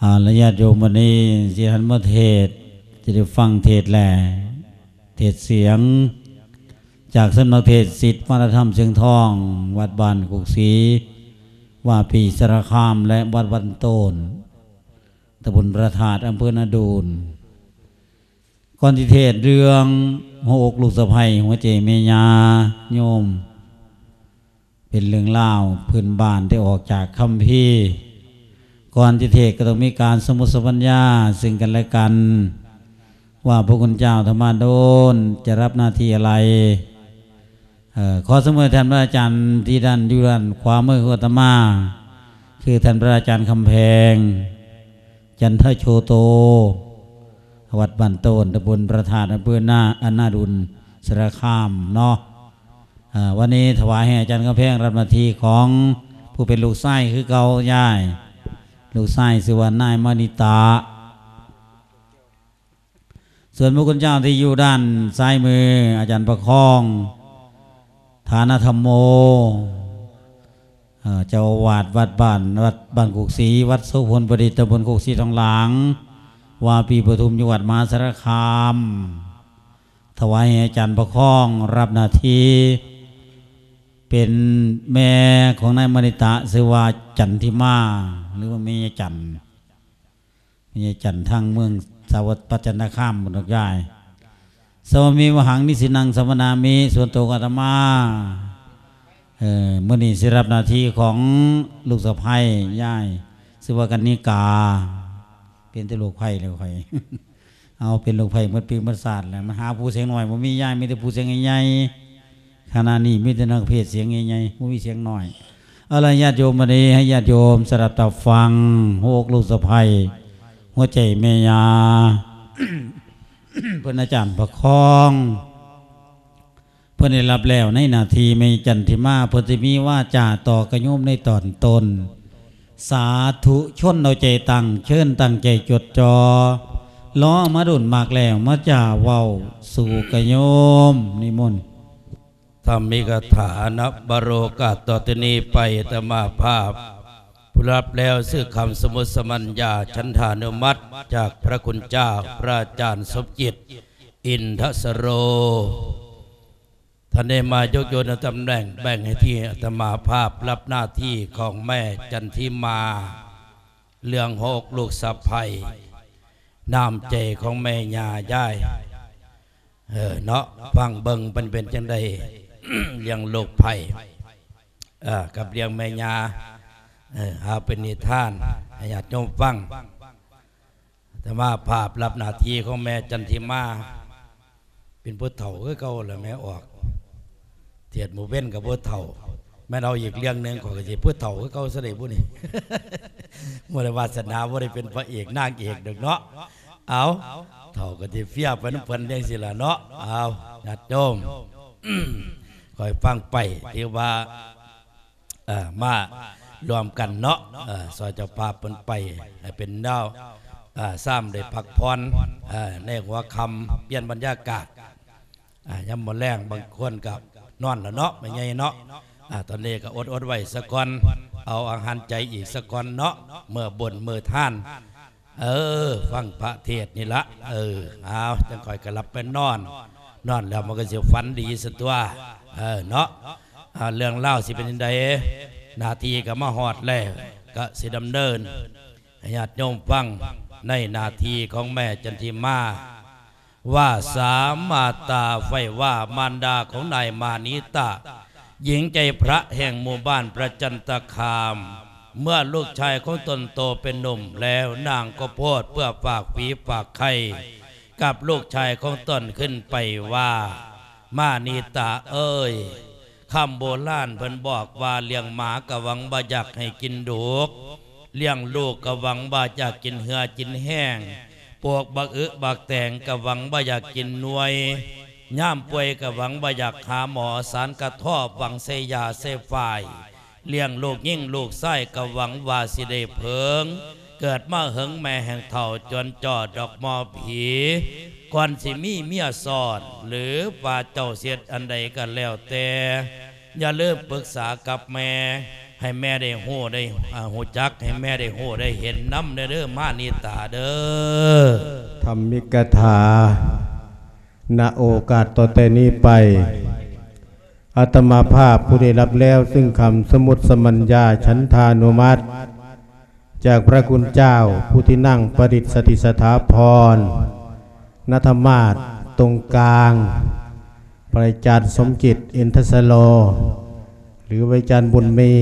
ເອົາລະ ຍາດໂຍມ, ວັນນີ້ຊິຫັນມາເທດ, ຈະໄດ້ຟັງເທດແລະເທດສຽງ ຈາກສຳນັກເທດສິດວັດທະນະທຳຊຽງທອງ ວັດບ້ານໂຄກສີ ວາປີສາລະຄາມ ແລະ ວັດວັນໂຕນ ຕຳບົນພະທາດ ອຳເພີນາດູນ. ກ່ອນທີ່ເທດເລື່ອງຫົວອົກລູກສະໃພ້ ຫົວໃຈແມ່ຍ່າໂຍມ ເປັນເລື່ອງລາວພື້ນບ້ານທີ່ອອກຈາກຄຳພີ. ກ່ອນທີ່ເທດກໍຕ້ອງມີການສົມມຸດສຳພັນຍາເຊິ່ງກັນແລະກັນ ວ່າພະຄຸນເຈົ້າທຳມະດົນຈະຮັບໜ້າທີ່ອະໄລ. ເອີ ຂໍສະເໝີທ່ານພະອາຈານທີ່ດ້ານ ຢູ່ດ້ານຂວາມືຂອງອາດຕະມາ ຄືທ່ານພະອາຈານຄຳແພງ ຈັນທະໂຊໂຕ ວັດບ້ານໂຕນ ຕຳບົນພະທາດ ອຳເພີນາ ອາ ນາດູນ ສາລະຄາມເນາະ. ເອີ ວັນນີ້ຖວາຍໃຫ້ອາຈານຄຳແພງຮັບໜ້າທີ່ຂອງຜູ້ເປັນລູກຊາຍຄືເກົ່າ. ຍາຍ ລູກຊາຍຊື່ວ່ານາຍມະນິຕະ. ສ່ວນພະຄຸນເຈົ້າທີ່ຢູ່ດ້ານຊ້າຍມື ອາຈານປະຄອງ ຖານະທຳໂມ ເອີ ເຈົ້າອາວາດວັດບ້ານ ວັດບ້ານໂຄກສີ ວັດໂສພົນປະດິດ ຕຳບົນໂຄກສີທອງຫຼາງ ວາປີປະທຸມ ຢູ່ວັດມະຫາສາລະຄາມ ຖວາຍໃຫ້ອາຈານປະຄອງຮັບໜ້າທີ່ເປັນແມ່ຂອງນາຍມະນິຕະ ຊື່ວ່າຈັນທິມາ ຫຼືວ່າແມ່ຍາຍຈັນ. ແມ່ຍາຍຈັນທາງເມືອງສາວັດ ປະຈັນຕະຄາມ ພຸ້ນດອກຍາຍ. ສະວາມິມະຫັງນິສິນັງສະມະນາມິ ສ່ວນໂຕຂອງອາດຕະມາ ເອີ ມື້ນີ້ຊິຮັບໜ້າທີ່ຂອງລູກສະໃພ້ຍາຍ ຊື່ວ່າກັນນິກາ. ເປັນແຕ່ລູກໃພ້ແລ້ວຂ້ອຍ ເອົາ ເປັນລູກໃພ້ໝົດປີໝົດຊາດແລ້ວ ມາຫາຜູ້ສຽງນ້ອຍບໍ່ມີຍາຍ ມີແຕ່ຜູ້ສຽງໃຫຍ່ໆ. ຂະນະນີ້ມີແຕ່ນັກເພດສຽງໃຫຍ່ໆ ບໍ່ມີສຽງນ້ອຍ. ເອົາລະ ຍາດໂຍມ, ບັດນີ້ໃຫ້ຍາດໂຍມສະດັບຕາຟັງ ຫົວອົກລູກສະໃພ້ ຫົວໃຈແມ່ຍ່າ ເພິ່ນອາຈານປະຄອງ ເພິ່ນໄດ້ຮັບແລ້ວໃນໜ້າທີ່ແມ່ຈັນທິມາ ເພິ່ນຊິມີວາຈາຕໍ່ກະໂຍມໃນຕອນຕົ້ນ. ສາທຸຊົນເອົາໃຈຕັ້ງ ເຊີນຕັ້ງໃຈຈົດຈ່ອ ລໍມາດົນມາກແລ້ວ ມາຈາເວົ້າສູ່ກະໂຍມ. ນິມົນ. ທຳມິກະຖານະ ໂອກາດຕໍ່ຈາກນີ້ໄປ ອາດຕະມາພາບຜູ້ຮັບແລ້ວ ຊື່ຄຳສົມມຸດສຳພັນຍາ ສັນທານຸມັດ ຈາກພະຄຸນເຈົ້າ ພະອາຈານສົມຈິດ ອິນທະສະໂລ ທ່ານໄດ້ມາຍົກໂຍນຕຳແໜ່ງ ແບ່ງໜ້າທີ່ ອາດຕະມາພາບຮັບໜ້າທີ່ຂອງແມ່ຈັນທິມາ ເລື່ອງຫົວອົກລູກສະໃພ້ ນ້ຳໃຈຂອງແມ່ຍ່າຍາຍ ເອີ ເນາະ ຟັງເບິ່ງເພິ່ນເປັນຈັ່ງໃດ ລ້ຽງລູກໃພ້ ເອີ ກັບລ້ຽງແມ່ຍ່າ ເອີ ເອົາເປັນນິທານໃຫ້ຍາດໂຍມຟັງ. ອາດຕະມາພາບຮັບໜ້າທີ່ຂອງແມ່ຈັນທິມາ ເປັນຜູ້ເຖົ້າຄືເກົ່າລະແມ່ອອກ ເທດມື້ເວັນກໍບໍ່ເຖົ້າ ແມ່ນເອົາອີກເລື່ອງໜຶ່ງ ຂ້ອຍກໍຊິຜູ້ເຖົ້າຄືເກົ່າຊະໄດ໋ບຸນີ້ ບໍ່ໄດ້ວາສະໜາ ບໍ່ໄດ້ເປັນພະເອກນາງເອກດອກເນາະ. ເອົາ ເຖົ້າກໍຊິເຟຍໄປນຳເພິ່ນຈັ່ງຊີ້ລະເນາະ. ເອົາ ຍາດໂຍມ ຄ່ອຍຟັງໄປ ຖືວ່າ ເອີ ມາລວມກັນເນາະ ເອີ ຊ່ອຍເຈົ້າພາບເພິ່ນໄປໃຫ້ເປັນແນວ ເອີ ຊາມໄດ້ພັກຜ່ອນ ເອີ ໃນຫົວຄ່ຳ ປ່ຽນບັນຍາກາດ ອ່າ ຍາມມື້ແລງບາງຄົນກໍນອນແລ້ວເນາະ ແມ່ໃຫຍ່ເນາະ. ອ່າ ຕອນນີ້ກໍອົດໆໄວ້ສາກ່ອນ ເອົາອາຫານໃຈອີກສາກ່ອນເນາະ ເມື່ອບຸນມື້ທານ ເອີ ຟັງພະເທດນີ້ລະ ເອີ ເອົາ ຈັ່ງຄ່ອຍກໍຫຼັບໄປນອນ ນອນແລ້ວມັນກໍຊິຝັນດີຊະຕົວະ ເອີ ເນາະ. ອ່າ ເລື່ອງລາວຊິເປັນຈັ່ງໃດ ໜ້າທີ່ກໍມາຮອດແລ້ວ ກໍຊິດຳເນີນໃຫ້ຍາດໂຍມຟັງ ໃນໜ້າທີ່ຂອງແມ່ຈັນທິມາ ວ່າສາມາດຕາໄຟວ່າມານດາຂອງນາຍມານີຕະ ຍິງໃຈພະແຫ່ງໝູ່ບ້ານພະຈັນຕະຄາມ ເມື່ອລູກຊາຍຂອງຕົນໂຕເປັນໜຸ່ມແລ້ວ ນາງກໍໂພດເພື່ອຝາກຜີຝາກໄຂ່ກັບລູກຊາຍຂອງຕົນຂຶ້ນໄປວ່າ ມານີຕະເອີຍ ຄຳໂບລານເພິ່ນບອກວ່າ ລ້ຽງໝາກະຫວັງວ່າຢາກໃຫ້ກິນດຸກ ລ້ຽງລູກກະຫວັງວ່າຢາກກິນເຫື່ອກິນແຮງ ປູກບັກອຶບັກແຕງກະຫວັງວ່າຢາກກິນໜ່ວຍ ຍາມປ່ວຍກະຫວັງວ່າຢາກຫາໝໍ ສານກະເທາະຫວັງໃສ່ຢາໃສ່ຝ້າຍ ລ້ຽງລູກຍິງລູກຊາຍກະຫວັງວ່າຊິໄດ້ເຜິງ ເກີດມາເຫິງແມ່ແຫ່ງເຖົ້າ ຈົນຈອດອກໝໍຜີ ກ່ອນຊິມີເມຍຊ້ອນ ຫຼືວ່າເຈົ້າຊິເຮັດອັນໃດກໍແລ້ວແຕ່ ຢ່າລືມປຶກສາກັບແມ່ ໃຫ້ແມ່ໄດ້ຮູ້ໄດ້ ອ່າ ຮູ້ຈັກ ໃຫ້ແມ່ໄດ້ຮູ້ໄດ້ເຫັນນຳແດ່ເດີ ມານິຕາເດີ. ທຳມິກະຖາ ນະໂອກາດຕໍ່ແຕ່ນີ້ໄປ ອາດຕະມາພາບຜູ້ໄດ້ຮັບແລ້ວຊຶ່ງຄຳສະໝຸດສະມັນຍາ ສັນທານຸມັດ ຈາກພະຄຸນເຈົ້າ ພຸດທິນັງ ປະດິດສະຖິດສະຖາພອນ ນະທະມາດ ຕົງກາງ ພະອາຈານສົມຈິດ ອິນທະສະໂລ ຫຼື ພະອາຈານບຸນມີ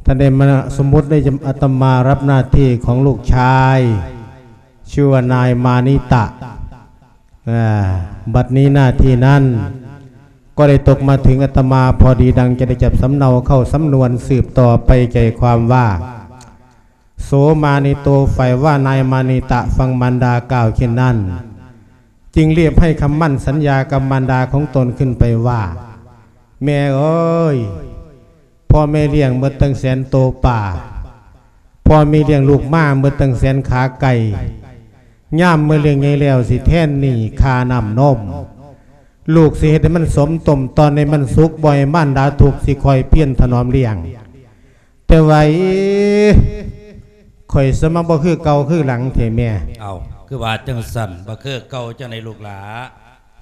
ທ່ານໄດ້ມາສະໝຸດໃຫ້ອາດຕະມາຮັບໜ້າທີ່ຂອງລູກຊາຍ ຊື່ວ່ານາຍມານິຕະ. ອາ ບັດນີ້ໜ້າທີ່ນັ້ນກໍໄດ້ຕົກມາເຖິງອາດຕະມາພໍດີ ດັ່ງຈະໄດ້ຈັບສຳເນົາເຂົ້າສຳນວນສືບຕໍ່ໄປ ໃຈຄວາມວ່າ ໂສມານິໂຕ ຝ່າຍວ່ານາຍມານິຕະ ຟັງມານດາກ່າວເຊັ່ນນັ້ນ ຈຶ່ງລຽບໃຫ້ຄຳໝັ້ນສັນຍາກັບມານດາຂອງຕົນຂຶ້ນໄປວ່າ ແມ່ເອີຍ ພໍ່ແມ່ລ້ຽງໝົດຕັ້ງແສນໂຕປາ, ພໍ່ແມ່ລ້ຽງລູກມາໝົດຕັ້ງແສນຂາໄກ່, ຍາມເມື່ອລ້ຽງໃຫຍ່ແລ້ວ ຊິແທນໜີ້ຄ່ານ້ຳນົມ. ລູກຊິເຮັດໃຫ້ມັນສົມຕົ້ມ ຕອນໃຫ້ມັນສຸກ, ບໍ່ໃຫ້ມານດາທຸກ, ຊິຄອຍພຽນຖະໜອມລ້ຽງ. ແຕ່ວ່າ ເອີ ຂ້ອຍສະມາບໍ່ຄືເກົ່າຄືຫຼັງແທ້ແມ່. ເອົ້າ ຄືວ່າຈັ່ງຊັ້ນ? ບໍ່ຄືເກົ່າຈັ່ງໃດລູກຫຼ້າ?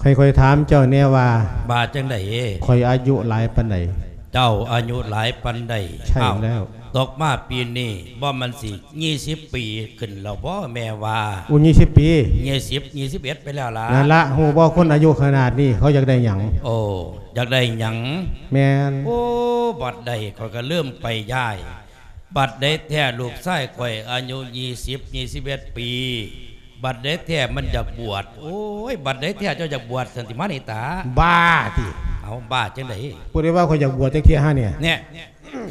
ຂ້ອຍ ຂ້ອຍຖາມເຈົ້າແດ່ວ່າ ວ່າຈັ່ງໃດ? ຂ້ອຍອາຍຸຫຼາຍປານໃດ? ເຈົ້າອາຍຸຫຼາຍປານໃດ? ໃຊ່ແລ້ວ. ເອົ້າ ຕົກມາປີນີ້ບໍ່ມັນຊິ ຊາວປີຂຶ້ນແລ້ວບໍ່ແມ່ວ່າ? ໂອ້ ຊາວປີ? ຊາວ ຊາວເອັດໄປແລ້ວລະ. ນັ້ນລະ ຮູ້ບໍ່ ຄົນອາຍຸຂະໜາດນີ້ເຂົາຢາກໄດ້ຫຍັງ? ໂອ້ ຢາກໄດ້ຫຍັງ? ແມ່ນ. ໂອ້ ບັດໃດຂ້ອຍກໍລືມໄປຍາຍ. ບັດໃດແທ້ລູກຊາຍຂ້ອຍອາຍຸຊາວ ຊາວ ຊາວເອັດປີ ບັດໃດແທ້ມັນຢາກບວດ. ໂອ້ຍ ບັດໃດແທ້ເຈົ້າຢາກບວດຊັ້ນຕິມານິຕາ? ບ້າຕິ. ເອົ້າ ບ້າຈັ່ງໃດ? ຜູ້ໃດວ່າຂ້ອຍຢາກບວດຈັກເທື່ອຫານີ້? ແນ່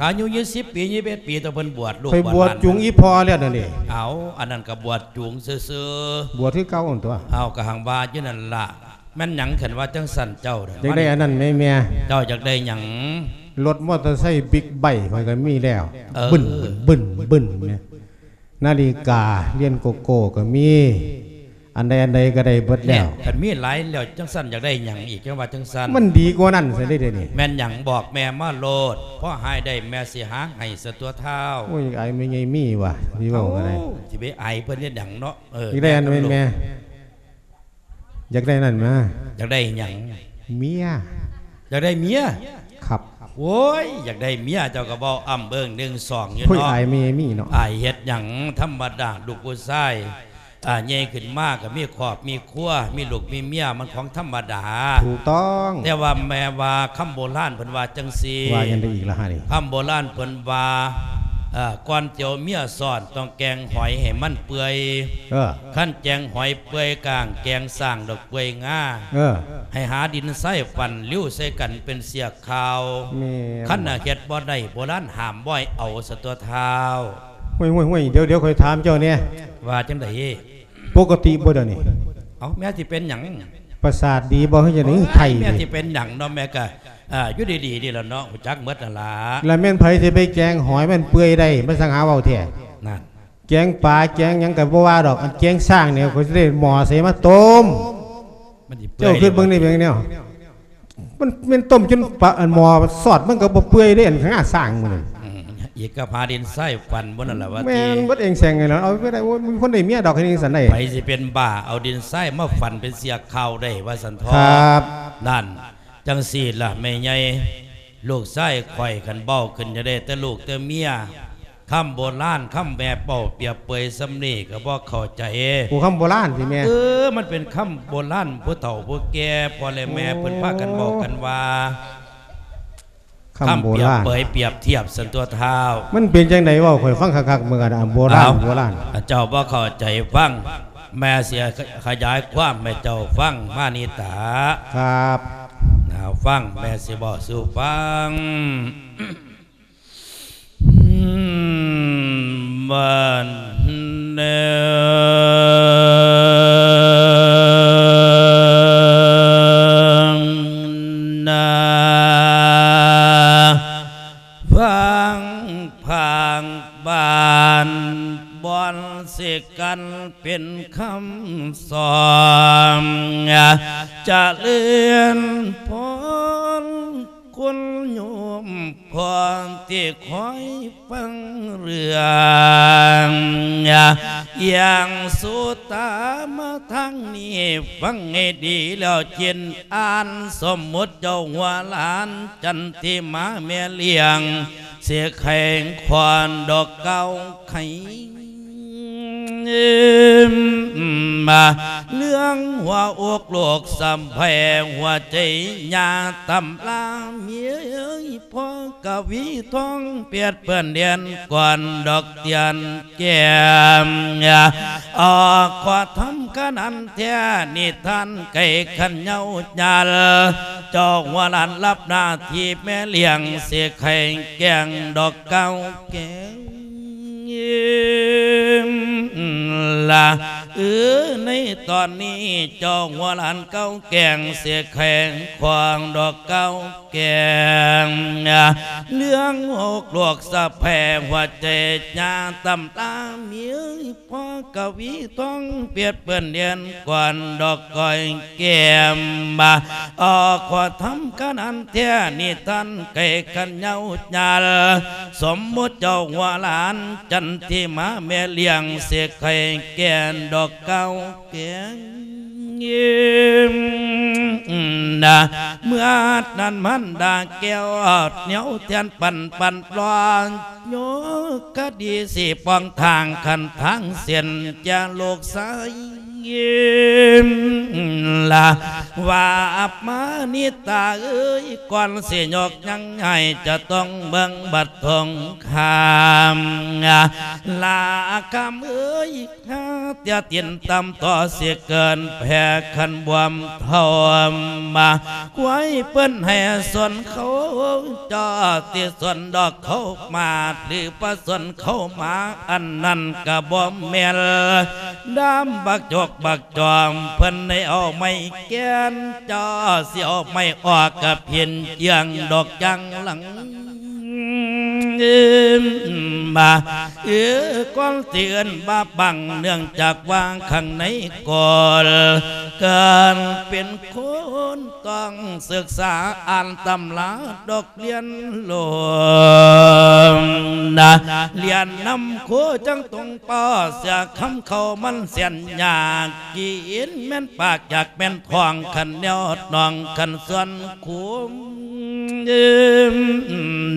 ອາຍຸຊາວ ຊາວເອັດປີ ຊາວ ຊາວເອັດປີ ຕອນເພິ່ນບວດລູກ ຂ້ອຍບວດ ບວດຫຼານ ຈູງອີ່ພໍ່ແລ້ວເດນີ້. ເອົ້າ ອັນນັ້ນກໍບວດຈູງຊື່ໆ. ບວດຄືເກົ່າຫັ້ນຕົວະ. ເອົ້າ ກໍຫັງວ່າຢູ່ນັ້ນລະ. ແມ່ນຫຍັງ ຄັນວ່າຈັ່ງຊັ້ນເຈົ້າ? ຢາກໄດ້ອັນນັ້ນແໝ່ແມ່. ເຈົ້າຢາກໄດ້ຫຍັງ? ລົດມໍເຕີໄຊບິກໄບຂ້ອຍກໍມີແລ້ວ. ເອີ ບຶ້ນ ບຶ້ນ ບຶ້ນແໝ່. ນາລິກາລຽນໂກໂກ້ກໍມີ. ອັນໃດອັນໃດກໍໄດ້ເບິດແລ້ວ. ແນ່ ຄັນມີຫຼາຍແລ້ວຈັ່ງຊັ້ນ ຢາກໄດ້ຫຍັງອີກ? ຈັ່ງວ່າຈັ່ງຊັ້ນ. ມັນດີກວ່ານັ້ນຊະເດ ດຽວນີ້. ແມ່ນຫຍັງ? ບອກແມ່ມາໂລດ. ພໍຫາໄດ້ແມ່ຊິຫາໃຫ້ສະຕົວະທ້າວ. ໂອ້ຍ ອາຍແມ່ໃຫຍ່ມີວ່າ ຊິເວົ້າກໍໄດ້. ເອົ້າ ຊິໄປອາຍເພິ່ນເຮັດຫຍັງເນາະ? ເອີ ຢາກໄດ້ອັນນັ້ນແໝ່ແມ່. ຢາກໄດ້ນັ້ນມາ. ຢາກໄດ້ຫຍັງ? ເມຍ. ຢາກໄດ້ເມຍ? ຄັບ. ໂອ້ຍ ຢາກໄດ້ເມຍ ເຈົ້າກໍເວົ້າອ້ຳເອີ້ງໜຶ່ງສອງຢູ່ເນາະ. ໂອ້ຍ ອາຍແມ່ມີເນາະ. ອາຍເຮັດຫຍັງ? ທຳມະດາ ລູກຜູ້ຊາຍ ອາ ໃຫຍ່ຂຶ້ນມາກໍມີຄອບມີຄົວ ມີລູກມີເມຍ ມັນຂອງທຳມະດາ. ຖືກຕ້ອງ. ແຕ່ວ່າແມ່ວ່າຄຳໂບລານເພິ່ນວ່າຈັ່ງຊີ້. ວ່າຫຍັງໄດ້ອີກລະຫານີ້? ຄຳໂບລານເພິ່ນວ່າ ເອີ ກ່ອນຈະເອົາເມຍຊ້ອນ ຕ້ອງແກງຫອຍໃຫ້ມັນເປື່ອຍ. ເອີ ຄັນແກງຫອຍເປື່ອຍກ້າງ ແກງຊ້າງດອກເປື່ອຍງາ. ເອີ ໃຫ້ຫາດິນຊາຍຟັນ ລິ້ວໃສ່ກັນເປັນເຊືອກຂາວ. ແມ່ນ. ຄັນຫາກເຮັດບໍ່ໄດ້ ໂບລານຫ້າມບໍ່ໃຫ້ເອົາ ສະຕົວະທ້າວ. ຫ້ວຍໆໆ ດຽວໆ ຂ້ອຍຖາມເຈົ້າແດ່. ວ່າຈັ່ງໃດ? ປົກກະຕິບໍ່ດຽວນີ້? ເອົ້າ ແມ່ຊິເປັນຫຍັງ? ປະສາດດີບໍ່ ຄືຈັ່ງໃດ? ໂອ້ຍ ໄຂ້ ແມ່ຊິເປັນຫຍັງເນາະ? ແມ່ກໍ ອ່າ ຢູ່ດີໆ ນີ້ລະເນາະ ຮູ້ຈັກໝົດນັ້ນລະ. ລະແມ່ນໃຜຊິໄປແກງຫອຍມັນເປື່ອຍໄດ້? ມັນຊ່າງຫາເວົ້າແທ້. ນັ້ນ. ແກງປາແກງຫຍັງກໍບໍ່ວ່າດອກ ອັນແກງຊ້າງນີ້ ຂ້ອຍຊິໄດ້ໝໍ້ໃສ່ມາຕົ້ມ. ມັນຊິເປື່ອຍ ເຈົ້າຄິດເບິ່ງນີ້ເປັນແນວ ມັນແມ່ນຕົ້ມຈົນປາ ອັນໝໍ້ຊອດມັນກໍບໍ່ເປື່ອຍເດ້ ອັນງາຊ້າງມັນ. ອືມ ອີກກັບຫາດິນຊາຍຟັນບໍ່ນັ້ນລະວ່າ. ແມ່ນ ເບິດເອງແສງນີ້ລະ ເອົາໄປໄດ້. ໂອ້ຍ ມີຄົນໄດ້ເມຍດອກ ເຮັດຈັ່ງຊັ້ນໄດ້. ໃຜຊິເປັນບ້າ ເອົາດິນຊາຍມາຟັນເປັນເຊືອກຂາວໄດ້ ວ່າຊັ້ນເຖາະ. ຄັບ ນັ້ນ. ຈັ່ງຊີ້ລະແມ່ໃຫຍ່ ລູກຊາຍຂ້ອຍ ຄັນເວົ້າຂຶ້ນ ຢາກໄດ້ແຕ່ລູກແຕ່ເມຍ. ຄຳໂບລານ ຄຳແມ່ເວົ້າປຽບເປີຍສ່ຳນີ້ກໍບໍ່ເຂົ້າໃຈ. ໂອ້ ຄຳໂບລານຕິແມ່? ເອີ ມັນເປັນຄຳໂບລານ ຜູ້ເຖົ້າຜູ້ແກ່ ພໍ່ແລະແມ່ ໂອ້ ເພິ່ນພາກກັນເວົ້າກັນວ່າ. ຄຳໂບລານ ຄຳປຽບເປີຍປຽບທຽບຊັ້ນຕົວະທ້າວ. ມັນເປັນຈັ່ງໃດ ເວົ້າຂ້ອຍຟັງຄັກໆ ເບິ່ງ ອັນໂບລານ ເອົ້າ ໂບລານ. ເຈົ້າບໍ່ເຂົ້າໃຈ ຟັງ ແມ່ຊິຂະຫຍາຍຄວາມໃຫ້ເຈົ້າຟັງ ມານິຕາ. ຄັບ ເອົາ ຟັງ ແມ່ຊິເວົ້າສູ່ຟັງ. ອືມ ບ້ານເດີ ນາ ຟັງພາກບ້ານ ບ່ອນຊິກັນເປັນຄຳສອນ ຈະເລີນພອນ. ຄົນໂຍມພໍ່ທີ່ຄອຍຟັງເລື່ອງ ຢ່າງສຸດຕາມາທາງນີ້ ຟັງໃຫ້ດີແລ້ວຈິນອ່ານ ສົມມຸດເຈົ້າຫົວຫຼານຈັນທິມາແມ່ລ້ຽງ ຊິໄຂຄວາມດອກເກົ່າໄຂ ມາເລື່ອງຫົວອົກລູກສຳໃຜ ຫົວໃຈຍາຕຳລາເມຍເອີຍ ພໍ່ກະວີທອງປຽດເປື້ອນແດນກ່ອນດອກຕຽນແກ້ມ ອອກຂໍທຳຂະໜານແທ້ນິທານໄກ່ຂັນເຍົາຍາລ ເຈົ້າຫົວຫຼານຮັບໜ້າທີ່ແມ່ລ້ຽງ ຊິໄຂແກງດອກເກົ່າແກງ ລະ ເອີ ໃນຕອນນີ້ເຈົ້າຫົວຫຼານເກົ່າແກງ ເສຍແຂງຂວາງດອກເກົ່າແກງ ເລື່ອງຫົກລວກສະແພງຫົວໃຈຍາຕຳຕາເມຍ ພໍ່ກະວີທອງປຽດເປື້ອນແດນກ່ອນດອກກ້ອຍແກ້ມ ອອກຂໍທຳຂະໜານແທ້ນິທານໄກ່ຂັນເຍົາຍາລ ສົມມຸດເຈົ້າຫົວຫຼານຈັນທິມາແມ່ລ້ຽງ ເສກໄຂ່ແກ່ນດອກເກົ່າແກງ ນະ ເມື່ອນັ້ນມັນດາແກ້ວແນວແທນປັນປັນປອນ ໂຍກະດີຊິປ້ອງທາງຄັນທາງເສັ້ນແກ່ລູກຊາຍ ລະວ່າອັບມານິຕາເອີຍ ກ່ອນຊິຍົກຍັງໃຫ້ຈະຕ້ອງເບິ່ງບັດສົງຄາມ ລະຄຳເອີຍ ຫາເຕຍຕີນຕ່ຳຕໍ່ຊິເກີນແຜ່ຄັນບວມເທົ່າມາ ຄວາຍເພິ່ນໃຫ້ສົນເຂົາ ເຈົ້າຊິສົນດອກເຂົາມາດ ຫຼືບໍ່ສົນເຂົາມາ ອັນນັ້ນກະບໍ່ແມ່ນ ດາມບັກຈົກບັກຈອມ ເພິ່ນໄດ້ເອົາໄມ້ແກ່ນ ເຈົ້າຊິເອົາໄມ້ອອກກະເພັນເຈືອງດອກຈັງຫຼັງ ມາ ເອີ ກ່ອນຊິເອີ້ນວ່າບັງ ເນື່ອງຈາກວ່າຂ້າງໃນກໍເກີນເປັນຄົນ ຕ້ອງສຶກສາອ່ານຕຳລາດອກ ລຽນໂລມນະ ລຽນນຳຄູຈັ່ງຕົງປໍເສຍຄຳເຂົ້າມັນແສນຍາກ ກິນແມ່ນປາກຢາກແມ່ນທ້ອງ ຄັນແນວໜອງຄັນສ່ວນຄູ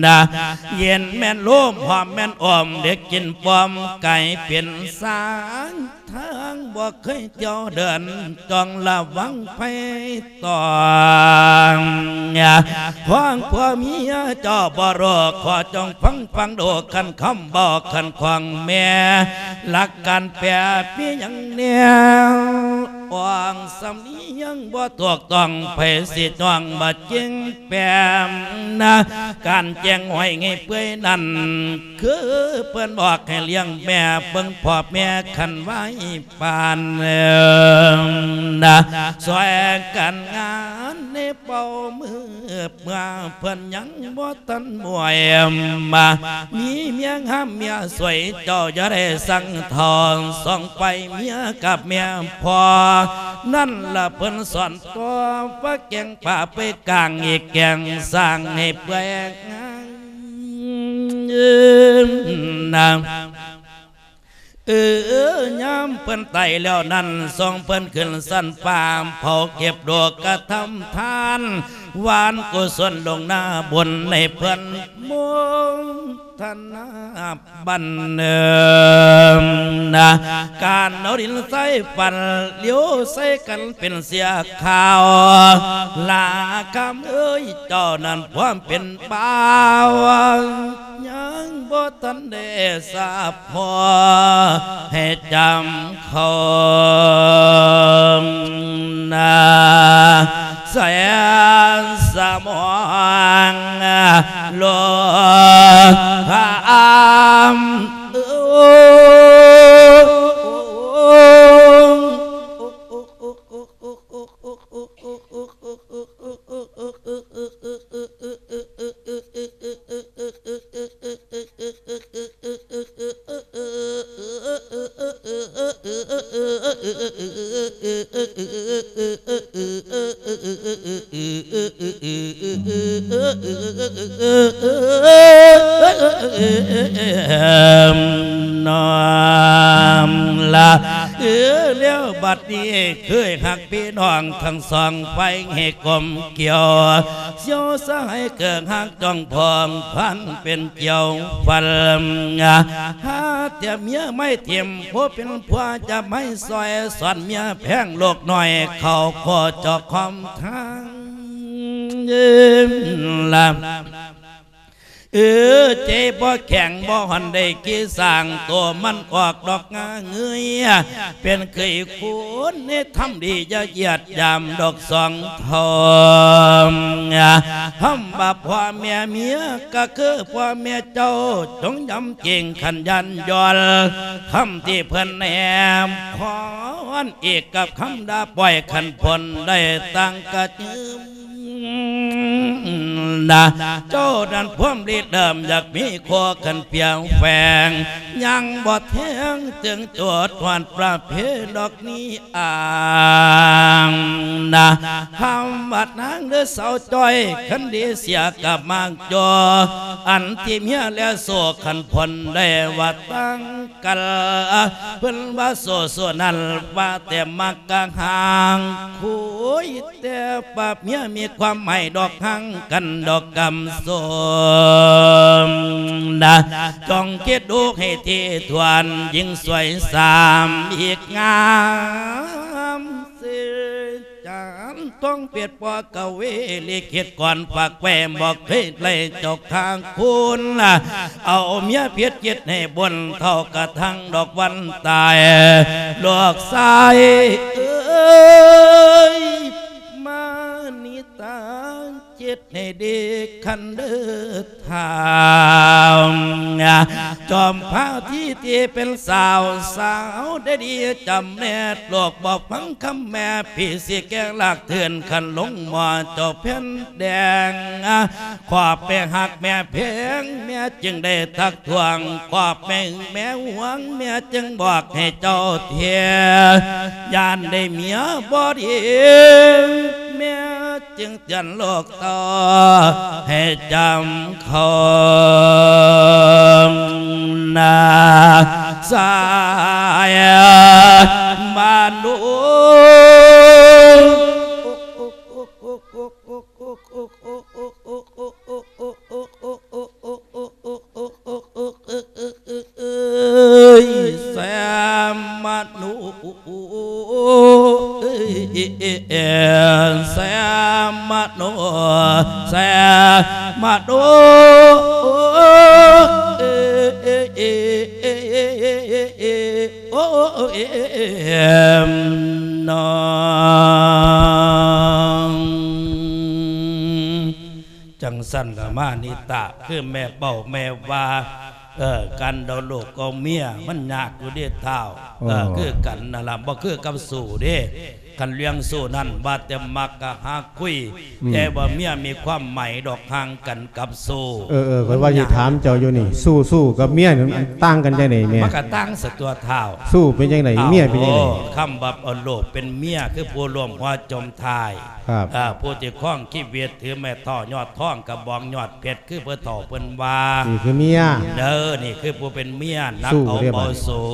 ນະ ເຢັນແມ່ນໂລມ ຫອມແມ່ນອ້ອມ ເດັກກິນປ້ອມ ກາຍເປັນສາງ ທາງບໍ່ເຄີຍທ່ຽວເດີນ ຕ້ອງລະວັງໄພຕອງ ຂອງຜົວເມຍເຈົ້າບໍ່ຮູ້ ຂໍຈົ່ງຟັງຟັງດູ ຄັນຄຳເວົ້າຄັນຂອງແມ່ ຫຼັກການແປມີຫຍັງແດ່ ອອງສຳນຽງບໍ່ຖືກຕ້ອງ ໃຜຊິຈ້ອງບໍ່ຈິງແປມນະ ການແຈ້ງຫ້ອຍໃຫ້ເປື່ອຍນັ້ນ ຄືເພິ່ນບອກໃຫ້ລ້ຽງແມ່ເບິ່ງພໍ່ແມ່ຄັນໄວ້ປານເອີມນະ ຊ່ວຍກັນງານໃນເປົ່າມື ເມື່ອເພິ່ນຍັງບໍ່ທັນບວຍມາ ມີເມຍງາມເມຍສວຍ ເຈົ້າຢ່າໄດ້ສັ່ງເທົ່າ ສ່ອງໄປເມຍກັບແມ່ພໍ່ ນັ້ນລະເພິ່ນສອນ ຕົວວ່າແກງປ່າໄປກາງອີກແກງສ້າງໃຫ້ເປື່ອຍງາມນາ ເອີ ຍາມເພິ່ນຕາຍແລ້ວນັ້ນ ສົ່ງເພິ່ນຂຶ້ນຊັ້ນຟ້າ ເຜົາເກັບດອກກະທຳທານ ຫວານກຸສົນລົງໜ້າບຸນໃຫ້ເພິ່ນໂມທະນາ ບັນເນີມນະ ການເອົາດິນໃສ່ຝັນ ຫຼຽວໃສ່ກັນເປັນເສຍຂາວ ລາຄຳເອີຍ ເຈົ້ານັ້ນຄວາມເປັນບ່າວ ຍັງບໍ່ທັນໄດ້ສາພໍໃຫ້ຈຳເຂົານາ ແສນສະໝອງໂລຄາມ ລະ ເອີ ແລ້ວບັດນີ້ເຄີຍຮັກພີ່ນ້ອງທັງສອງຝ່າຍໃຫ້ກົມກ່ຽວ ສ່ຽວສະຫາຍເກີກຮັກຈ້ອງພ້ອງພັນເປັນກ່ຽວຟັນ ຫາແຕ່ເມຍໄມ້ຖິ້ມ ຜູ້ເປັນຜົວຈະໄມ້ຊ່ອຍ ສອນເມຍແພງລູກນ້ອຍ ເຂົ້າຂໍຈອກຄອມທາງ ລະ ເອີ ເຈບໍ່ແຂງບໍ່ຫອນໄດ້ກີສ້າງ ໂຕມັນອອກດອກງາເງືອຍ ເປັນເຄີຍຄູນໃນທຳດີ ຢ່າຢຽດຢາມດອກສອງເທົ່າ ຄຳວ່າພໍ່ແມ່ເມຍ ກໍຄືພໍ່ແມ່ເຈົ້າ ຈົ່ງຢຳເກງຂັນຢ້ານຢອນ ຄຳທີ່ເພິ່ນແນມຄອນ ອີກກັບຄຳດ່າປ້ອຍ ຄັນພົ້ນໄດ້ຕັ້ງກະຍືມ ນະ ເຈົ້ານັ້ນພວມລິເລີ່ມຢາກມີຄົວກັນພຽງແຝງ ຍັງບໍ່ແທງເຖິງໂຕດຮອດປະເພດອກນີ້ອ້າງນະ ຄຳວ່ານາງເດີສາວຈ້ອຍ ຄັນດີເສຍກະມັກຈ່ອ ອັນທີ່ເມຍແລໂສ ຄັນພົ້ນໄດ້ວ່າຕັ້ງ ກັນ ເພິ່ນວ່າໂສ ໂສນັ້ນວ່າແຕ່ມັກກະຫາງຄຸຍ ແຕ່ປາບເມຍມີຄວາມໝາຍດອກ ຫາງກັນດອກກຳສົມນະ ຈົ່ງຄິດດູໃຫ້ຖີ່ຖ້ວນ ຍິງສວຍສາມອີກງາມເສີ ຈານທອງເປັດ ພໍ່ກະເວລິເຂດກ່ອນຝາກໄວ້ ບໍ່ເຄີຍໄລ່ເຈົ້າຂ້າງຄຸນ ເອົາເມຍຜິດຈິດໃຫ້ບຸນເທົ່າກະທັງດອກວັນຕາຍ ລູກຊາຍເອີຍ ມານິຕາ ເຈັດໃຫ້ດີຄັນເດີ ທາວ ຈອມພາທີ່ທີ່ເປັນສາວ ສາວໄດ້ດີຈຳແນດ ລູກບໍ່ຟັງຄຳແມ່ ພີ່ຊິແກງລາກເຖື່ອນ ຄັນລົງໝໍ້ເຈົ້າແຜ່ນແດງ ຄອບແມ່ຮັກແມ່ແພງ ແມ່ຈຶ່ງໄດ້ທັກທ້ວງ ຄອບແມ່ຫຶງແມ່ຫວງ ແມ່ຈຶ່ງບອກໃຫ້ເຈົ້າເທ ຢ້ານໄດ້ເມຍບໍ່ດີ ແມ່ ຈຶ່ງເຕືອນລູກເຕົ້າໃຫ້ຈຳເຂົ້ານາ ສາຍມະນຸ ເອີຍ ແຊມມະໂນ ເອີຍ ແຊມມະໂນ ແຊມມະໂນ ເອີຍ ໂອ້ ເອີຍ ເອີຍ ເອີຍ ເນາະ. ຈັ່ງຊັ້ນລະມານິຕະ ຄືແມ່ເປົ້າແມ່ວ່າ ເອີ ການເອົາລູກເອົາເມຍມັນຍາກຢູ່ເດ້ທ້າວ ເອີ ເອີ ຄືກັນນັ້ນລະ ບໍ່ຄືກັບຊູ້ເດ້ ຄັນເລື່ອງຊູ້ນັ້ນວ່າແຕ່ມັກກະຫາຄຸຍ ອືມ ແຕ່ວ່າເມຍມີຄວາມໝາຍດອກ ຫ່າງກັນກັບຊູ້ ເອີ ເອີ ຂ້ອຍວ່າຊິຖາມເຈົ້າຢູ່ນີ້ ຊູ້ ຊູ້ກັບເມຍນີ້ມັນຕ່າງກັນຈັ່ງໃດແມ່? ມັນກະຕ່າງສະຕົວະທ້າວ ຊູ້ເປັນຈັ່ງໃດ? ເອົາ ເມຍເປັນຈັ່ງໃດ? ໂອ້ ຄຳວ່າເອົາລູກເປັນເມຍ ຄືຜູ້ຮ່ວມຫົວຈົມທ້າຍ ຄັບ ເອີ ຜູ້ທີ່ຄອງຊີວິດ ຖືໄມ້ເທົ້າຍອດທອງ ກະບອງຍອດເພັດ ຄືເພິ່ນເຖົ້າເພິ່ນວ່າ ນີ້ຄືເມຍ ເດີ ນີ້ຄືຜູ້ເປັນເມຍ ໜັກເອົາເບົາສູ້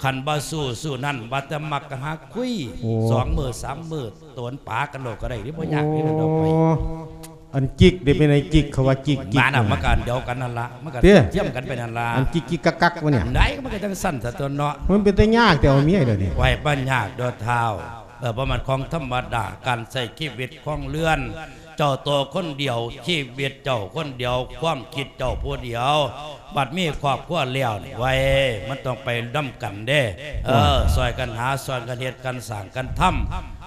ຄັນບໍ່ສູ້ ສູ້ນັ້ນວ່າແຕ່ມັກກະຫາຄຸຍ ໂອ້ ສອງມື້ສາມມື້ ໂຕນປາກັນໂລດກະໄດ້ ບໍ່ຍາກເດ້ດອກໄປ ໂອ້ ອັນຈິກເດ້ ເປັນໄອ້ຈິກ ເຂົາວ່າຈິກ ຈິກ ມັນນະ ມັນກະອັນດຽວກັນຫັ້ນລະ ມັນກະ ເດ້ ທຽມກັນໄປຫັ້ນລະ ອັນຈິກໆກັກໆວະນີ້ ໄດ້ ມັນກະຈັ່ງຊັ້ນຊະຕົວະເນາະ ມັນເປັນຕາຍາກແຕ່ເອົາເມຍດຽວນີ້ ໄວ້ບໍ່ຍາກດອກທ້າວ ເອີ ບໍ່ແມ່ນຂອງທຳມະດາ ການໃຊ້ຊີວິດຄອງເຮືອນ ເຈົ້າໂຕຄົນດຽວ ຊີວິດເຈົ້າຄົນດຽວ ຄວາມຄິດເຈົ້າຜູ້ດຽວ ບັດມີຄອບຄົວແລ້ວນີ້ ໄວ້ ມັນຕ້ອງໄປນຳກັນເດ້ ເອີ ໂອ້ຍ ຊ່ອຍກັນຫາ ຊ່ອຍກັນເຮັດ ກັນສ້າງ ກັນທຳ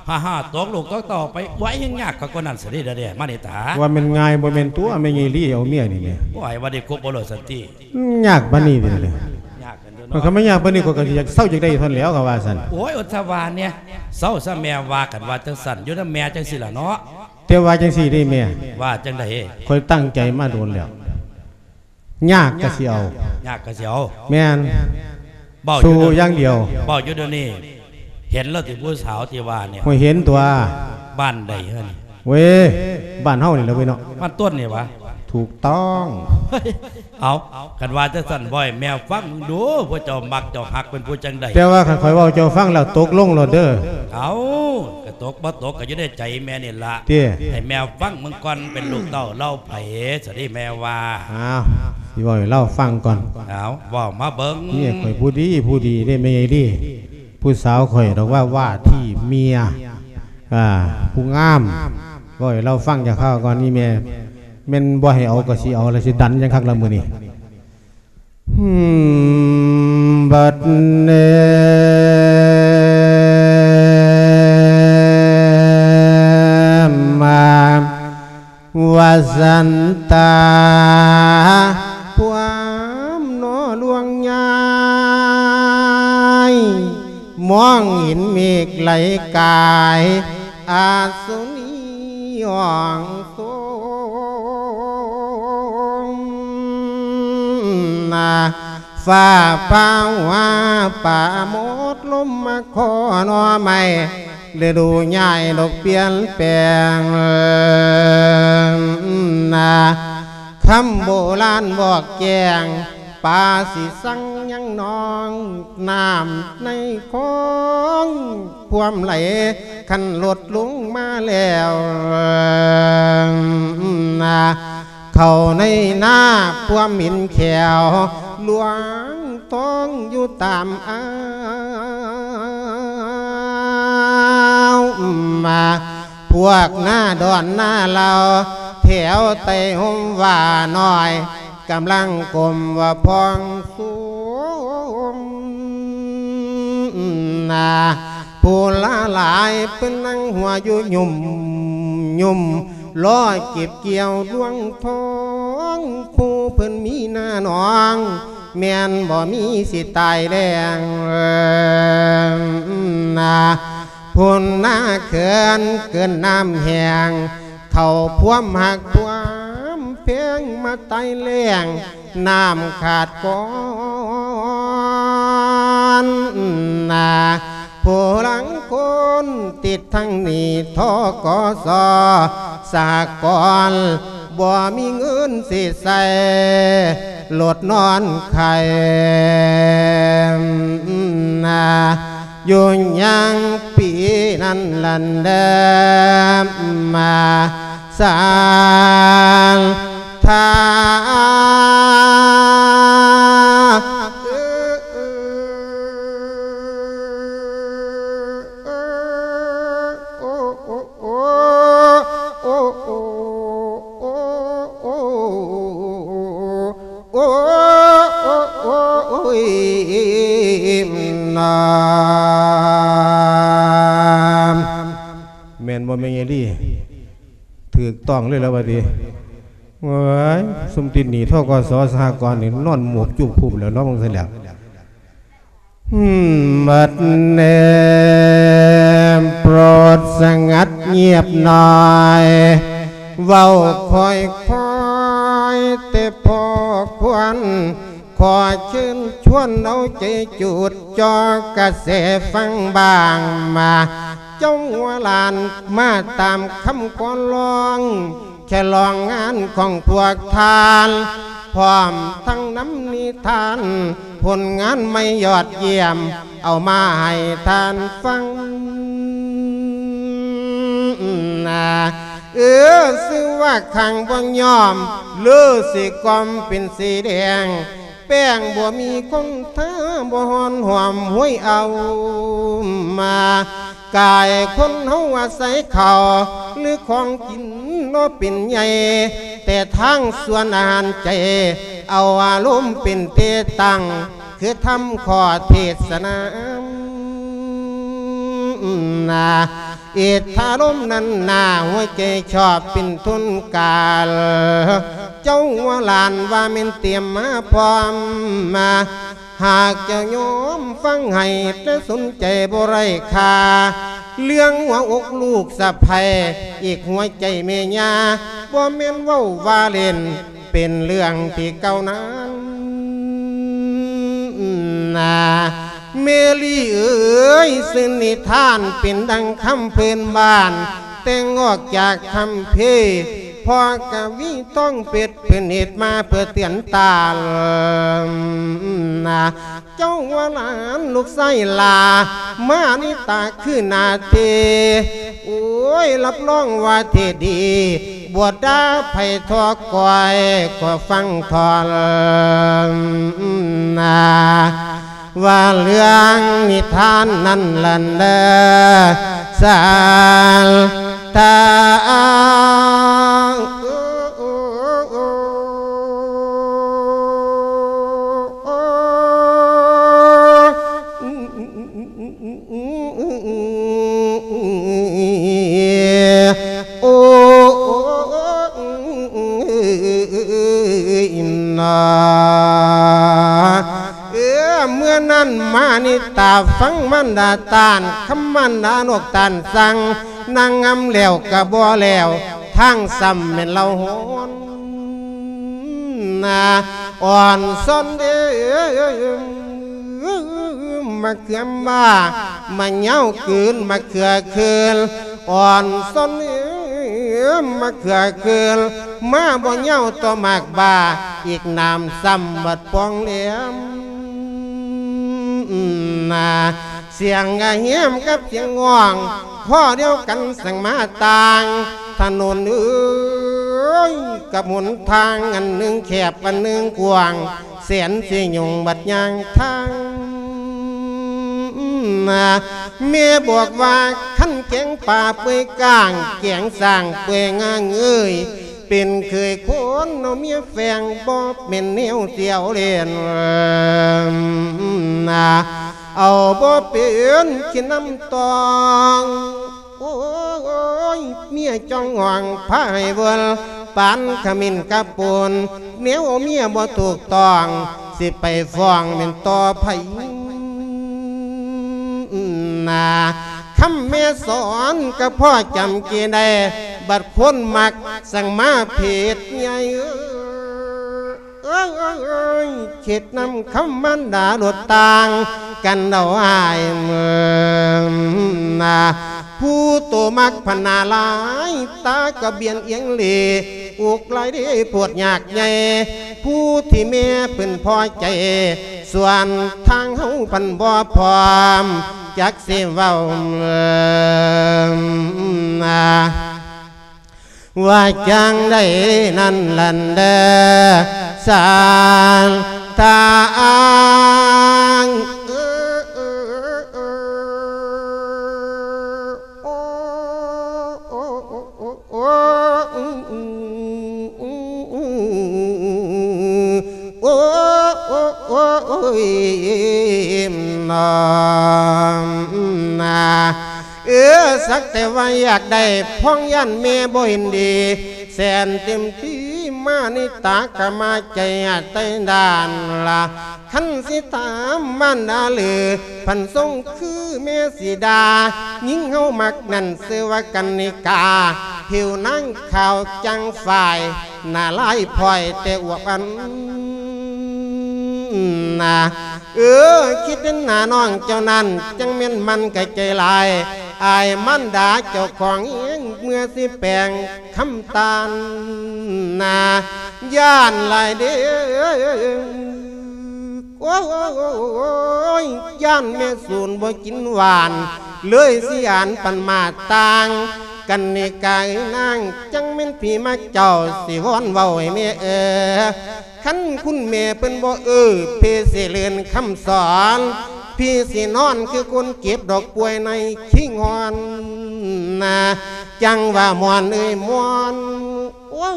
ຫາ ຫາຕົກລູກຕົກເຕົ້າໄປ ໄວ້ ຍັງຍາກກວ່ານັ້ນຊະເດ້ ດຽວນີ້ ມານິຕາ ວ່າແມ່ນງ່າຍບໍ່ແມ່ນຕົວະ ແມ່ໃຫຍ່ລີເອົາເມຍນີ້ແມ່ ໂອ້ຍ ວ່າໄດ້ຄົບບໍ່ໂລດສັນຕິ ຍາກປານນີ້ເດ ຍາກ ມັນກະມາຍາກປານນີ້ ຂ້ອຍກະຊິຢາກເຊົາຢາກໄດ້ເທົ່ານັ້ນແຫຼ້ວ ຂ້ອຍວ່າຊັ້ນ ໂອ້ຍ ອົດສະຫວາແດ່ ເຊົາຊະແມ່ ວ່າກັນວ່າຈັ່ງຊັ້ນ ຢູ່ນຳແມ່ຈັ່ງຊີ້ລະເນາະ ແຕ່ວ່າຈັ່ງຊີ້ເດ້ແມ່ ວ່າຈັ່ງໃດ? ຂ້ອຍຕັ້ງໃຈມາດົນແລ້ວ ຍາກກະຊິເອົາ ຍາກກະຊິເອົາ ແມ່ນ ເວົ້າຢູ່ ສູ້ຢ່າງດຽວ ເວົ້າຢູ່ດຽວນີ້ ເຫັນແລ້ວຕິຜູ້ສາວທີ່ວ່ານີ້? ໂອ້ຍ ເຫັນຕົວະ ບ້ານໃດຫັ້ນ? ເວີຍ ບ້ານເຮົານີ້ແຫຼະເວີຍເນາະ ບ້ານຕົ້ນນີ້ຫວາ? ຖືກຕ້ອງ. ເອົາ ຄັນວ່າຈັ່ງຊັ້ນ ເວົ້າໃຫ້ແມ່ຟັງເບິ່ງດູ ພວກເຈົ້າມັກເຈົ້າຮັກເປັນຜູ້ຈັ່ງໃດ? ແຕ່ວ່າຄັນຂ້ອຍເວົ້າເຈົ້າຟັງແລ້ວຕົກລົງໂລດເດີ. ເອົາ ກະຕົກບໍ່ຕົກກະຢູ່ໃນໃຈແມ່ນີ້ລະ. ຕິ ໃຫ້ແມ່ຟັງເບິ່ງກ່ອນ ເປັນລູກເຕົ້າລາວໃຜ ສະເດແມ່ວ່າ. ອ້າວ ຊິເວົ້າໃຫ້ລາວຟັງກ່ອນ. ເອົາ ເວົ້າມາເບິ່ງ. ເມຍຂ້ອຍຜູ້ດີ ຜູ້ດີເດ້ແມ່ໃຫຍ່ດີ. ຜູ້ສາວຂ້ອຍດອກວ່າ ວ່າທີ່ເມຍ ອ່າ ຜູ້ງາມ. ເວົ້າໃຫ້ລາວຟັງຈັກຄາວກ່ອນ ອີ່ແມ່. ແມ່ນບໍ່ໃຫ້ເອົາກໍຊິເອົາ ແລ້ວຊິດັນຫຍັງຄັກລະມື້ນີ້. ບັດນີ້ມາ ວ່າຊັ້ນຕາ ພວມໜໍ່ຫຼວງຍາຍ ມອງເຫັນເມກໄຫຼກາຍ ອາສຸນີອອງໂສງນາ ຟ້າຜ່າຫົວປາໂມດ ລົມມາຂໍໜໍ່ໄມ້ ລະດູຍ້າຍດອກປ່ຽນແປງນາ ຄຳໂບລານບອກແຈ້ງ ປາຊິສັງຍັງໜອງ ນ້ຳໃນຄອງພວມໄຫຼ ຄັນລົດລົງມາແລ້ວນາ ເຂົ້າໃນນາພວມເຫັນແຂວ ຫຼວງທອງຢູ່ຕາມອ່າວມາ ພວກໜ້າດອນໜ້າເຫຼົ່າ ແຖວໃຕ້ຮົ່ມວ່ານ້ອຍ ກຳລັງກົ້ມວ່າພອງສູງນາ ຜູ້ຫຼາຫຼາຍເພິ່ນນັ່ງຫົວຢູ່ຫຍຸ່ມຫຍຸ່ມ ລໍເກັບກ່ຽວລວງທອງ ຜູ້ເພິ່ນມີໜ້າໜອງ ແມ່ນບໍ່ມີຊິຕາຍແລ້ງນາ ພຸ້ນນາເຂື່ອນເກີນນ້ຳແຫ້ງ ເຂົ້າພວມຮັກພວມແພງມາຕາຍແລ້ງ ນ້ຳຂາດກ່ອນນາ ຜູ້ລັງຄົນຕິດທັງໜີ້ ທກສ ສະຫະກອນ ບໍ່ມີເງິນຊິໃຊ້ລົດນອນໄຂ້ນາ ຢູ່ຍັງປີນັ້ນລັນເດີມາ ສານທາ ໂອ້ຍ ນາ ແມ່ນບໍ່ແມ່ນຍາຍລີ? ຖືກຕ້ອງເລີຍລະວ່າຕິ. ໂອ້ຍ ຊຸມຕິດໜີ້ ທກສ ສະຫະກອນນີ້ ນອນໝົບຈຸບຄຸບແລ້ວເນາະ ເບິ່ງຊັ້ນແລ້ວ. ບັດນີ້ໂປດສະຫງັດງຽບໜ້ອຍ ເວົ້າຄ່ອຍໆ ແຕ່ພໍຄວນ ຂໍເຊີນຊວນເອົາໃຈຈູດ ຈ່ອກະແສຟັງບ້າງມາ ເຈົ້າຫົວຫຼານມາຕາມຄຳຂໍຮ້ອງ ສະຫຼອງງານຂອງພວກທ່ານ ພ້ອມທັງນຳນິທານ ຜົນງານໃໝ່ຍອດຢ້ຽມ ເອົາມາໃຫ້ທ່ານຟັງນາ. ເອີ ຊື່ວ່າຄັງບໍ່ຍອມ ຫຼືຊິກ່ອມເປັນສີແດງ ແປ້ງບໍ່ມີຄົງທາ ບໍ່ຮ້ອນຫອມຫ້ວຍເອົາມາ ກາຍຄົນເຮົາອາໄສເຂົ້າ ຫຼືຂອງກິນເນາະເປັນໃຫຍ່ ແຕ່ທາງສ່ວນອາຫານໃຈ ເອົາອາລົມເປັນເຕຕັ້ງ ຄືທຳຂໍ້ເທດສະນານາ ອິດທາລົມນັ້ນໜ້າ ຫົວໃຈຊອບເປັນທຶນການ ເຈົ້າວ່າຫຼານວ່າແມ່ນຕຽມມາພ້ອມມາ ຫາກເຈົ້າຍອມຟັງໃຫ້ ແຕ່ສົນໃຈບໍ່ໄດ້ຄ່າ ເລື່ອງຫົວອົກລູກສະໃພ້ ອີກຫົວໃຈແມ່ຍ່າ ບໍ່ແມ່ນເວົ້າວ່າເລ່ນ ເປັນເລື່ອງທີ່ເກົ່ານານນາ ເມລີເອີຍ ຊື່ນິທານເປັນດັ່ງຄຳພື້ນບ້ານ ແຕ່ງອອກຈາກຄຳພີ ພໍ່ກະວີທອງເພັດ ເພິ່ນເຮັດມາເພື່ອເຕືອນຕານນະ ເຈົ້າວ່າຫຼານລູກຊາຍຫຼ້າມານິຕາຄືໜ້າເທ ໂອ້ຍ ຮັບຮອງວ່າເທດດີ ບໍ່ດ່າໃຜທໍ່ກ້ອຍ ກໍຟັງທ່ອນນະ ວ່າເລື່ອງນິທານນັ້ນລະເດີ ສານທາ ໂອ້ຍນາ ເອີ ເມື່ອນັ້ນມານິຕາຟັງມານດາຕ້ານ ຄຳມານດານອກຕ້ານສັ່ງ ນາງງາມແລ້ວກະບໍ່ແລ້ວ ທາງຊ້ຳແມ່ນລາວຮ້ອນນາ ອ່ອນຊອນເອີ ມະເຂືອມາ ມະຍາວກືນ ມະເຂືອຄືນ ອ່ອນຊອນເອີ ມະເຂືອຄືນ ມາບໍ່ຍາວຕໍ່ໝາກບ້າ ອີກໜາມຊ້ຳບັດປ່ອງແຫຼມນາ ສຽງກະແຫມກັບສຽງຮ້ອງ ຂໍ້ດຽວກັນສັ່ງມາຕ່າງ ຖະໜົນເອີຍ ກັບຫົນທາງ ອັນໜຶ່ງແຄບ ອັນໜຶ່ງກວ້າງ ແສນຊິຫຍຸ້ງບັດຍ່າງທາງນາ ແມ່ບອກວ່າ ຄັນແກງປາເປື່ອຍກ້າງ ແກງຊ້າງເປື່ອຍງ່າງເອີຍ ເປັນເຂີຍຄົນເອົາເມຍແຝງ ບໍ່ແມ່ນແນວສຽວເລ່ນນາ ເອົາບໍ່ເປັນຂີ້ນ້ຳຕອງ ໂອ້ຍ ເມຍຈ້ອງຫ້ອງພາໃຫ້ເວີນ ປານຂະເໝັນກະໂປນ ແນວເມຍບໍ່ຖືກຕ້ອງ ຊິໄປຟ້ອງແມ່ນຕໍ່ໃຜນາ ຄຳແມ່ສອນກະພໍຈຳເກໄດ້ ບັດຄົນມັກ ສັງມາເພດໃຫຍ່ເອີຍ ເຮັດນຳຄຳມານດາໂລດຕ່າງກັນເອົາອ້າຍເມີນາ ຜູ້ໂຕມັກພັນໜ້າລາຍ ຕາກະບຽນອຽງເລ ອຸກຫຼາຍເດໂພດຍາກໃຫຍ່ ຜູ້ທີ່ແມ່ເພິ່ນພໍໃຈ ສ່ວນທາງເຮົາພັນບໍ່ພ້ອມ ຈັກຊິເວົ້າເມີນາ ວ່າຈັ່ງໃດນັ້ນລະເດີ ສານທາງ ໂອ້ ໂອ້ຍ ນ້ອງນາ ເອີ ສັກແຕ່ວ່າຢາກໄດ້ ພ້ອງຢ້ານແມ່ບໍ່ເຫັນດີ ແສນເຕັມທີ່ມານິຕາກະມາໃຈໃຕ້ດ້ານລະ ຄັນຊິຖາມມານດາຫຼື ພັນຊົງຄືແມ່ສີດາ ຍິງເຮົາມັກນັ້ນຊື່ວ່າກັນນິກາ ຜິວນາງຂາວຈັ່ງຝ້າຍ ໜ້າລາຍພ້ອຍແຕ່ອວບອັນນາ ເອີ ຄິດເຫັນໜ້ານ້ອງເຈົ້ານັ້ນ ຈັ່ງແມ່ນມັນກະໃຈຫຼາຍ ອາຍມານດາເຈົ້າຂອງເອງ ເມື່ອຊິແປງຄຳຕານນາ ຢ້ານຫຼາຍເດ້ ໂອ້ຍ ຢ້ານແມ່ສູນບໍ່ກິນຫວານ ເລີຍຊິອ່ານປັນມາຕ່າງ ກັນນິກາເອີຍນາງ ຈັ່ງແມ່ນຜີມັກເຈົ້າ ຊິວອນເວົ້າໃຫ້ແມ່ເອີ ຄັນຄຸນແມ່ເພິ່ນບໍ່ເອີ ເພຊິເລີນຄຳສອນ ພີຊິນອນຄືຄົນເຈັບດອກປ່ວຍໃນຄີງຮອນນາ ຈັ່ງວ່າມ່ອນເອີຍມ່ອນ ໂອ້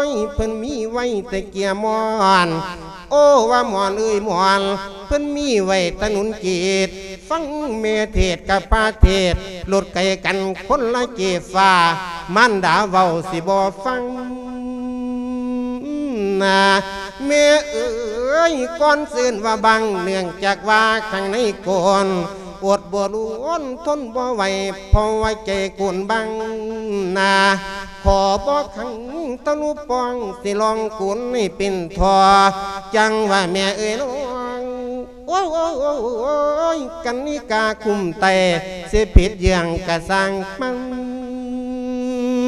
ຍ ເພິ່ນມີໄວ້ແຕ່ເກຍມ່ອນ ໂອ້ ວ່າມ່ອນເອີຍມ່ອນ ເພິ່ນມີໄວ້ແຕ່ໜູນເກດ ຟັງແມ່ເທດກັບພະເທດ ລົດໄກກັນຄົນລະເຈຟ້າ ມານດາເວົ້າຊິບໍ່ຟັງນາ ແມ່ເອີຍ ກ່ອນເອີ້ນວ່າບັງ ເນື່ອງຈາກວ່າຂ້າງໃນໂກນ ອົດບໍ່ລຸນທົນບໍ່ໄຫວ ເພາະວ່າໃຈໂກນບັງນາ ຂໍບໍ່ຂັງທະລຸປ່ອງ ຊິລອງໂກນໃຫ້ເປັນທໍ່ ຈັ່ງວ່າແມ່ເອີຍນ້ອງ ໂອ້ຍ ກັນນິກາຄຸ້ມໄຕ ຊິຜິດເລື່ອງກະຊ່າງມັນ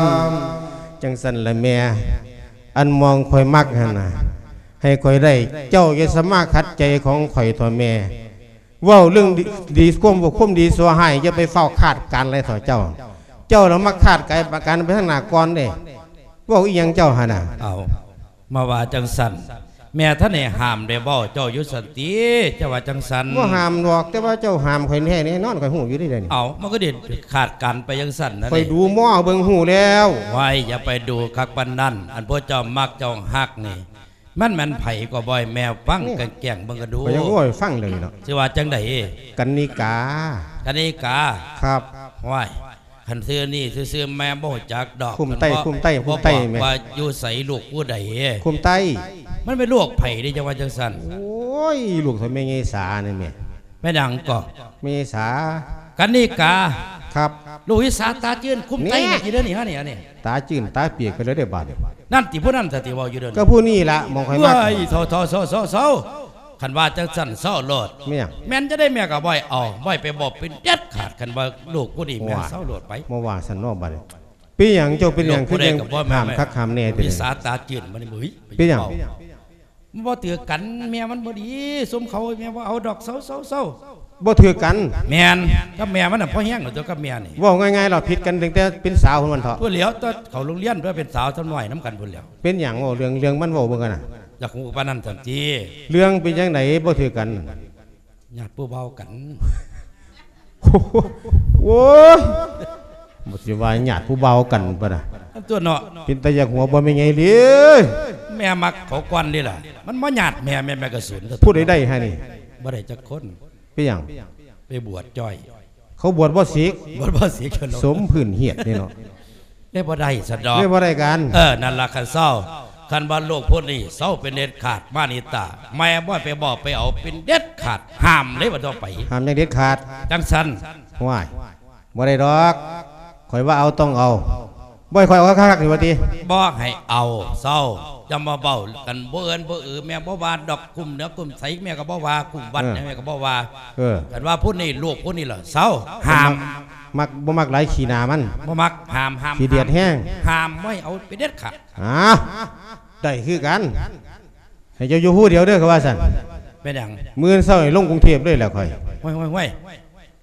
ມ ຈັ່ງຊັ້ນລະແມ່ ອັນໝ່ອງຂ້ອຍມັກຫັ້ນນະ ໃຫ້ຂ້ອຍໄດ້ ເຈົ້າຢ່າສາມາດຂັດໃຈຂອງຂ້ອຍເຖາະແມ່ ເວົ້າເລື່ອງດີ ດີ ຄວາມ ຄວາມດີຊົ່ວຮ້າຍ ຢ່າໄປຟ້າວຄາດການຫຼາຍເຖາະເຈົ້າ. ເຈົ້າລະມັກຄາດການໄປທາງໜ້າກ່ອນເດ້. ເວົ້າອີ່ຫຍັງເຈົ້າຫັ້ນນະ? ເອົາ ມາວ່າຈັ່ງຊັ້ນ ແມ່ທັນໄດ້ຫ້າມໄດ້ເວົ້າເຈົ້າຢູ່ຊັ້ນຕິ ເຈົ້າວ່າຈັ່ງຊັ້ນ. ບໍ່ຫ້າມດອກ ແຕ່ວ່າເຈົ້າຫ້າມຂ້ອຍແທ້ແນ່ນອນ ຂ້ອຍຮູ້ຢູ່ເດ້ ດຽວນີ້. ເອົາ ມັນກໍໄດ້ຄາດການໄປຈັ່ງຊັ້ນນະ ຂ້ອຍດູໝໍເບິ່ງຮູ້ແລ້ວ. ໄວ້ ຢ່າໄປດູຄັກປານນັ້ນ ອັນພວກເຈົ້າມັກເຈົ້າຮັກນີ້ ມັນແມ່ນໃຜກໍບໍ່ໃຫ້ແມ່ຟັງ ນີ້ ແກ້ງໆເບິ່ງກໍດູ. ຂ້ອຍຍັງເວົ້າໃຫ້ຟັງເລີຍເນາະ. ຊິວ່າຈັ່ງໃດ? ກັນນິກາ. ກັນນິກາ? ຄັບ. ຫ້ວຍ ຄັນຊື່ນີ້ຊື່ໆ ແມ່ບໍ່ຮູ້ຈັກດອກ. ຄຸ້ມໄຕ້ ຄຸ້ມໄຕ້ ຄຸ້ມໄຕ້ແມ່. ບໍ່ບອກວ່າຢູ່ໃສ ລູກຜູ້ໃດ? ຄຸ້ມໄຕ້. ມັນເປັນລູກໃຜເດ້ ຈັ່ງວ່າຈັ່ງຊັ້ນ? ໂອ້ຍ ລູກຂອງແມ່ໃຫຍ່ສານີ້ແມ່. ແມ່ນຫຍັງກໍ? ແມ່ໃຫຍ່ສາ. ກັນນິກາ? ຄັບ. ລູກອີສາຕາຈືນ ຄຸ້ມໄຕ້ ແນ່ ນີ້ເດ້ນີ້ ຫານີ້ ອັນນີ້ ຕາຈືນຕາປຽກໄປແລ້ວເດ້ບາດນີ້. ນັ້ນຕິ ຜູ້ນັ້ນຕະຕິເວົ້າຢູ່ເດີ. ກໍຜູ້ນີ້ລະ ໝ່ອງຂ້ອຍມັກ. ເອີຍ ເຊົາໆໆໆ ຄັນວ່າຈັ່ງຊັ້ນເຊົາໂລດ. ແມ່ນຫຍັງ? ແມ່ນຈັ່ງໃດແມ່ກໍບໍ່ໃຫ້ເອົາ ບໍ່ໃຫ້ໄປບອກເປັນເດັດຂາດ ຄັນວ່າລູກຜູ້ນີ້ແມ່ນ. ໂອ້ຍ ເຊົາໂລດໄປ. ມາວ່າຊັ້ນເນາະບາດນີ້. ເປັນຫຍັງເຈົ້າເປັນຫຍັງຄືຈັ່ງຫ້າມຄັກຫ້າມແນ່ແທ້? ວິສາຕາຈືນມັນນີ້ ເຮີ້ຍ ເປັນຫຍັງ? ມັນບໍ່ຖືກກັນ ແມ່ມັນບໍ່ດີ ຊຸມເຂົາ ແມ່ບໍ່ເອົາດອກ ເຊົາໆໆ. ບໍ່ຖືກກັນ? ແມ່ນ ກັບແມ່ມັນນະ ພໍແຮງແລ້ວຕົວະ ກັບແມ່ນີ້. ເວົ້າງ່າຍໆ ລະຜິດກັນຕັ້ງແຕ່ເປັນສາວພຸ້ນແມ່ນເຖາະ. ພຸ້ນແລ້ວ ແຕ່ເຂົ້າໂຮງຮຽນ ເປັນສາວສາວນ້ອຍນຳກັນພຸ້ນແລ້ວ. ເປັນຫຍັງ? ເວົ້າເລື່ອງ ເລື່ອງມັນເວົ້າເບິ່ງກັນນະ. ຢາກຮູ້ປານນັ້ນຊັ້ນຕິ? ເລື່ອງເປັນຈັ່ງໃດ ບໍ່ຖືກກັນ? ຍາດຜູ້ເວົ້າກັນ. ໂອ້ຍ ບໍ່ຊິວ່າຍາດຜູ້ເວົ້າກັນປະນະ ອັນຕົວະເນາະ. ເປັນຕາຢາກຫົວບໍ່ແມ່ໃຫຍ່ເລີຍ. ແມ່ມັກເຂົາກ່ອນເດ້ລະ ມັນບໍ່ຍາດແມ່ ແມ່ ແມ່ກະສູນ. ຜູ້ໃດໄດ້ໃຫ້ນີ້? ບໍ່ໄດ້ຈັກຄົນ. ເປັນຫຍັງ? ໄປບວດຈ້ອຍ. ເຂົາບວດບໍ່ສິກ. ບວດບໍ່ສິກ. ສົມພື້ນຫຽດນີ້ເນາະ. ເລີຍບໍ່ໄດ້ຊັ້ນດອກ. ເລີຍບໍ່ໄດ້ກັນ. ເອີ ນັ້ນລະ ຄັນເຊົາ ຄັນວ່າລູກຜູ້ນີ້ເຊົາເປັນເດັດຂາດ ມານິຕາ ແມ່ບໍ່ໃຫ້ໄປບອກໄປເອົາເປັນເດັດຂາດ ຫ້າມເລີຍວ່າຕ້ອງໄປ. ຫ້າມຢ່າງເດັດຂາດ. ຈັ່ງຊັ້ນ. ຫ້ວຍ ບໍ່ໄດ້ດອກ ຂ້ອຍວ່າເອົາຕ້ອງເອົາ. ບໍ່ໃຫ້ຂ້ອຍເອົາຄັກໆນີ້ວ່າຕິ? ບໍ່ໃຫ້ເອົາ ເຊົາ ຢ່າມາເວົ້າກັນ ບໍ່ເອີ້ນບໍ່ເອີ ແມ່ບໍ່ວ່າດອກ. ກຸ້ມເໜືອກຸ້ມໃສແມ່ກໍບໍ່ວ່າ ກຸ້ມວັດ ເອີ ຫຍັງແມ່ກໍບໍ່ວ່າ. ເອີ ຄັນວ່າຜູ້ນີ້ ລູກຜູ້ນີ້ລະເຊົາ ຫ້າມ. ມັກ ມັກ ບໍ່ມັກຫຼາຍຂີ້ໜ້າມັນ. ບໍ່ມັກ ຫ້າມ ຫ້າມ ຂີ້ດຽດແຮງ. ຫ້າມ ບໍ່ໃຫ້ເອົາເປັນເດັດຂາດ. ອ້າວ ໄດ້ຄືກັນ ໃຫ້ເຈົ້າຢູ່ຜູ້ດຽວເດີ ຂ້ອຍວ່າຊັ້ນ. ເປັນຫຍັງ? ມື້ອື່ນເຊົ້າໃຫ້ລົງກຸງເທບເລີຍແຫຼະຂ້ອຍ. ຫ້ວຍໆ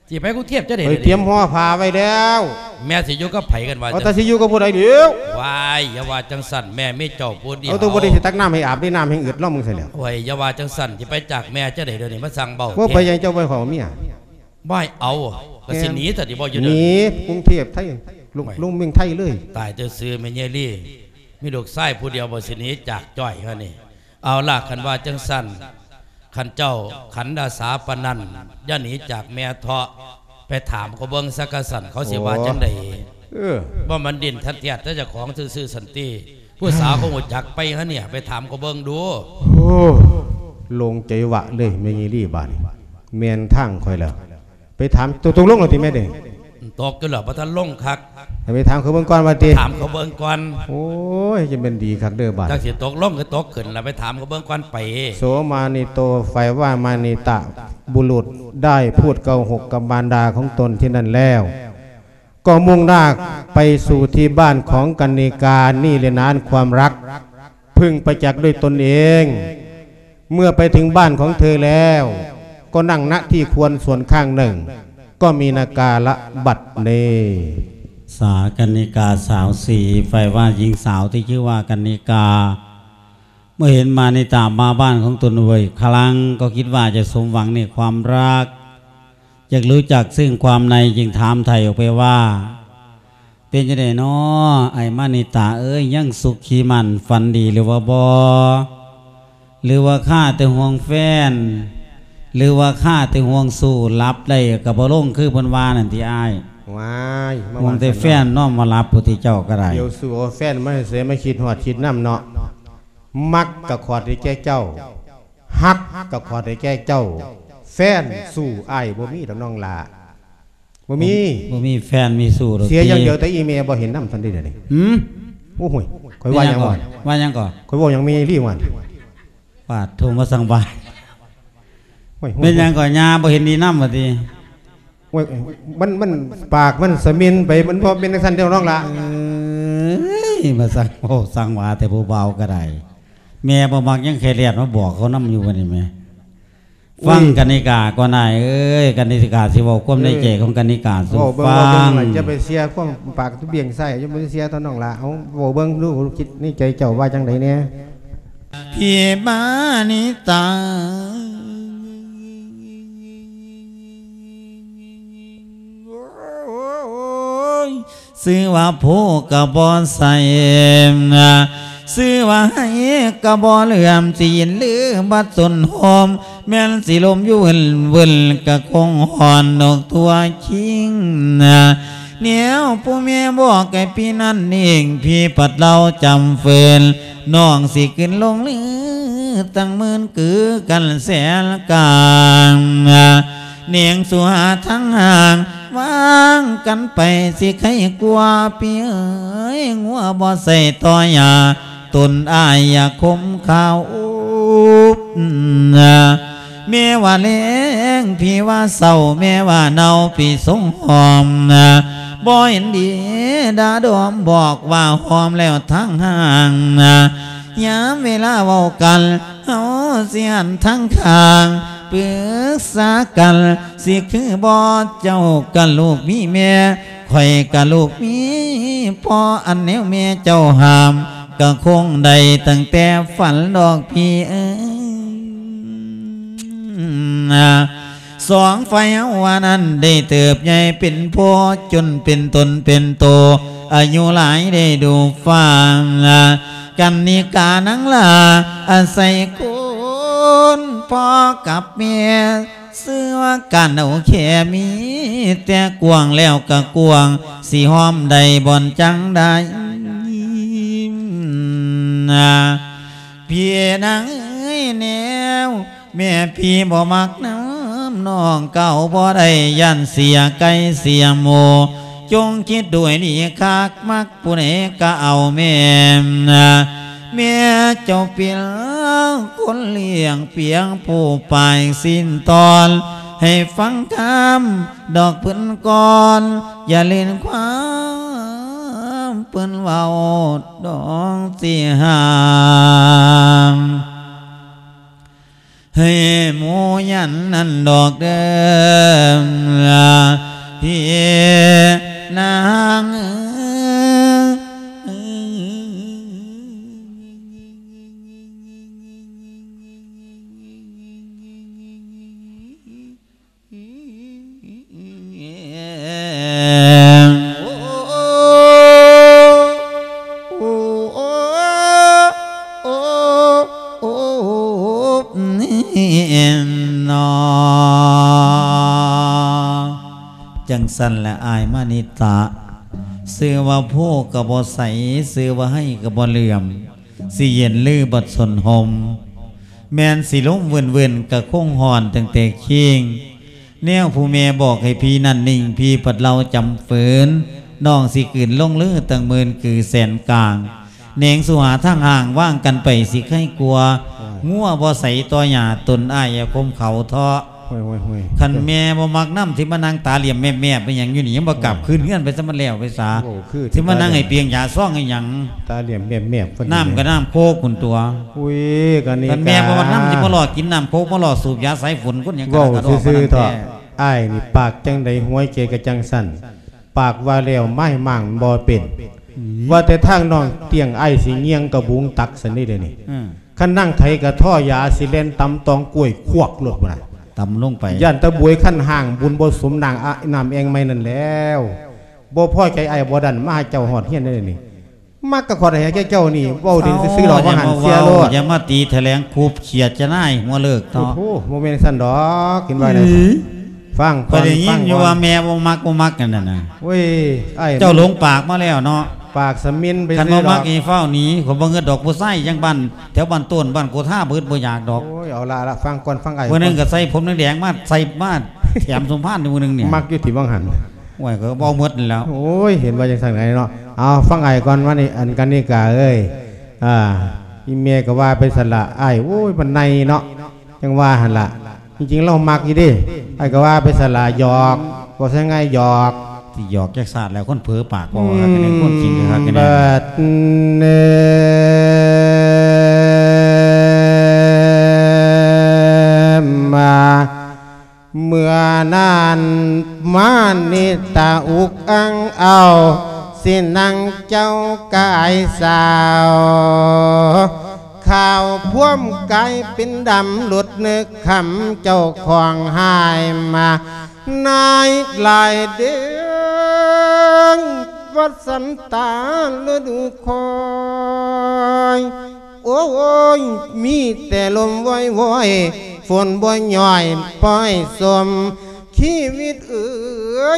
ໆ ຊິໄປກຸງເທບຈັ່ງໃດ? ຂ້ອຍຕຽມຫໍ່ຜ້າໄວ້ແລ້ວ. ແມ່ຊິຢູ່ກັບໃຜກັນວ່າ? ເອົາ ຈັ່ງ ແຕ່ຊິຢູ່ກັບຜູ້ໃດດຽວ? ວ້າຍ ຢ່າວ່າຈັ່ງຊັ້ນ ແມ່ມີເຈົ້າຜູ້ດຽວ. ເອົາ ຕົວບໍ່ໄດ້ຊິຕັກນ້ຳໃຫ້ອາບ ໄດ້ນ້ຳແຮງອຶດລອງເບິ່ງຊັ້ນແຫຼ້ວ. ໂອ້ຍ ຢ່າວ່າຈັ່ງຊັ້ນ ຊິໄປຈາກແມ່ຈັ່ງໃດດຽວນີ້ ມາສັ່ງເວົ້າ. ວ່າໄປຫຍັງເຈົ້າບໍ່ໃຫ້ຂ້ອຍເອົາເມຍ? ບໍ່ໃຫ້ເອົາ ກໍຊິໜີ ແມ່ນ ຊະຕິ ບໍ່ຢູ່ເດີ. ໜີກຸງເທບໄທ ລົງ ໂອ້ຍ ລົງເມືອງໄທເລີຍ. ຕາຍແຕ່ຊື່ແມ່ໃຫຍ່ລີ ມີລູກຊາຍຜູ້ດຽວບໍ່ ຊິໜີຈາກຈ້ອຍເຮົານີ້. ເອົາລະ ຄັນວ່າຈັ່ງຊັ້ນ ຄັນເຈົ້າຂັນອາສາປານນັ້ນ ຢ່າໜີຈາກແມ່ເທາະ. ໄປຖາມເຂົາເບິ່ງຊະກະຊັ້ນ ເຂົາຊິວ່າ ໂອ້ ຈັ່ງໃດ? ເອີ ບໍ່ມັນດິ້ນທັດແທດແຕ່ເຈົ້າຂອງຊື່ໆ ຊັ້ນຕິ. ຜູ້ສາວເຂົາຮູ້ຈັກໄປຫານີ້ ໄປຖາມເຂົາເບິ່ງດູ. ໂອ້ ໂລ່ງໃຈວະເລີຍ ແມ່ໃຫຍ່ລີບາດນີ້ ແມ່ນທາງຂ້ອຍແລ້ວ. ໄປຖາມ ຕົກ ຕົກລົງແລ້ວຕິແມ່ເດ້? ອືມ ຕົກຢູ່ແລ້ວ ບໍ່ທັນລົງຄັກ ໃຫ້ໄປຖາມເຂົາເບິ່ງກ່ອນວ່າຕິ ຖາມເຂົາເບິ່ງກ່ອນ ໂອ້ຍ ຈະແມ່ນດີຄັກເດີບາດ ຈັກຊິຕົກລົງຄືຕົກຂຶ້ນລະ ໄປຖາມເຂົາເບິ່ງກ່ອນໄປ ໂສມານິໂຕ ฝ่ายว่ามานิตะบุรุษได้พูดโกหกกับมารดาของตนที่นั่นแล้ว ก็มุ่งหน้าไปสู่ที่บ้านของกนิกา นี่แหละนานความรัก เพิ่งประจักษ์ด้วยตนเอง เมื่อไปถึงบ้านของเธอแล้ว ก็นั่ง ณ ที่ควรส่วนข้างหนึ่ง ก็มีนาการะบัดนี้ สากนิกาสาวสี ฝ่ายว่าหญิงสาวที่ชื่อว่ากนิกา เมื่อเห็นมานิตะมาบ้านของตนบ่อยครั้ง ก็คิดว่าจะสมหวังในความรัก อยากรู้จักซึ่งความใน จึงถามไถ่ออกไปว่า เป็นจั่งใดน้อ อ้ายมานิตะเอ๋ย ยังสุขีมั่นฝันดีหรือว่าบ่ หรือว่าคาแต่ห่วงแฟน หรือว่าคาแต่ห่วงชู้ หลับได้ก็บ่ลงคือเพิ่นว่านั่นติอ้าย ว้าย มา ห่วงแต่แฟนนอนบ่หลับพุ้นติเจ้าก็ได้ เดี๋ยวสู้เอาแฟนมาให้เสีย มาคิดฮอดคิดนำเนาะ มักก็ขอดให้แก่เจ้า ฮักก็ขอดให้แก่เจ้า แฟนสู้อ้ายบ่มีดอกน้องหล้า บ่มี บ่มีแฟนมีชู้ดอก เสียอย่างเดียว แต่อีแม่บ่เห็นนำซั่นเด้ เดี๋ยวนี้ หือ โอ้โหย ข้อยว่าหยังวะ ว่าหยังก่อ ข้อยเว้าหยังแม่อีหลีวะ ปาดโธ่ มาสั่งว่า โอ้ย แม่นหยังก่อ ย่าบ่เห็นดีนำว่าติ โอ้ย มัน มัน ปากมันสะหมิ่นไป มันบ่แม่นจั่งซั่นเด้อน้องหล้า เอ้ย มาสั่งเว้าสั่งว่าแต่ผู้บ่าวก็ได้ แม่บ่มักยังแค่แลดมาบอกเขานำอยู่บัดนี้แหม ฟัง อุ้ย กนิกาก่อนอ้ายเอ้ย กนิกาสิเว้าความในใจของกนิกาสู่ เออ เว้าเบิ่ง ฟัง เว้าเบิ่ง อย่าไปเสียความปากเบี่ยงใส่ อย่าไปเสียต่อน้องหล้า เอา เว้าเบิ่งดู คิดในใจเจ้าว่าจั่งใดแน่ พี่มานิตา โอ้ย ชื่อว่าผู้ก็บ่ใส่ ชื่อว่าให้ก็บ่เหลื่อม สิยินหรือบัดสนโฮม แม่นสิลมอยู่วึ่นๆ ก็คงฮ้อนนกทั่วคิง แนวผู้แม่บอกให้พี่นั่นเอง พี่ปัดเล่าจำเฟิน น้องสิขึ้นลงลือ ตั้งหมื่นคือกันแสนกลาง เนียงสู่หาทางห่าง วางกันไปสิไคกว่า พี่เอ๋ย งัวบ่ใส่ต่อหญ้า ตนอ้ายอย่าคมข้าวอุบ แม่ว่าแลง พี่ว่าเศร้า แม่ว่าเนา พี่ทรงหอม บ่เห็นดี ด่าดอม บอกว่าหอมแล้วทางห่าง ยามเวลาเว้ากัน เฮาสิหันทางข้าง ปรึกษากัน สิคือบ่ เจ้าก็ลูกมีแม่ ข้อยก็ลูกมีพ่อ อันแนวแม่เจ้าห้าม ก็คงได้ตั้งแต่ฝันดอกพี่เอ๋ย สองฝ่ายเฮาว่านั้นได้เติบใหญ่เป็นพ่อ จนเป็นตนเป็นโต อายุหลายได้ดูฟ้า กันนิกานังหล้า อาศัยคนพ่อกับแม่ ชื่อว่าการเอาแค่มีแต่กว้างแล้วก็กว้าง สิหอมได้บ่อนจังได้ พี่นางเอ้ยแนว แม่พี่บ่มักนำน้องเก่าบ่ได้ ย่านเสียไก่เสียหมู จงคิดดูให้ดีคัก มักผู้ใดก็เอาแม่ แม่เจ้าเปรียบคนเลี้ยง เปรียบผู้ปายสิ้นตอน ให้ฟังคำดอกเพิ่นก่อน อย่าเล่นความเพิ่นเว้าดอกสิห้าม ให้หมู่ยันนั่นดอกเด้อ พี่นางเอ๋ย จั่งซั้นแหละอ้ายมานิตะ ชื่อว่าผู้ก็บ่ใส ชื่อว่าไห้ก็บ่เหลื่อม สิเย็นหรือบัดสนหม แม่นสิลมวื่นๆ ก็คงฮ้อนตั้งแต่คิง ແນວຜູ້ແມ່ບອກໃຫ້ພີ່ນັ້ນນິ່ງ ພີ່ພັດເລົ່າຈຳເຟີນ ນ້ອງຊິກືນລົງເລີຕັ້ງໝື່ນກືແສນກາງ ແໜງສູ່ຫາທາງຫ່າງ ວາງກັນໄປຊິໄຄກວ່າ ງົວບໍ່ໃສຕໍ່ຫຍ້າ ຕົນອ້າຍຢ່າຂົ່ມເຂົາເທາະ. ໂອ້ຍໆໆ ຄັນແມ່ບໍ່ມັກນຳ ຊິມານັ່ງຕາຫຼ້ຽມແມບໆ ເປັນຫຍັງຢູ່ນີ້ ຍັງບໍ່ກັບຄືນເຮືອນໄປຊະ ມັນແລ້ວໄປສາ ໂອ້ ຄືຊິມານັ່ງໃຫ້ປ່ຽງຢາຊອງອີ່ຫຍັງ ຕາຫຼ້ຽມແມບໆ ເພິ່ນ ນ້ຳກໍນ້ຳໂຄກພຸ້ນຕົວະ. ອຸ້ຍ ກະນີ້ ຄັນແມ່ບໍ່ມັກນຳ ກະ ຊິມາຫຼໍ່ກິນນ້ຳໂຄກ ມາຫຼໍ່ສູບຢາສາຍຝົນ ຄົນຫຍັງກະ ເວົ້າຊື່ໆ ເທາະ ອ້າຍນີ້ປາກຈັ່ງໃດ ຫວຍໃຈກະຈັ່ງຊັ້ນ ປາກວ່າແລ້ວ ມາຍມ້າງບໍ່ເປັນ ອືມ ວ່າແຕ່ທາງນ້ອງຕຽງ ອ້າຍຊິຍ່ຽງກະບຸງຕັກຊັ້ນເດ້ ດຽວນີ້ ອືມ ຄັນນາງໄຖກະທໍ່ຢາ ຊິແລ່ນຕຳຕອງກ້ວຍຄວກໂລດພຸ້ນນະ ຕຳລົງໄປ ຢ້ານຕາບວຍຄັນຮ່າງ ບຸນບໍ່ສົມນາງອະ ນ້ຳແອ່ງໃໝ່ນັ້ນແລ້ວ ບໍ່ພໍໃຈອ້າຍບໍ່ດັນ ມາຫາເຈົ້າຮອດເຮືອນເດ້ນີ້ ມັກກະຂໍດໃຫ້ແກ່ເຈົ້ານີ້ ເວົ້າດີຊື່ໆດອກ ວ່າຫັ້ນເສຍໂລດ ຢ່າມາຕີຖະແຫຼງຄຸບຂຽດຈະນາຍຫົວເລີກເທາະ. ໂອ້ໂຫ ບໍ່ແມ່ນຊັ້ນດອກ ກິນໄວ້ນະ ອີ ຟັງກ່ອນ ຂ້ອຍໄດ້ຍິນຢູ່ວ່າແມ່ບໍ່ມັກ ບໍ່ມັກນັ້ນນະ ໂອ້ຍ ອ້າຍ ເຈົ້າຫຼົງປາກມາແລ້ວເນາະ ປາກສະໝິ່ນໄປ ຄັນບໍ່ມັກ ຊິດອກ ນີ້ຟ້າວໜີ ຂ້ອຍບໍ່ເງິດດອກ ຜູ້ຊາຍຈັ່ງບ້ານ ແຖວບ້ານໂຕນ ບ້ານໂກທາ ບໍ່ອຶດບໍ່ຢາກດອກ. ໂອ້ຍ ເອົາລະ ລະ ຟັງກ່ອນ ຟັງອ້າຍ ມື້ໜຶ່ງກໍໃສ່ຜົມແດງໆ ມາໃສ່ ມາແຖມສົມພານ ມື້ໜຶ່ງນີ້ ມັກຢູ່ຕິວ່າງຫັ້ນ ໂອ້ຍ ຂ້ອຍກໍບໍ່ເອົາໝົດນີ້ແຫຼ້ວ ໂອ້ຍ ເຫັນວ່າຈັ່ງຊັ້ນໄດເນາະ. ເອົາ ຟັງອ້າຍກ່ອນ ວ່ານີ້ ອັນ ກະນິກາເອີຍ ອ່າ ອີແມ່ກໍວ່າໄປຊັ້ນລະ ອ້າຍ ໂອ້ຍ ມັນໃນເນາະ ຈັ່ງວ່າຫັ້ນລະ ຈິງໆ ລາວມັກຢູ່ເດ້ ອ້າຍກໍວ່າໄປຊັ້ນລະ ຫຍອກ ເວົ້າໃສ່ງ່າຍ ຫຍອກ ຊິຫຍອກຈັກຊາດແລ້ວ ຄົນເຜີປາກເວົ້າຄັກແນ່ ອືມ ຄົນຈິງຄັກແນ່ ບາດນີ້ ມາ ເມື່ອນັ້ນມານິຕະອຸກອັ່ງເອົາ ຊິນັ່ງເຈົ້າກາຍສາວ ຂາວພວມກາຍເປັນດຳ ຫຼຸດນຶກຄຳເຈົ້າຂອງຫາຍມາ ນາຍຫຼາຍເດີງ ວັດສັນຕາລະດູຄອຍ ໂອ້ຍ ມີແຕ່ລົມວອຍໆ ຝົນບໍ່ຍ້ອຍ ປ່ອຍສົມ ຊີວິດເອີ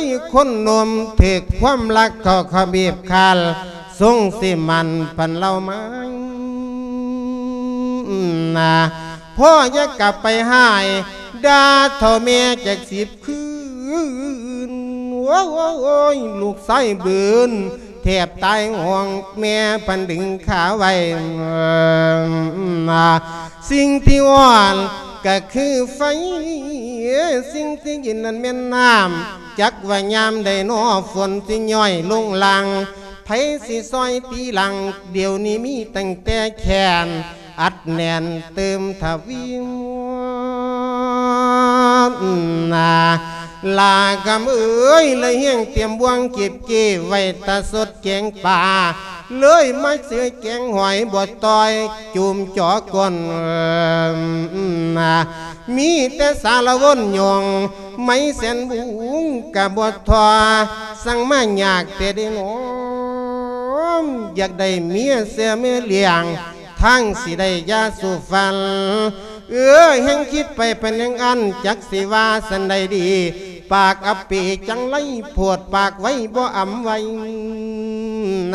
ຍ ຄົນໜຸ່ມ ຖືກຄວາມລັກເຂົ້າຂະບີບຄານ ຊົງຊິໝັ້ນພັນເລົ່າມາ ນາ ພໍ່ຢ່າກັບໄປຮ້າຍ ດ່າເຖົ້າແມ່ຈັກສິບຄືນ ໂອ້ຍ ລູກຊາຍບືນ ແທບຕາຍຫ້ອງ ແມ່ພັນດຶງຂາໄວ້ ນາ ສິ່ງທີ່ຮ້ອນກະຄືໄຟ ສິ່ງທີ່ເຢັນນັ້ນແມ່ນນ້ຳ ຈັກວ່າຍາມໃດນໍ ຝົນຊິຍ້ອຍລົງຫຼັງ ໃຜຊິຊ່ອຍຕີຫຼັງ ດຽວນີ້ມີຕັ້ງແຕ່ແຂນ ອັດແໜ້ນເຕີມທະວີ ນາ ຫຼ້າກຳເອີຍ ລະຮຽງຕຽມບ່ວງເກັບເກໄວ້ ຕາສົດແກງປາ ເລີຍມາເສືອແກງຫອຍ ບໍ່ຕ່ອຍຈູມຈໍກົ້ນ ນາ ມີແຕ່ສາລະວົນຍົງ ໄມແສນບຸງກະບໍ່ທໍ່ ສັ່ງມາຍາກແຕ່ເດນອມ ຢາກໄດ້ເມຍເສືອເມຍລ້ຽງ ທັງຊິໄດ້ຢາສູ່ຟັນ ເອີ ແຮ່ງຄິດໄປເປັນຢ່າງອັນ ຈັກຊິວ່າສັນໃດດີ ປາກອັບປີຈັງໄລໂພດ ປາກໄວບໍ່ອຳໄວ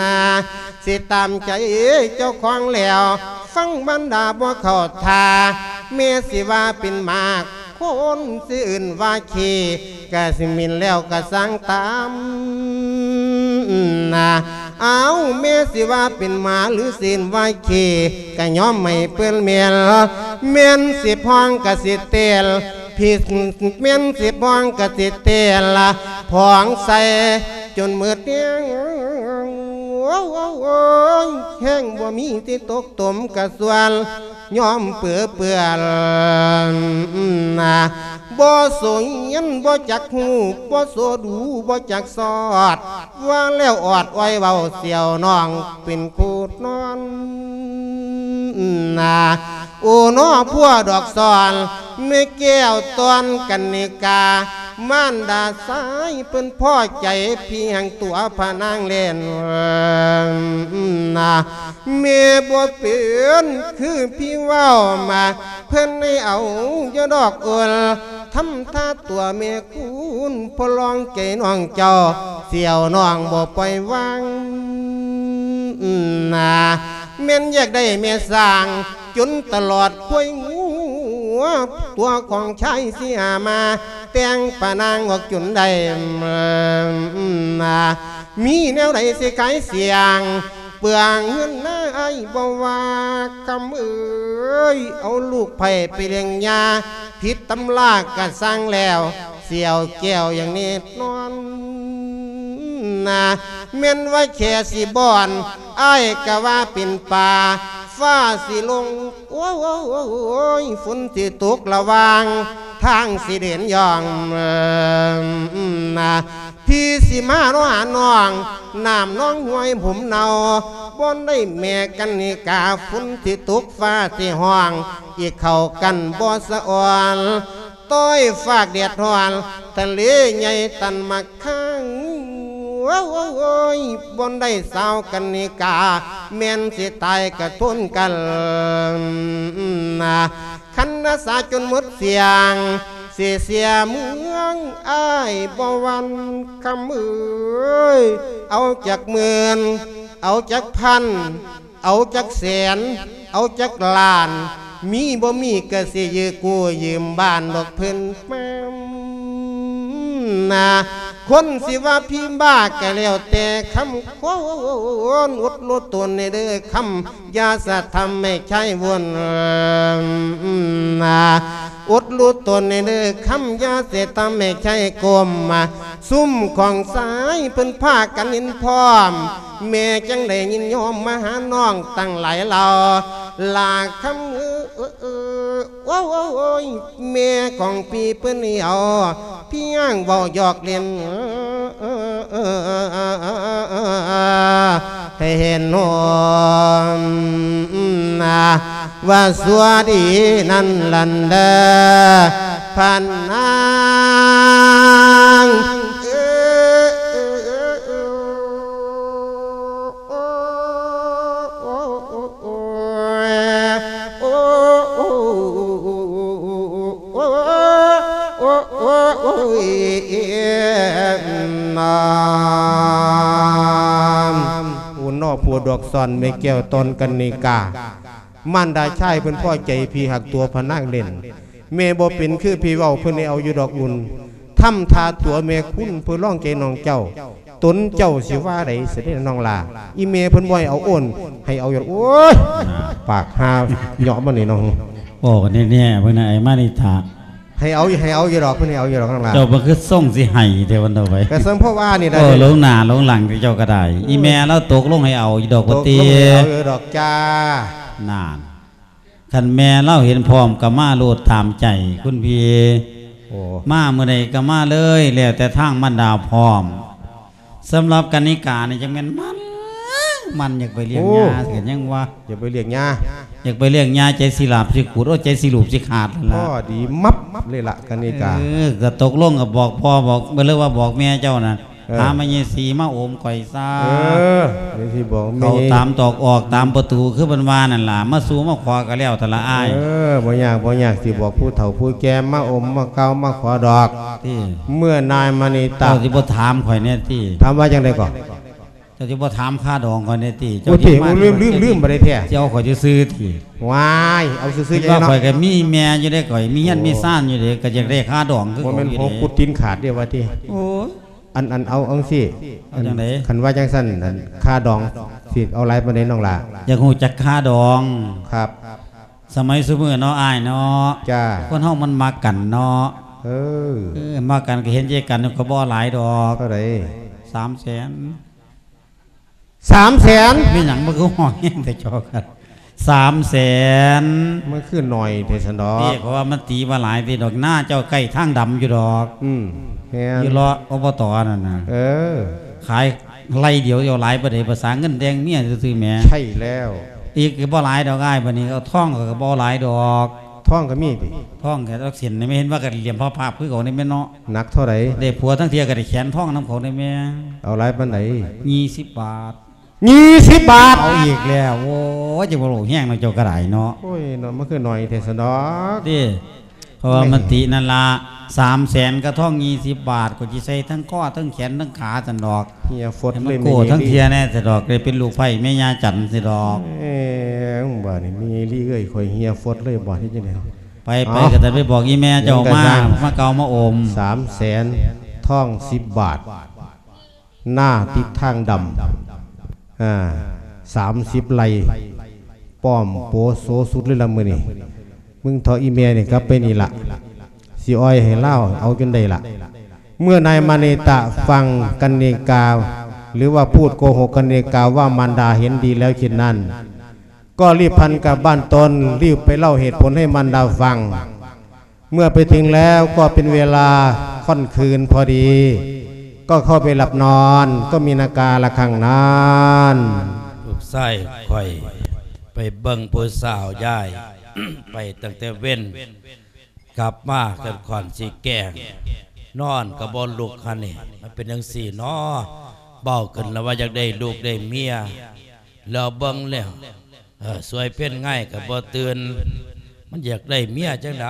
ນາ ຊິຕາມໃຈເຈົ້າຂອງແລ້ວ ຟັງບັນດາບໍ່ເຂົ້າທ່າ ແມ່ຊິວ່າເປັນໝາກ ຄົນຊິເອີ້ນວ່າຂີ້ ກະຊິໝິ່ນແລ້ວກະຊ່າງຕາມ ນາ ອ້າວ ແມ່ຊິວ່າເປັນໝາ ຫຼືຊິເອີ້ນວ່າຂີ້ ກະຍອມໃຫ້ເພິ່ນແມ່ນ ແມ່ນຊິພ້ອງກະຊິແຕ່ລ ຜິດແມ່ນຊິພ້ອງກະຊິແຕ່ລ ພ້ອງໃສ່ຈົນໝົດແຮງ ໂອ້ຍ ແຮງບໍ່ມີທີ່ຕົກຕົມກະສ່ວນ ຍອມເປືເປື້ອນ ນາ ບໍ່ໂສຮຽນບໍ່ຈັກຮູ້ ບໍ່ໂສດູບໍ່ຈັກສອດ ວ່າແລ້ວອອດອ້ອຍເວົ້າສ່ຽວນ້ອງເປັນຄູນອນ ນາ ໂອນໍ່ພົວດອກສອນ ແມ່ແກ້ວຕອນກັນນິກາ ມານດາຊາຍເພິ່ນພໍໃຈ ພີ່ຫາງຕົວພະນາງແລ່ນ ນາ ແມ່ບໍ່ເປັນຄືພີ່ເວົ້າມາ ເພິ່ນໃຫ້ເອົາຢູ່ດອກໂອນ ທຳທ່າຕົວແມ່ຄູນ ພໍລອງໃຈນ້ອງເຈົ້າ ສ່ຽວນ້ອງບໍ່ປ່ອຍວາງ ນາ ແມ່ນຢາກໄດ້ແມ່ສ້າງ ຈົນຕະຫຼອດຄວາຍງູ ຕົວຂອງຊາຍເສຍມາ ແຕ່ງປະນາງອອກຈົນໄດ້ ມີແນວໃດຊິຂາຍສ້ຽງ ເປືອງເງິນນາອ້າຍບໍ່ວ່າ ຄຳເອີຍ ເອົາລູກໃຜໄປລ້ຽງຍາ ຜິດຕຳລາກະຊ່າງແລ້ວ ສຽວແກ້ວຢ່າງແນ່ນອນນາ ແມ່ນວ່າແຄ່ຊິບ່ອນ ອ້າຍກະວ່າເປັນປ່າ ຟ້າຊິລົງ ໂອ້ຍ ຝົນຊິຕົກລະວັງ ທາງຊິເດີນຍ່ອງນາ ພີ່ຊິມາເນາະຫານ້ອງ ນ້ຳໜອງຫ້ວຍຜົມເນົ່າ ບ່ອນໃດແມ່ກັນນິກາ ຝົນຊິຕົກຟ້າຊິຮ້ອງ ອີກເຂົ້າກັນບໍ່ສະອອນ ຕ້ອຍຟາກແດດຮ້ອນ ທະເລໃຫຍ່ຕັນໝາກຄາງ ໂອ້ຍ ບ່ອນໃດສາວກັນນິກາ ແມ່ນຊິຕາຍກະທົນກັນນາ ຄັນນາສາຈົນໝົດສຽງ ຊິເສຍເມືອງອ້າຍບໍ່ຫວັ່ນ ຄຳເອີຍ ເອົາຈັກໝື່ນ ເອົາຈັກພັນ ເອົາຈັກແສນ ເອົາຈັກລ້ານ ມີບໍ່ມີກະຊິຢືມກູ້ຢືມບ້ານດອກເພິ່ນມານາ ຄົນຊິວ່າພີບ້າກະແລ້ວແຕ່ຄຳ ຄົນອົດຮູ້ຕົນແດ່ເດີຄຳ ຢ່າສະທຳໃຫ້ໃຊ້ວົນນາ ອົດຮູ້ຕົນແດ່ເດີຄຳ ຢ່າສະທຳໃຫ້ໃຊ້ກົ້ມ ຊຸມຂອງຊາຍເພິ່ນພາກັນຍິນພ້ອມ ແມ່ຈັ່ງໄດ້ຍິນຍອມມາຫານ້ອງຕັ້ງຫຼາຍເຫຼົ່າ ລາຄຳເອີ ໂອ້ຍ ແມ່ຂອງພີ່ເພິ່ນເອົາ ພຽງເວົ້າຢອກຫຼິ້ນ ໃຫ້ເຫັນໂນມ ວ່າຊົ່ວດີນັ້ນລັນເດີ ພະນາງ ໂອ້ຍ ໂອ້ຍ ນອ ຜູ້ນອກຜູ້ດອກສອນແມ່ແກ້ວຕອນກັນນິກາ ມານດາຊາຍເພິ່ນພໍໃຈ ພີ່ຮັກຕົວພະນາງເຫຼັ້ນ ແມ່ບໍ່ເປັນຄືພີ່ເວົ້າ ເພິ່ນໃຫ້ເອົາຢູ່ດອກອຸ່ນ ທຳທ່າຕົວແມ່ຄຸນ ເພື່ອລອງໃຈນ້ອງເຈົ້າ ຕົນເຈົ້າຊິວ່າໃດສະເດະນ້ອງຫຼ້າ ອີແມ່ເພິ່ນບໍ່ໃຫ້ເອົາໂອນ ໃຫ້ເອົາຢູ່ ໂອ້ຍ ປາກຫາເຍາະມັນນີ້ເນາະ ເວົ້າກັນແນ່ໆ ເພິ່ນໃຫ້ມານິທາ ໃຫ້ເອົາ ໃຫ້ເອົາຢູ່ດອກ ເພິ່ນໃຫ້ເອົາຢູ່ດອກ ນ້ອງຫຼ້າ ເຈົ້າມັນຄືຊົງຊິໃຫ້ແທ້ ວັນຕໍ່ໄປ ກະສົມພໍວ່ານີ້ລະ ໂອ້ ເດ້ ລົງໜ້າລົງຫຼັງເຈົ້າກະໄດ້ ອີແມ່ລາວຕົກລົງໃຫ້ເອົາຢູ່ດອກ ຕົກລົງໃຫ້ເອົາຢູ່ດອກຈ້າ ນັ້ນ ຄັນແມ່ລາວເຫັນພ້ອມກະມາໂລດຕາມໃຈຄຸນພີ່ ໂອ້ ມາມື້ໃດກະມາເລີຍ ແລ້ວແຕ່ທາງບັນດາພ້ອມ ສຳລັບກັນນິການີ້ຈັ່ງແມ່ນມັນ ມັນຢາກໄປລ້ຽງ ໂອ້ ຍາ ກະຍັງວ່າ ຢາກໄປລ້ຽງຍາ ຢາກໄປລ້ຽງຍາ ໃຈຊິຫຼາບຊິຂູດ ໂອ້ ໃຈຊິລູບຊິຂາດຫັ້ນລະ ພໍດີມັບເລີຍລະກັນນິກາ ເອີ ກະຕົກລົງກະບອກພໍ່ບອກ ເລີຍວ່າບອກແມ່ເຈົ້ານະ ເອີ ຫາມາເຍສີມາໂອມຂ້ອຍຊະ ເອີ ເດຊິບອກແມ່ ເຂົ້າຕາມຕອກອອກຕາມປະຕູ ຄືເພິ່ນວ່ານັ້ນລະ ມາສູ່ມາຂໍກະແລ້ວແຕ່ລະອ້າຍ ເອີ ບໍ່ຍາກ ບໍ່ຍາກ ຊິບອກຜູ້ເຖົ້າຜູ້ແກ່ມາໂອມມາກ່າວມາຂໍດອກ ຕິ ເມື່ອນາຍມະນີຕາ ເຈົ້າຊິບໍ່ຖາມຂ້ອຍແດ່ຕິ ຖາມວ່າຈັ່ງໃດກໍ ເຈົ້າຊິບໍ່ຖາມຄ່າດອງຂ້ອຍແດ່ຕິ ເຈົ້າ ໂອ້ ຕິ ມາ ໂອ້ ລືມ ລືມ ລືມ ບໍ່ໄດ້ແທ້ ຊິເອົາຂ້ອຍຊື່ໆຕິ ວ້າຍ ເອົາຊື່ໆ ຄິດວ່າ ເນາະ ຂ້ອຍກະມີແມ່ຢູ່ເດ້ ຂ້ອຍມີເຮືອນ ໂອ້ ມີຊານຢູ່ເດ້ ກະຢາກໄດ້ຄ່າດອງຄື ບໍ່ແມ່ນ ເຂົາຢູ່ເດ້ ຫົວກຸດຕີນຂາດເດ້ວ່າຕິ ໂອ້ຍ ອັນ ອັນ ເອົາຈັ່ງຊີ້ ເອົາຈັ່ງໃດ ຄັນວ່າຈັ່ງຊັ້ນ ອັນ ຄ່າດອງຊິເອົາຫຼາຍປານໃດນ້ອງຫຼ້າ ຢາກຮູ້ຈັກຄ່າດອງ ຄັບ ສະໄໝຊຸມື້ເນາະອ້າຍເນາະ ຈ້າ ຄົນເຮົາມັນມັກກັນເນາະ ເອີ ເອີ ມັກກັນກະເຫັນໃຈກັນ ກະບໍ່ເອົາຫຼາຍດອກ ເທົ່າໃດ ສາມແສນ ສາມແສນ ແມ່ນຫຍັງມັນຄືຮ້ອງແຮງແທ້ ຈໍກັນ ສາມແສນ ມັນຄືໜ້ອຍແທ້ຊັ້ນດອກ ເອີ ເພາະວ່າມັນຕີວ່າຫຼາຍຕິດອກ ນາເຈົ້າໃກ້ທາງດຳຢູ່ດອກ ອືມ ແມ່ນ ຢູ່ເລາະ ອບຕ ນັ້ນນະ ເອີ ຂາຍໄລ່ດຽວເຈົ້າຫຼາຍປານໃດ ພາສາເງິນແຕ່ງເມຍຊື່ໆແໝ ໃຊ່ແລ້ວ ອີກກະບໍ່ຫຼາຍດອກອ້າຍ ບາດນີ້ເອົາທອງກະບໍ່ຫຼາຍດອກ ທອງກະມີຕິ ທອງກະຈັກເສັ້ນນີ້ ແມ່ເຫັນວ່າກະຫຼຽມພະພາບຄືເຂົານີ້ແມ່ເນາະ ໜັກເທົ່າໃດ ໄດ້ຜົວທັງເທື່ອກະໄດ້ແຂນທອງນຳເຂົານີ້ແມ່ ເອົາຫຼາຍປານໃດ ຍີ່ສິບບາດ ຍີ່ສິບບາດ ເອົາອີກແລ້ວ ໂອ້ຍ ຈັ່ງບໍ່ຮູ້ແຮງເນາະ ເຈົ້າກະໄດ້ເນາະ ໂອ້ຍເນາະ ມັນຄືໜ້ອຍແທ້ຊັ້ນດອກ ຕິ ເພາະວ່າມັນຕິນັ້ນລະ ສາມແສນກະທອງຍີ່ສິບບາດ ກະຊິໃສ່ທັງຄໍທັງແຂນທັງຂາຊັ້ນດອກ ເຫື່ອຟົດເລີຍ ໃຫ້ມັນໂກ້ທັງເທື່ອແນ່ຊັ້ນດອກ ໄດ້ເປັນລູກໃພ້ແມ່ຍ່າຈັນຊັ້ນດອກ ເອີ ບາດນີ້ແມ່ໃຫຍ່ລີເອີຍ ຂ້ອຍເຫື່ອຟົດເລີຍ ບາດນີ້ຈັ່ງໃດ ໄປ ໄປ ເອົາ ກໍຈະໄປບອກອີ່ແມ່ເຈົ້າ ຍັງກະ ມາ ຍັງ ມາເກົາມາໂອມ ສາມແສນ ທອງສິບບາດ ນາຕິດທາງດຳ ອ່າ ສາມສິບໄຮ່ ປ້ອມໂປໂສສຸດເລີຍລະມື້ນີ້ ມຶງເທາະອີ່ແມ່ນີ້ກັບໄປນີ້ລະ ຊິອ່ອຍໃຫ້ລາວເອົາຈົນໄດ້ລະ. ເມື່ອນາຍມະນີຕະຟັງກັນນິກາ ຫຼືວ່າພູດໂກຫົກກັນນິກາວ່າມານດາເຫັນດີແລ້ວເຊັ່ນນັ້ນ ກໍຣີບພັນກັບບ້ານຕົນ ຣີບໄປເລົ່າເຫດຜົນໃຫ້ມານດາຟັງ. ເມື່ອໄປເຖິງແລ້ວກໍເປັນເວລາຄ່ອນຄືນພໍດີ ກໍເຂົ້າໄປຫຼັບນອນ ກໍມີນາກາລະຄັງນັ້ນ. ລູກຊາຍຂ້ອຍໄປເບິ່ງຜູ້ສາວຍາຍ ໄປຕັ້ງແຕ່ເວັນ ກັບມາກັນຂ້ອນຊິແກງ ນອນກໍບໍ່ລຸກຫັ້ນນີ້ ມັນເປັນຈັ່ງຊີ້ເນາະ. ເວົ້າຂຶ້ນລະວ່າຢາກໄດ້ລູກໄດ້ເມຍ ແລ້ວເບິ່ງແລ້ວ ເອີ ສວຍເພັນງາຍກໍບໍ່ຕື່ນ ມັນຢາກໄດ້ເມຍຈັ່ງໃດ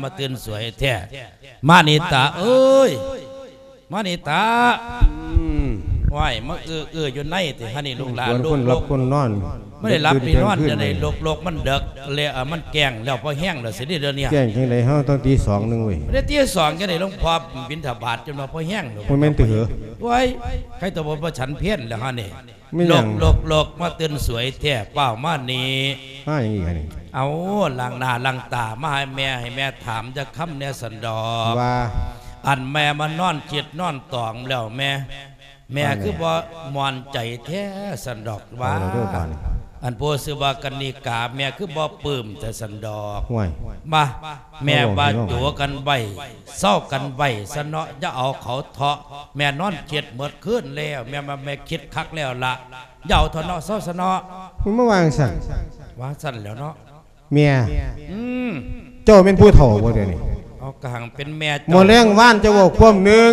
ມາຕື່ນສວຍແທ້. ມານີຕາເອີຍ ມານີຕາ ອືມ ຫວ້າຍ ມາເອື້ອໆຢູ່ໃນແທ້ຫັ້ນນີ້ ລູກຫຼານ ຄົນຫຼັບຄົນນອນ ມັນໄດ້ຫຼັບໄດ້ນອນຈັ່ງໃດ ລົກໆ ມັນເດິກແລ້ວ ມັນແກງແລ້ວ ພໍແຮງແລ້ວຊິເດ ດຽວນີ້ ແກງຈັ່ງໃດ ເຮົາຕ້ອງຕີສອງໜຶ່ງເວີຍ ໄດ້ຕີສອງຈັ່ງໃດ ຫຼວງພໍ່ບິນທະບາດຈົນວ່າພໍແຮງແລ້ວ ບໍ່ແມ່ນຕິເຫີ ໂອ້ຍ ໃຄຕົວບໍ່ ບໍ່ສັນເພັນແລ້ວຫັ້ນນີ້ ແມ່ນຫຍັງ ລົກໆໆ ມາຕື່ນສວຍແທ້ ຟ້າວມານີ້ ມາຫຍັງອີກຫັ້ນນີ້ ເອົາ ລ້າງໜ້າລ້າງຕາ ມາໃຫ້ແມ່ ໃຫ້ແມ່ຖາມຈັກຄຳແດ່ຊັ້ນດອກ ວ່າ ອັນແມ່ມານອນຄິດນອນຕອງແລ້ວແມ່ ແມ່ຄືບໍ່ມ່ວນໃຈແທ້ຊັ້ນດອກວ່າ ເອົາລະເດີບາດນີ້ ອັນຜູ້ຊື່ວ່າກັນນິກາ ແມ່ຄືບໍ່ປຶ້ມແທ້ຊັ້ນດອກ ຫ້ວຍ ມາ ແມ່ວ່າໂຈກັນໄວ້ ເຊົາກັນໄວ້ຊະເນາະ ຢ່າເອົາເຂົາເທາະ ແມ່ນອນຄິດໝົດຄືນແລ້ວ ແມ່ວ່າແມ່ຄິດຄັກແລ້ວລະ ຢ່າເອົາເຖາະເນາະ ເຊົາຊະເນາະ ມັນມາວ່າຈັ່ງຊັ້ນ ວ່າຊັ້ນແຫຼ້ວເນາະ ເມຍ ອືມ ເຈົ້າແມ່ນຜູ້ເຖົ້າບໍ່ດຽວນີ້ ເອົາ ກະຫັງເປັນແມ່ເຈົ້າ ມື້ແລງວານເຈົ້າເວົ້າຄວາມໜຶ່ງ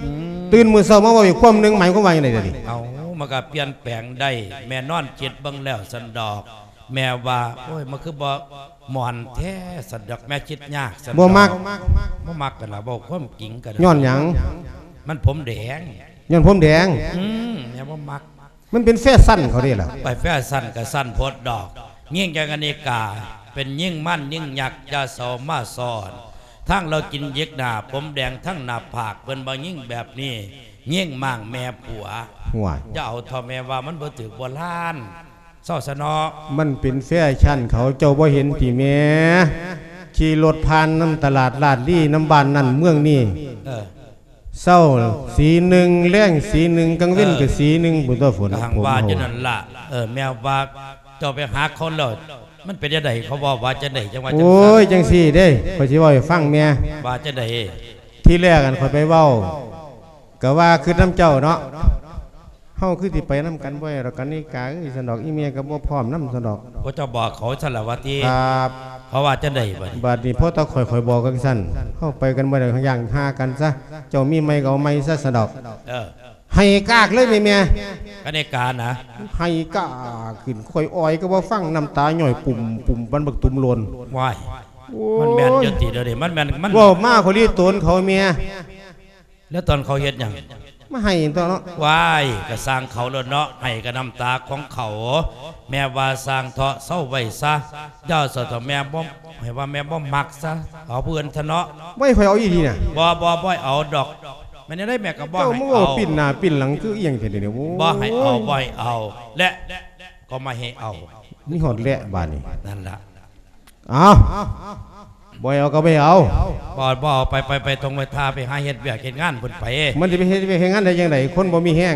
ອືມ ຕື່ນມື້ເຊົ້າມາເວົ້າອີກຄວາມໜຶ່ງ ໝາຍຄວາມວ່າຈັ່ງໃດດຽວນີ້ ເອົາ ມັນກະປ່ຽນແປງໄດ້ ແມ່ນອນຄິດເບິ່ງແລ້ວຊັ້ນດອກ ແມ່ວ່າ ໂອ້ຍ ມັນຄືບໍ່ມ່ວນແທ້ຊັ້ນດອກ ແມ່ຄິດຍາກຊັ້ນດອກ ບໍ່ມັກ ບໍ່ມັກກັນລະ ເວົ້າຄວາມຈິງກັນ ຍ້ອນຫຍັງ ມັນຜົມແດງ ຍ້ອນຜົມແດງ ອືມ ແມ່ບໍ່ມັກ ມັນເປັນແຟຊັນເຂົາເດ້ລະ ໄປແຟຊັນກະຊັ້ນໂພດດອກ ຍິງຈັກກະນິກາ ເປັນຍິງມານຍິງຍັກ ຢ່າເຊົາມາຊ້ອນ ທັງລາວກິນຢິກໜ້າ ຜົມແດງທັງໜ້າຜາກ ເພິ່ນວ່າຍິງແບບນີ້ ຍິງມ້າງແມ່ຜົວ ຫ້ວຍ ຢ່າເອົາເຖາະ ແມ່ວ່າມັນບໍ່ຖືກໂບລານ ເຊົາຊະເນາະ ມັນເປັນແຟຊັນເຂົາ ເຈົ້າບໍ່ເຫັນຕິແມ່ ຂີ່ລົດຜ່ານນຳຕະຫຼາດລາດລີ ນຳບ້ານນັ້ນເມືອງນີ້ ເອີ ເຊົ້າສີໜຶ່ງ ແລງສີໜຶ່ງ ກາງເວັນ ເອີ ກໍສີໜຶ່ງພຸ້ນຕົວະ ຝົນ ກໍຫັ້ນວ່າຢູ່ນັ້ນລະ ເອີ ແມ່ວ່າເຈົ້າໄປຫາເຂົາແລ້ວ ມັນເປັນຈັ່ງໃດ ເຂົາເວົ້າວ່າຈັ່ງໃດ ຈັ່ງວ່າຈັ່ງຊັ້ນ ໂອ້ຍ ຈັ່ງຊີ້ເດ້ ຂ້ອຍຊິເວົ້າໃຫ້ຟັງແມ່ ວ່າຈັ່ງໃດ ທີແລກ ອັນ ຂ້ອຍໄປເວົ້າ ກໍວ່າຄິດນຳເຈົ້າເນາະ ເຮົາຄືຊິໄປນຳກັນບໍ່ໄດ້ດອກ ກະນິກາເອີຍ ຊັ້ນດອກ ອີແມ່ກໍບໍ່ພ້ອມນຳ ຊັ້ນດອກ ໂອ້ ເຈົ້າບອກເຂົາຊັ້ນລະວ່າຕິ ຄັບ ເຂົາວ່າຈັ່ງໃດບາດນີ້ ບາດນີ້ພໍຕາຂ້ອຍ ຂ້ອຍບອກກັນຊັ້ນ ເຮົາໄປກັນບໍ່ໄດ້ ຢ່າງຫາກັນຊະ ເຈົ້າມີໃໝ່ກໍເອົາໃໝ່ຊະ ຊັ້ນດອກ ເອີ ໄຫ້ກາກເລີຍແມ່ ກະນິການະ ໄຫ້ກາກຂຶ້ນ ຂ້ອຍອອຍກໍບໍ່ຟັງ ນ້ຳຕາຍ້ອຍປຸ້ມໆ ປານບັກຕຸ່ມໂລນ ວ້າຍ ໂອ້ຍ ມັນແມ່ນຢູ່ຕິດຽວນີ້ ມັນແມ່ນ ມັນ ເວົ້າມາຂ້ອຍລີໂຕນເຂົາແມ່ ແລ້ວຕອນເຂົາເຮັດຫຍັງ ມາໄຫ້ຕົວະເນາະ ວ້າຍ ກະຊ່າງເຂົາໂລດເນາະ ໄຫ້ກະນ້ຳຕາຂອງເຂົາ ແມ່ວ່າຊ່າງເຖາະ ເຊົາໄວ້ຊະ ຢ່າເຊົາເຖາະ ແມ່ບໍ່ ໃຫ້ວ່າແມ່ບໍ່ມັກຊະ ເອົາຜູ້ອື່ນຊະເນາະ ໄວ້ ຂ້ອຍເອົາອີ່ຫຼີນະ ບໍ່ ບໍ່ ບໍ່ໃຫ້ເອົາດອກ ແມ່ນແນວໃດແມ່ກໍບໍ່ໃຫ້ເອົາ ເຈົ້າມາເວົ້າປິ່ນໜ້າປິ່ນຫຼັງຄືອີ່ຫຍັງແທ້ນີ້ ໂອ້ຍ ບໍ່ໃຫ້ເອົາ ບໍ່ໃຫ້ເອົາ ແລະ ກໍບໍ່ໃຫ້ເອົາ ມີຮອດແລະບາດນີ້ ນັ້ນລະ ເອົາ ບໍ່ໃຫ້ເອົາກໍບໍ່ໃຫ້ເອົາ ບໍ່ ບໍ່ເອົາ ໄປ ໄປ ໄປທົ່ງໄປທ່າ ໄປຫາເຮັດວຽກເຮັດງານພຸ້ນໄປ ມັນຊິໄປເຮັດວຽກເຮັດງານໄດ້ຈັ່ງໃດ ຄົນບໍ່ມີແຮງ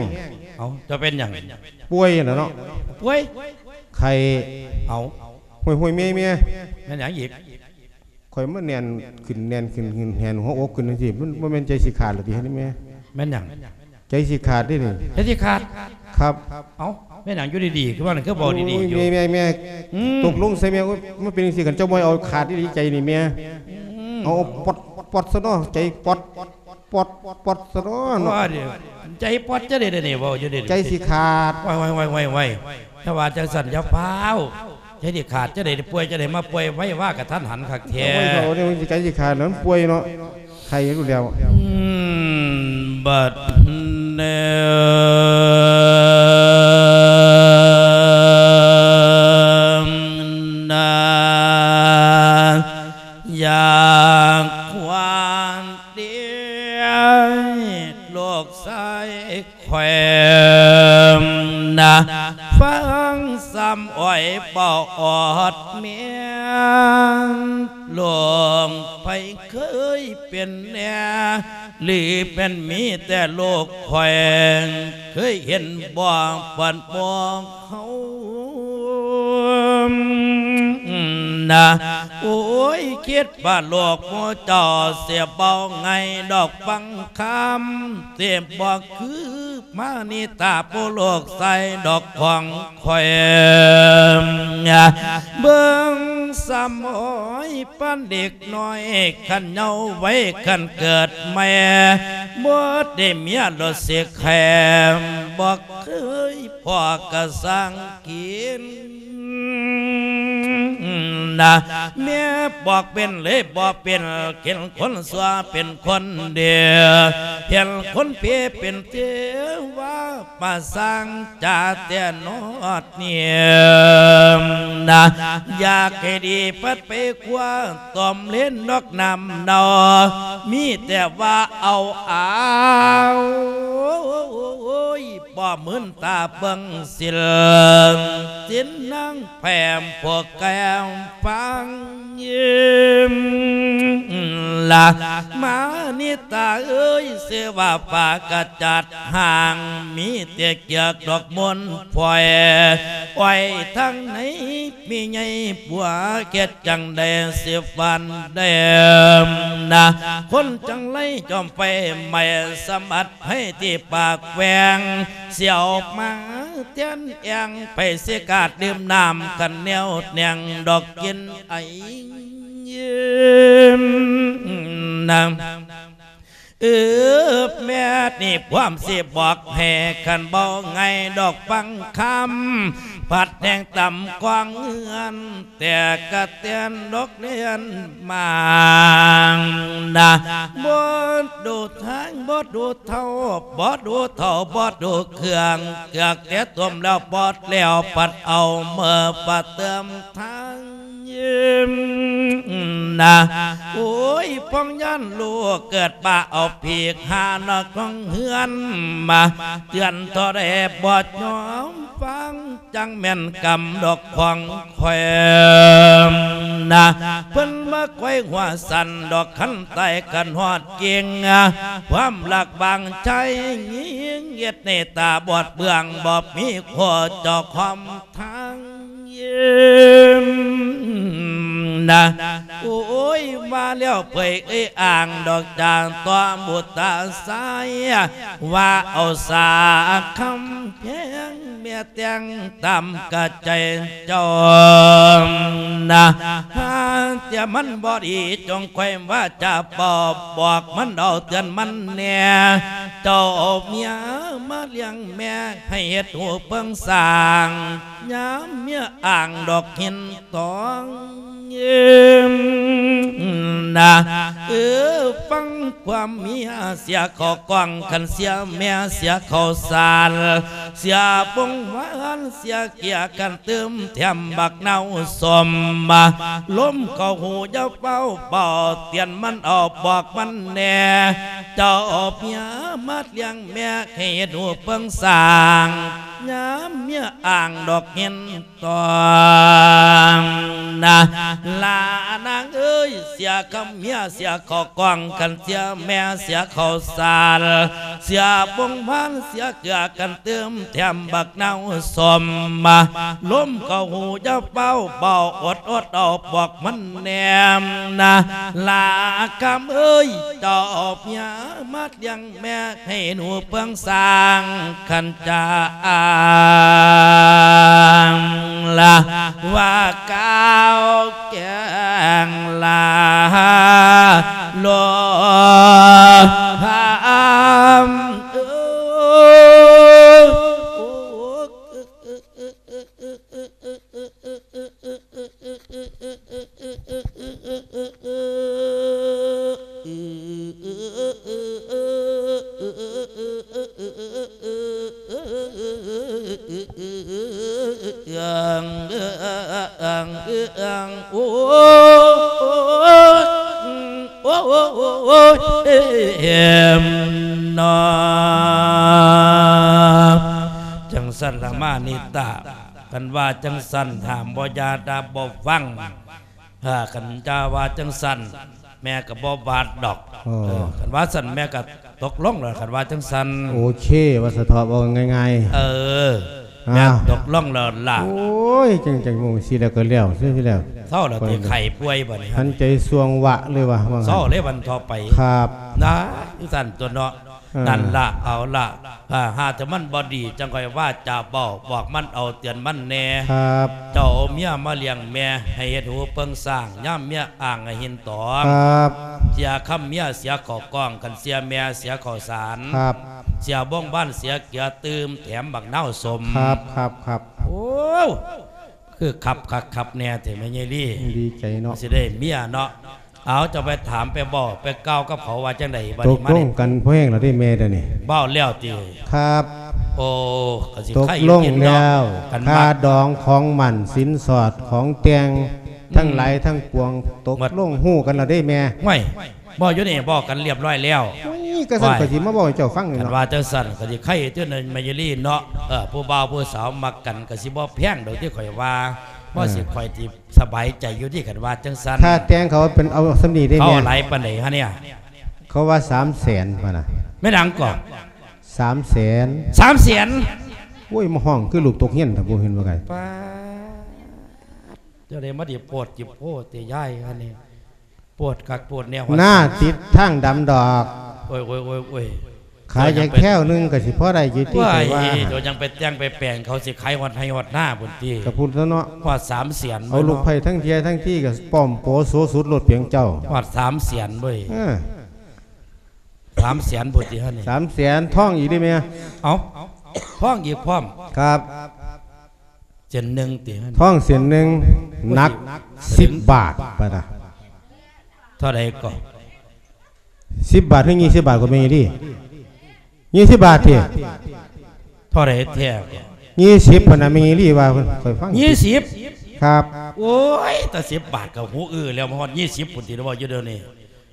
ເອົາ ເຈົ້າເປັນຫຍັງ ປ່ວຍຫັ້ນນະເນາະ ປ່ວຍ ໄຂ້ ເອົາ ຫ້ວຍໆ ແມ່ ແມ່ ແມ່ນຫຍັງອີກ ຂ້ອຍມັນແໜ້ນຂຶ້ນ ແໜ້ນຂຶ້ນ ແໜ້ນຫົວອົກຂຶ້ນຈັ່ງຊີ້ ມັນບໍ່ແມ່ນໃຈຊິຂາດລະຕິ ເຮັດໃຫ້ແມ່ ແມ່ນຫຍັງ ໃຈຊິຂາດເດ້ນີ້ ໃຈຊິຂາດ ຄັບ ເອົ້າ ແມ່ນຫຍັງຢູ່ດີໆ ຄືວ່ານັ້ນ ຄືເວົ້າດີໆຢູ່ ໂອ້ຍ ແມ່ ແມ່ ອືມ ຕົກລົງໃສ່ແມ່ ໂອ້ຍ ມັນເປັນຈັ່ງຊີ້ ຄັນເຈົ້າບໍ່ໃຫ້ເອົາຂາດອີ່ຫຼີໃຈນີ້ແມ່ ອືມ ເອົາປອດ ປອດຊະເນາະ ໃຈປອດ ປອດ ປອດຊະເນາະ ວ່າເດ ໃຈປອດຈະໄດ້ເດນີ້ ເວົ້າຢູ່ເດນີ້ ໃຈຊິຂາດ ໄວໆ ຖ້າວ່າຈັ່ງຊັ້ນຢ່າຟ້າວ ໃຈຊິຂາດຈະໄດ້ປ່ວຍ ຈະໄດ້ມາປ່ວຍໄວວາກະທັນຫັນຄັກແທ້ ໂອ້ຍ ເຂົານີ້ມັນຊິໃຈຊິຂາດ ມັນປ່ວຍເນາະ ໄຂ້ຢູ່ແລ້ວ ອືມ ບັດນີ້ນາ ຍ ອັນເດ ລູກຊາຍຂ້ອຍນະ ຟັງສ່ຳອ້ອຍເວົ້າອອດແມ່ນ ລູກໃຜເຄີຍເປັນແດ່ ຫຼືແມ່ນມີແຕ່ລູກຂ້ອຍ ເຄີຍເຫັນບໍ່ ບາດໝູ່ເຮົານະ ໂອ້ຍ ຄິດວ່າລູກໝູ່ເຈົ້າຊິເວົ້າງ່າຍດອກ ຟັງຄຳ ຊິບໍ່ຄືມານິຕາ ຜູ້ລູກຊາຍດອກຂອງ ຂ້ອຍ ເບິ່ງສ່ຳອ້ອຍປານເດັກນ້ອຍ ຄັນເຍົາໄວ ຄັນເກີດໃໝ່ ບໍ່ໄດ້ເມຍລົດຊິແຄມ ບໍ່ເຄີຍພໍ້ກະສ້າງກິນນະ ແມ່ບອກເປັນເລີຍບໍ່ເປັນ ເຫັນຄົນຊົ່ວເປັນຄົນດີ ເຫັນຄົນເພເປັນເທວະ ມາສ້າງຈາແຕ່ນອດນີ້ນະ ຢາກໃຫ້ດີພັດໄປຄວ້າ ຕ້ອມເລນນອກນ້ຳເນົ່າ ມີແຕ່ວ່າເອົາອາວ ບໍ່ມື່ນຕາເບິ່ງສິນ ສິນນາງແພມພວກແກ້ມຟັງ ຍິ້ມລະ ມານິຕາເອີຍ ຊື່ວ່າປາກະຈັດຫ່າງ ມີແຕ່ເກືອກດອກມົນພອຍ ອ້ອຍທາງໃນມີໃຫຍ່ຜົວ ເຮັດຈັ່ງໃດຊິຝັນໄດ້ນະ ຄົນຈັ່ງໄລຈອມໄຟໄໝ້ ສະບັດໄພທີ່ປາກແຫວ່ງ ສຽວມາແທນແອງ ໃຜຊິກາດດື່ມນ້ຳ ຄັນແນວແໜງດອກກິນໄອ ນະ ເອີ ແມ່ນີ້ພວມຊິບອກໃຫ້ ຄັນເວົ້າງ່າຍດອກຟັງຄຳ ພັດແຮງຕຳກອງເຮືອນ ແຕ່ກະແຕ່ນດອກເລນມານະ ບໍ່ດູທາງ ບໍ່ດູເທົ້າ ບໍ່ດູເທົ້າ ບໍ່ດູເຄື່ອງ ເກືອກແຕ່ຕົ້ມແລ້ວປອດແລ້ວ ພັດເອົາເມືອປະເຕີມທາງ ນະ ໂອ້ຍ ພອງຍານລູກເກີດມາເອົາຜີກຫານອກຂອງເຮືອນມາ ເຕືອນເທົ່າໃດບໍ່ຍອມຟັງ ຈັ່ງແມ່ນກຳດອກຂອງຂ້ອຍນະ ເພິ່ນມາຄວາຍຫົວສັ່ນດອກ ຄັນຕາຍຄັນຮອດກິ່ງ ຄວາມລັກບາງໃຈຍິງ ເຮັດໃຫ້ຕາບອດເບື້ອງ ບໍ່ມີຄົວເຈົ້າຄອມ ທາງນະ ໂອ້ຍ ວ່າແລ້ວເຜີຍເອີ່ຍອ້າງດອກຈາກຕໍ່ບຸດຕາຊາຍ ວ່າເອົາສາຄຳແພງ ແມ່ແຕ່ງຕາມກະໃຈເຈົ້ານະ ຫາເທື່ອມັນບໍ່ດີ ຈົ່ງຄ່ອຍວ່າຈາເວົ້າ ບອກມັນເອົາເຕືອນມັນແດ່ ເຈົ້າເອົາເມຍມາລ້ຽງແມ່ ໃຫ້ເຮັດຮູເພິ່ງສ້າງ ຍາມເມຍອ້າງດອກຫີນຕອງນະ ເອີ ຟັງຄວາມເມຍເສຍເຂົ້າກ້ອງ ຄັນເສຍແມ່ເສຍເຂົ້າສານ ເສຍປົງຫວານເສຍເກຍກັນ ຕື່ມແຖມບັກນາວສົ້ມ ລົມເຂົ້າຫູຢ່າຟ້າວເປົ່າ ເຕືອນມັນເອົາບອກມັນແດ່ ເຈົ້າເອົາເມຍມາລ້ຽງແມ່ ໃຫ້ເຮັດຮູເພິ່ງສ້າງ ຍາມເມຍອ້າງດອກຫີນຕອງນະ ຫຼ້ານາງເອີຍ ເສຍຄຳເມຍເສຍເຂົ້າກ້ອງ ຄັນເສຍແມ່ເສຍເຂົ້າສານ ເສຍປົງຫວານເສຍເກືອກັນ ຕື່ມແຖມບັກນາວສົ້ມ ລົມເຂົ້າຫູຢ່າຟ້າວເປົ່າ ອົດໆເອົາບອກມັນແດ່ນະ ຫຼ້າຄຳເອີຍ ເຈົ້າເອົາເມຍມາລ້ຽງແມ່ ໃຫ້ໜູເພິ່ງສ້າງ ຄັນຈາອ້າງລະວ່າກ່າວແກງລາໂລຫາມເອີ. ໂອ້ຍ ໂອ້ຍ ມ ເນາະ ຈັ່ງຊັ້ນລະມານິຕະ ຄັນວ່າຈັ່ງຊັ້ນ ຫ້າມບໍ່ຢ່າດາບໍ່ຟັງ ເອີ ຄັນຈະວ່າຈັ່ງຊັ້ນ ແມ່ກໍບໍ່ບາດດອກ. ເອີ ເອີ ຄັນວ່າຊັ້ນແມ່ກໍຕົກລົງແລ້ວ ຄັນວ່າຈັ່ງຊັ້ນ. ໂອເຄ ວ່າສະເທາະ ເວົ້າງ່າຍໆ. ເອີ ແມ່ ອ້າວ ຕົກລົງແລ້ວລະ. ໂອ້ຍ ຈັ່ງ ຈັ່ງໂມງຊີ້ແລ້ວກໍແລ້ວ ຊີ້ແລ້ວ ເຊົາແລ້ວຕິ ໄຂ້ປ່ວຍບັດນີ້ ຫັນໃຈຊ່ວງວະເລີຍວ່າ ວ່າ ເຊົາເລີຍວັນຕໍ່ໄປ. ຄັບ ນະ ຈັ່ງຊັ້ນຕົວເນາະ. ເອີ ນັ້ນລະ ເອົາລະ ຖ້າຫາກແຕ່ມັນບໍ່ດີ ຈັ່ງຄ່ອຍວ່າຈາເວົ້າ ບອກມັນເອົາ ເຕືອນມັນແດ່. ຄັບ ເຈົ້າເອົາເມຍມາລ້ຽງແມ່ ໃຫ້ເຮັດຫູເປິງຊ້າງ ຍາມເມຍອ້າງໃຫ້ຫີນຕອງ. ຄັບ ເສຍຄຳເມຍ ເສຍເຂົ້າກ້ອງ ຄັນເສຍແມ່ ເສຍເຂົ້າສານ. ຄັບ ເສຍບົງບານ ເສຍເກືອຕື່ມ ແຖມບັກນາວສົ້ມ. ຄັບ ຄັບ ຄັບ ໂອ້ ຄືຄັບຄັກຄັບແນ່ແທ້ແມ່ໃຫຍ່ລີ. ດີໃຈເນາະ ຊິໄດ້ເມຍເນາະ. ເອົາ ເຈົ້າໄປຖາມໄປເວົ້າໄປກ່າວກັບເຂົາວ່າຈັ່ງໃດບັດນີ້? ຕົກລົງກັນພໍແຮງແລ້ວເດ້ແມ່ດຽວນີ້. ເວົ້າແລ້ວຕິ? ຄັບ ໂອ້ ກໍຊິໄຄຢູ່ກິນເນາະ. ຕົກລົງແລ້ວ ຄັນວ່າຄ່າດອງຂອງໝັ້ນສິນສອດຂອງແຕ່ງ ອືມ ທັງຫຼາຍທັງປວງ ຕົກລົງຮູ້ກັນແລ້ວເດ້ແມ່. ຫ້ວຍ ເວົ້າຢູ່ນີ້ ເວົ້າກັນລຽບຮ້ອຍແລ້ວ. ໂອ້ຍ ກະຊັ້ນ ໂອ້ຍ ຂ້ອຍຊິມາເວົ້າໃຫ້ເຈົ້າຟັງນີ້ເນາະ. ຄັນວ່າຈັ່ງຊັ້ນກໍຊິໄຄຢູ່ຕິແມ່ໃຫຍ່ລີເນາະ. ເອີ ຜູ້ບ່າວຜູ້ສາວມັກກັນກໍຊິບໍ່ແພງດອກຕິ ຂ້ອຍວ່າ. ເອີ ວ່າຊິຂ້ອຍຊິ ສະບາຍໃຈຢູ່ຕິ ຄັນວ່າຈັ່ງຊັ້ນ. ຄ່າແຕ່ງເຂົາເປັນເອົາສ່ຳນີ້ເດ້ແມ່. ເຂົາເອົາຫຼາຍປານໃດຫະເນ່ຍ? ເຂົາວ່າສາມແສນພຸ້ນນະ. ແມ່ນຫຍັງເກາະ? ສາມແສນ. ສາມແສນ? ໂອ້ຍ ມາຮ້ອງຄືລູກຕົກຮຽນແທ້ ບໍ່ເຫັນວ່າໄກ. ປາດ ເຈົ້າໄດ້ມາດິໂພດຈິໂພດແຕ່ຍາຍອັນນີ້. ໂພດຄັກໂພດແນ່ ໜ້າຕິດທາງດຳດອກ. ໂອ້ຍ ໂອ້ຍ ໂອ້ຍ ໂອ້ຍ ຂາຍຈັກແຖວໜຶ່ງກໍຊິພໍໄດ້ຢູ່ຕິ ຂ້ອຍວ່າ. ໂອ້ຍ ເຈົ້າຍັງໄປແຕ່ງໄປແປງ ເຂົາຊິຂາຍຮອດໄຮ່ຮອດນາພຸ້ນຕິ. ກະພຸ້ນຕົວະເນາະ. ຮອດສາມແສນ ເອົາລູກໄຜ່ທັງເທຍທັງທີກໍປ້ອມໂປໂສສຸດໂລດປຽງເຈົ້າ. ຮອດສາມແສນເວີຍ. ເອີ ສາມແສນພຸ້ນຕິຫັ້ນນີ້. ສາມແສນ ທອງອີກເດ້ແມ່. ເອົ້າ ທອງອີກພ້ອມ. ຄັບ ເສັ້ນໜຶ່ງຕິ? ທອງເສັ້ນໜຶ່ງ ໂອ້ຍ ໜັກສິບບາດປະນະ. ເທົ່າໃດເກາະ? ສິບບາດ ຫຼື ຍີ່ສິບບາດກໍແມ່ນອີ່ຫຼີ? ຍີ່ສິບບາດຕິ? ເທົ່າໃດແທ້ເກາະ? ຍີ່ສິບພຸ້ນນະ ແມ່ນອີ່ຫຼີວ່າ ຂ້ອຍຟັງ. ຍີ່ສິບ? ຄັບ. ໂອ້ຍ ແຕ່ສິບບາດກໍຫູອື້ແລ້ວ ມາຮອດຍີ່ສິບພຸ້ນຕິ ເວົ້າຢູ່ດຽວນີ້.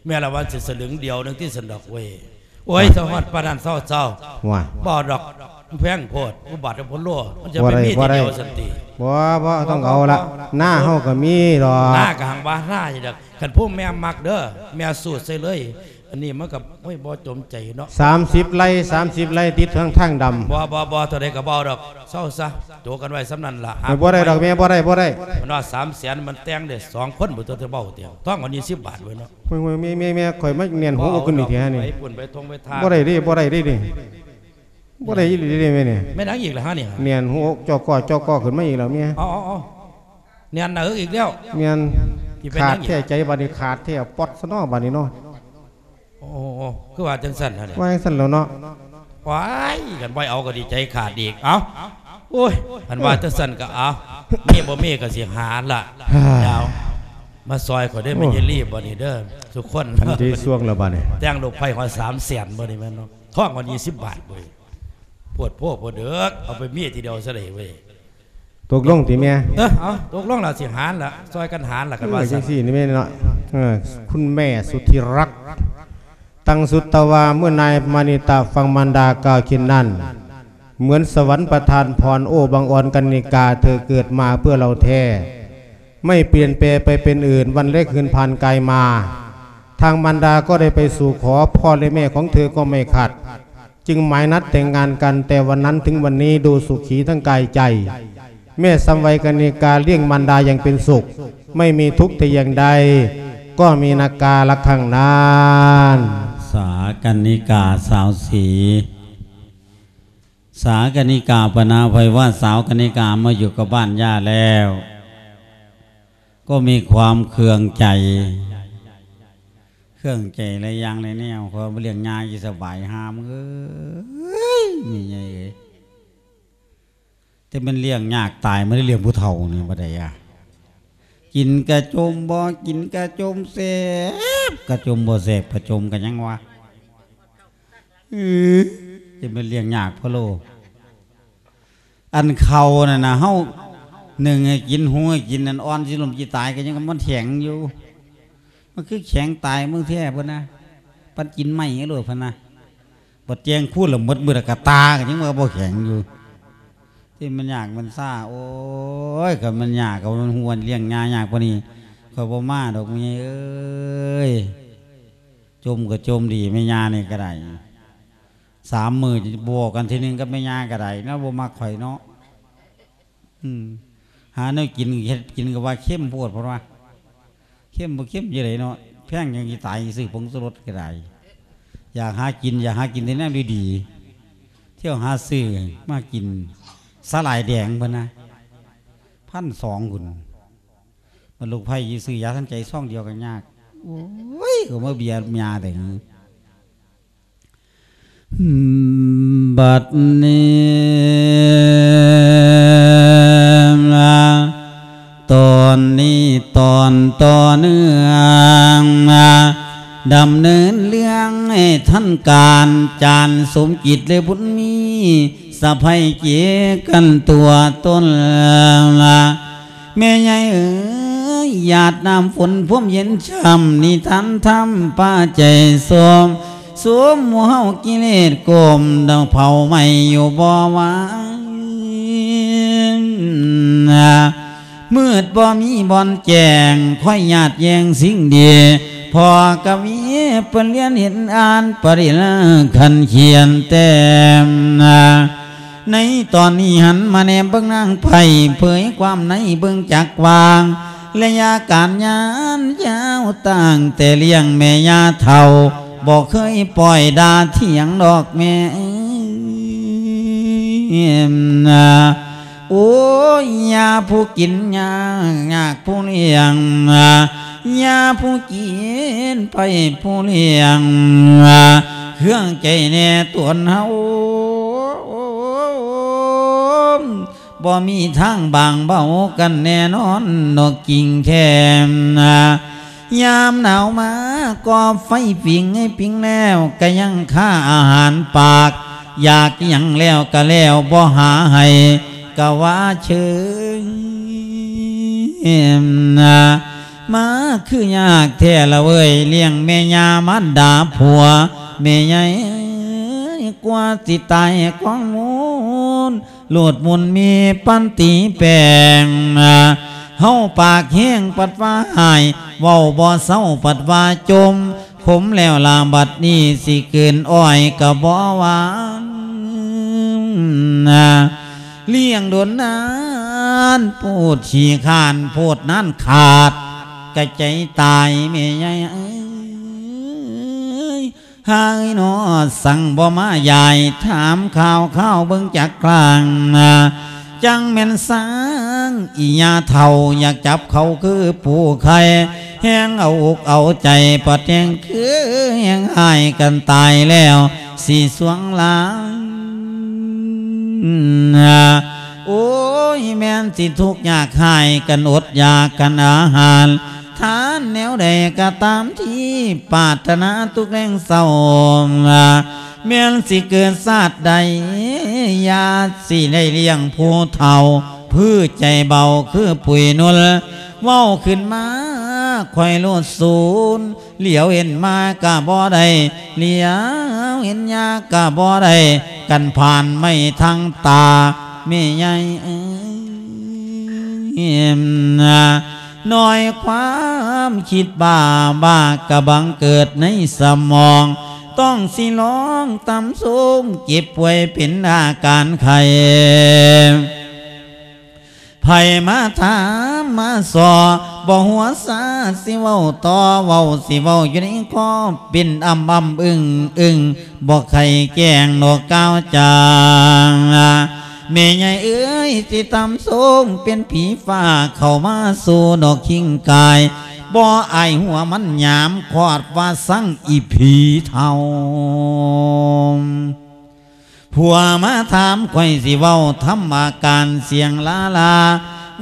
ແມ່ນລະວ່າຊິສະລຶງດຽວໜຶ່ງຕິຊັ້ນດອກເວີຍ. ໂອ້ຍ ເຊົາຮອດປານນັ້ນເຊົາໆ. ວ່າ ບໍ່ດອກ ແພງໂພດ ອຸບັດໂພໂລ ມັນຈະໄປມີທີດຽວຊັ້ນຕິ? ບໍ່ໄດ້ ບໍ່ໄດ້ ບໍ່ ບໍ່ຕ້ອງເອົາລະ. ບໍ່ ບໍ່ ໜ້າເຮົາກໍມີດອກ. ໜ້າກໍຫັ້ນວ່າໜ້າຢູ່ດອກ. ຄັນຜູ້ແມ່ມັກເດີ ແມ່ສູດໃສ່ເລີຍ. ອັນນີ້ມັນກໍ ໂອ້ຍ ບໍ່ຈົມໃຈເນາະ. ສາມສິບໄຮ່ ສາມສິບໄຮ່ ຕິດທາງ ທາງດຳ. ບໍ່ ບໍ່ ບໍ່ ເທົ່າໃດກໍບໍ່ເອົາດອກ. ເຊົາຊະ ໂຈກັນໄວ້ສ່ຳນັ້ນລະ. ບໍ່ໄດ້ດອກແມ່ ບໍ່ໄດ້ ບໍ່ໄດ້. ມັນວ່າສາມແສນ ມັນແຕ່ງໄດ້ສອງຄົນ ບໍ່ຕ້ອງໄປເວົ້າຕິ. ທອງອັນນີ້ສິບບາດເວີຍເນາະ. ໂອ້ຍ ໂອ້ຍ ແມ່ ແມ່ ແມ່ ຂ້ອຍມາແໜ້ນຫົວອົກຂຶ້ນນີ້ແທ້ນີ້. ໄປປຸ້ນໄປທົ່ງໄປທ່າ. ບໍ່ໄດ້ເດ້ ບໍ່ໄດ້ເດ້ນີ້. ບໍ່ໄດ້ອີ່ຫຼີເດ້ແມ່ນີ້. ແມ່ນຫຍັງອີກລະຫະນີ້? ແໜ້ນຫົວອົກ ຈໍ້ກໍ ຈໍ້ກໍ ຂຶ້ນມາອີກແລ້ວແມ່. ເອົາ ເອົາ ເອົາ ແໜ້ນໜ້າເອິກອີກແລ້ວ. ແມ່ນ. ຂາດແທ້ໃຈບາດນີ້ ຂາດແທ້ປອດຊະເນາະບາດນີ້ເນາະ. ໂອ້ ຄືວ່າຈັ່ງຊັ້ນຫັ້ນ. ວ່າຈັ່ງຊັ້ນແລ້ວເນາະ. ວ້າຍ ຄັນບໍ່ເອົາກໍດີໃຈຂາດອີກ. ເອົ້າ ໂອ້ຍ ຄັນວ່າຈັ່ງຊັ້ນກໍເອົາ ມີບໍ່ມີກໍຊິຫາລະ. ດາວ ມາຊ່ອຍຂ້ອຍເດີ ໂອ້ ແມ່ເຢຍລີ ບັດນີ້ເດີ ທຸກຄົນ. ອັນທີ່ຊ່ວງແລ້ວບັດນີ້ ແຕ່ງລູກໄຜ່ຮອດສາມແສນ ບໍ່ນີ້ແມ່ນເນາະ. ທອງກວ່າຍີ່ສິບບາດເວີຍ. ໂພດໂພ ໂພດເດີກ ເອົາໄປເມຍທີດຽວຊະເດເວີຍ. ຕົກລົງຕິແມ່? ເອີ ເອົາ ຕົກລົງລະ ຊິຫານລະ ຊ່ອຍກັນຫານລະ ເອີ ຄັນວ່າຊັ້ນ. ຈັ່ງຊີ້ນີ້ແມ່ນເນາະ. ເອີ ຄຸນແມ່ສຸດທີ່ລັກ ຕັງສຸດຕະວາ ເມື່ອນາຍມານິຕະຟັງມານດາກ່າວເຊັ່ນນັ້ນ เหมือนสวรรค์ประทานพร โอ้ บังออนกนิกา เธอเกิดมาเพื่อเราแท้ ไม่เปลี่ยนแปลงไปเป็นอื่น วันเล็กคืนผ่านกายมา ทางมารดาก็ได้ไปสู่ขอ พ่อและแม่ของเธอก็ไม่ขัด จึงหมายนัดแต่งงานกัน แต่วันนั้นถึงวันนี้ดูสุขีทั้งกายใจ แม่สำไวกนิกาเลี้ยงมารดาอย่างเป็นสุข ไม่มีทุกข์แต่อย่างใด ก็มีนาการะครั้งนั้น สากนิกาสาวศรี สากนิกาปะนะ ไผว่าสาวกนิกามาอยู่กับบ้านย่าแล้ว ก็มีความเคืองใจ ເຄື່ອງໃຈຫຼາຍຢ່າງຫຼາຍແນວ ເຂົາບໍ່ລ້ຽງຍາຢູ່ສະບາຍ ຫາມເອີຍ ແມ່ໃຫຍ່ເອີຍ. ແຕ່ແມ່ນລ້ຽງຍາກຕາຍ ມາໄດ້ລ້ຽງຜູ້ເຖົ້ານີ້ບໍ່ໄດ້ອະ. ກິນກະຈົ່ມບໍ່ກິນກະຈົ່ມແຊບ ກະຈົ່ມບໍ່ແຊບ ກະຈົ່ມກະຫຍັງວະ. ເອີ ແຕ່ແມ່ນລ້ຽງຍາກພະໂລ. ອັນເຂົ້ານັ້ນນະ ເຮົາໜຶ້ງໃຫ້ກິນ ຫຸງໃຫ້ກິນ ອັນອ່ອນຊິລົ້ມຊິຕາຍກໍຍັງມັນແຂງຢູ່ ມັນຄືແຂງຕາຍເບິ່ງແທ້ພຸ້ນນະ. ປັນກິນໄມ້ໂລດ ເພິ່ນນະ. ບັດແຈງຄູນລະໝົດມື້ລະກະຕາ ກໍຍັງວ່າບໍ່ແຂງຢູ່. ທີ່ມັນຍາກມັນຊາ ໂອ້ຍ ຄັນມັນຍາກກໍມັນຮວນລ້ຽງຍາຍາກປານນີ້ ຂ້ອຍບໍ່ມາດອກ ແມ່ເອີຍ. ຈົ່ມກໍຈົ່ມດີ ແມ່ຍ່ານີ້ກໍໄດ້ ສາມມື້ບໍ່ເວົ້າກັນທີໜຶ່ງກັບແມ່ຍ່າກໍໄດ້ເນາະ ບໍ່ມັກຂ້ອຍເນາະ. ອືມ ຫາແນວກິນ ເຮັດກິນກໍວ່າເຄັມໂພດ ເພິ່ນວ່າ. ເຄັມບໍ່ເຄັມຈັ່ງໃດເນາະ ແພງຫຍັງຊິຕາຍ ຊື້ຜົງຊູລົດກໍໄດ້. ຢາກຫາກິນ ຢາກຫາກິນແຕ່ແນວດີໆ ທ່ຽວຫາຊື້ມາກິນ. ສາຫຼ່າຍແດງເພິ່ນນະ ພັນສອງພຸ້ນ. ບັດລູກໃພ້ຊິຊື້ຢາທັນໃຈຊອງດຽວກໍຍາກ. ໂອ້ຍ ກໍມາເບຍຍາແຕ່ ບັດນີ້ ຕອນນີ້ຕອນຕໍ່ເນື່ອງ ດຳເນີນເລື່ອງໃຫ້ທັນການ ຈານສົມຈິດ ແລະ ບຸນມີ ສະໃພເຈກັນຕົວຕົນ. ແມ່ໃຫຍ່ເອີຍ ຫຍາດນ້ຳຝົນພວມເຢັນຊ່ຳ ນິທານທຳພາໃຈຊົມ ສົມໝູ່ເຮົາກິເລດກົມ ດອກເຜົາໄໝ້ຢູ່ບໍ່ວາຍ ມືດບໍ່ມີບ່ອນແຈ້ງ ຄອຍຍາດແຍ່ງສິ່ງດີ ພໍ່ກະວີເພິ່ນລຽນເຫັນອ່ານ ປະລິນຄັນຂຽນແຕ້ມ. ໃນຕອນນີ້ຫັນມາແນມເບິ່ງນາງໄພ້ ເຜີຍຄວາມໃນເບິ່ງຈັກວ່າ ໄລຍະການຍານຍາວ ຕັ້ງແຕ່ລ້ຽງແມ່ຍ່າເຖົ້າ ບໍ່ເຄີຍປ່ອຍດ່າຖຽງດອກແມ່. ໂອ້ຍ ຍ່າຜູ້ກິນຍາກ ຍາກຜູ້ລ້ຽງ ຍ່າຜູ້ກິນໄພ້ຜູ້ລ້ຽງ ເຄື່ອງໃຈແນ່ຕົນເຮົາ ບໍ່ມີທາງບາງເບົາກັນແນ່ນອນ ນອກກິ່ງແທ້. ຍາມໜາວມາ ກໍໄຟຜິງໃຫ້ປິງແລ້ວ ກະຍັງຄາອາຫານປາກ ຢາກຫຍັງແລ້ວກະແລ້ວ ບໍ່ຫາໃຫ້ກະວ່າເຊີຍ. ມາຄືຍາກແທ້ລະເວີຍ ລ້ຽງແມ່ຍ່າມານດາຜົວ ແມ່ໃຫຍ່ເອີຍ ກວ່າຊິຕາຍຂອງມູນ ໂລດມຸນມີປັນຕີແປງ ເຮົາປາກແຮງປັດວ່າຮ້າຍ ເວົ້າບໍ່ເຊົາປັດວ່າຈົ່ມ ຂົມແລ້ວລະບັດນີ້ ຊິກືນອ້ອຍກະບໍ່ຫວານ ລ້ຽງດົນນານ ໂພດຂີ້ຄ້ານ ໂພດນານຂາດ ກະໃຈຕາຍແມ່ໃຫຍ່ເອີຍ. ຫາຍນໍ ສັງບໍ່ມາຢາຍ ຖາມຂ່າວຄາວເບິ່ງຈັກຄັ້ງ ຈັງແມ່ນສັງ ອີ່ຍ່າເຖົ້າ ຢາກຈັບເຂົາຄືປູໄຂ່ ແຮງເອົາອົກເອົາໃຈ ປະແຕງຄືແຮງຮ້າຍກັນຕາຍແລ້ວ ຊິສວງລາງ. ໂອ້ຍ ແມ່ນຊິທຸກຍາກຮ້າຍກັນ ອົດຢາກກັນອາຫານ ທານແນວໃດກໍຕາມທີ່ປາດຖະໜາທຸກແລງເຊົ້າ ແມ່ນຊິເກີດຊາດໃດ ຢ່າຊິໄດ້ລ້ຽງຜູ້ເຖົ້າ ຜືໃຈເບົາຄືປຸຍນຸນ ເວົ້າຂຶ້ນມາຂ້ອຍໂລດສູນ ຫຼຽວເຫັນມາກະບໍ່ໄດ້ ຫຼຽວເຫັນຍາກະບໍ່ໄດ້ ກັນຜ່ານໄມ້ທັງຕາ ແມ່ໃຫຍ່ເອີຍ ນ້ອຍຄວາມຄິດບ້າ ບ້າກະບັງເກີດໃນສະໝອງ ຕ້ອງຊິລອງຕຳຊົງ ເຈັບປ່ວຍເປັນອາການໄຂ້ ໃຜມາຖາມມາສໍ່ ບໍ່ຫົວຊາຊິເວົ້າຕໍ່ ເວົ້າຊິເວົ້າຢູ່ໃນຄໍ ເປັນອຳອຳອຶ້ງອຶ້ງ ບໍ່ໄຂແກ້ງນອກກ່າວຈາ ແມ່ໃຫຍ່ເອີຍ ຊິຕຳຊົງເປັນຜີຟ້າ ເຂົ້າມາສູ່ນອກຄິງກາຍ ບໍ່ອາຍຫົວມັນຫຍາມ ຄອດວ່າສັງອີຜີເຖົ້າ. ຜົວມາຖາມຂ້ອຍຊິເວົ້າທຳອາການສຽງລາລາ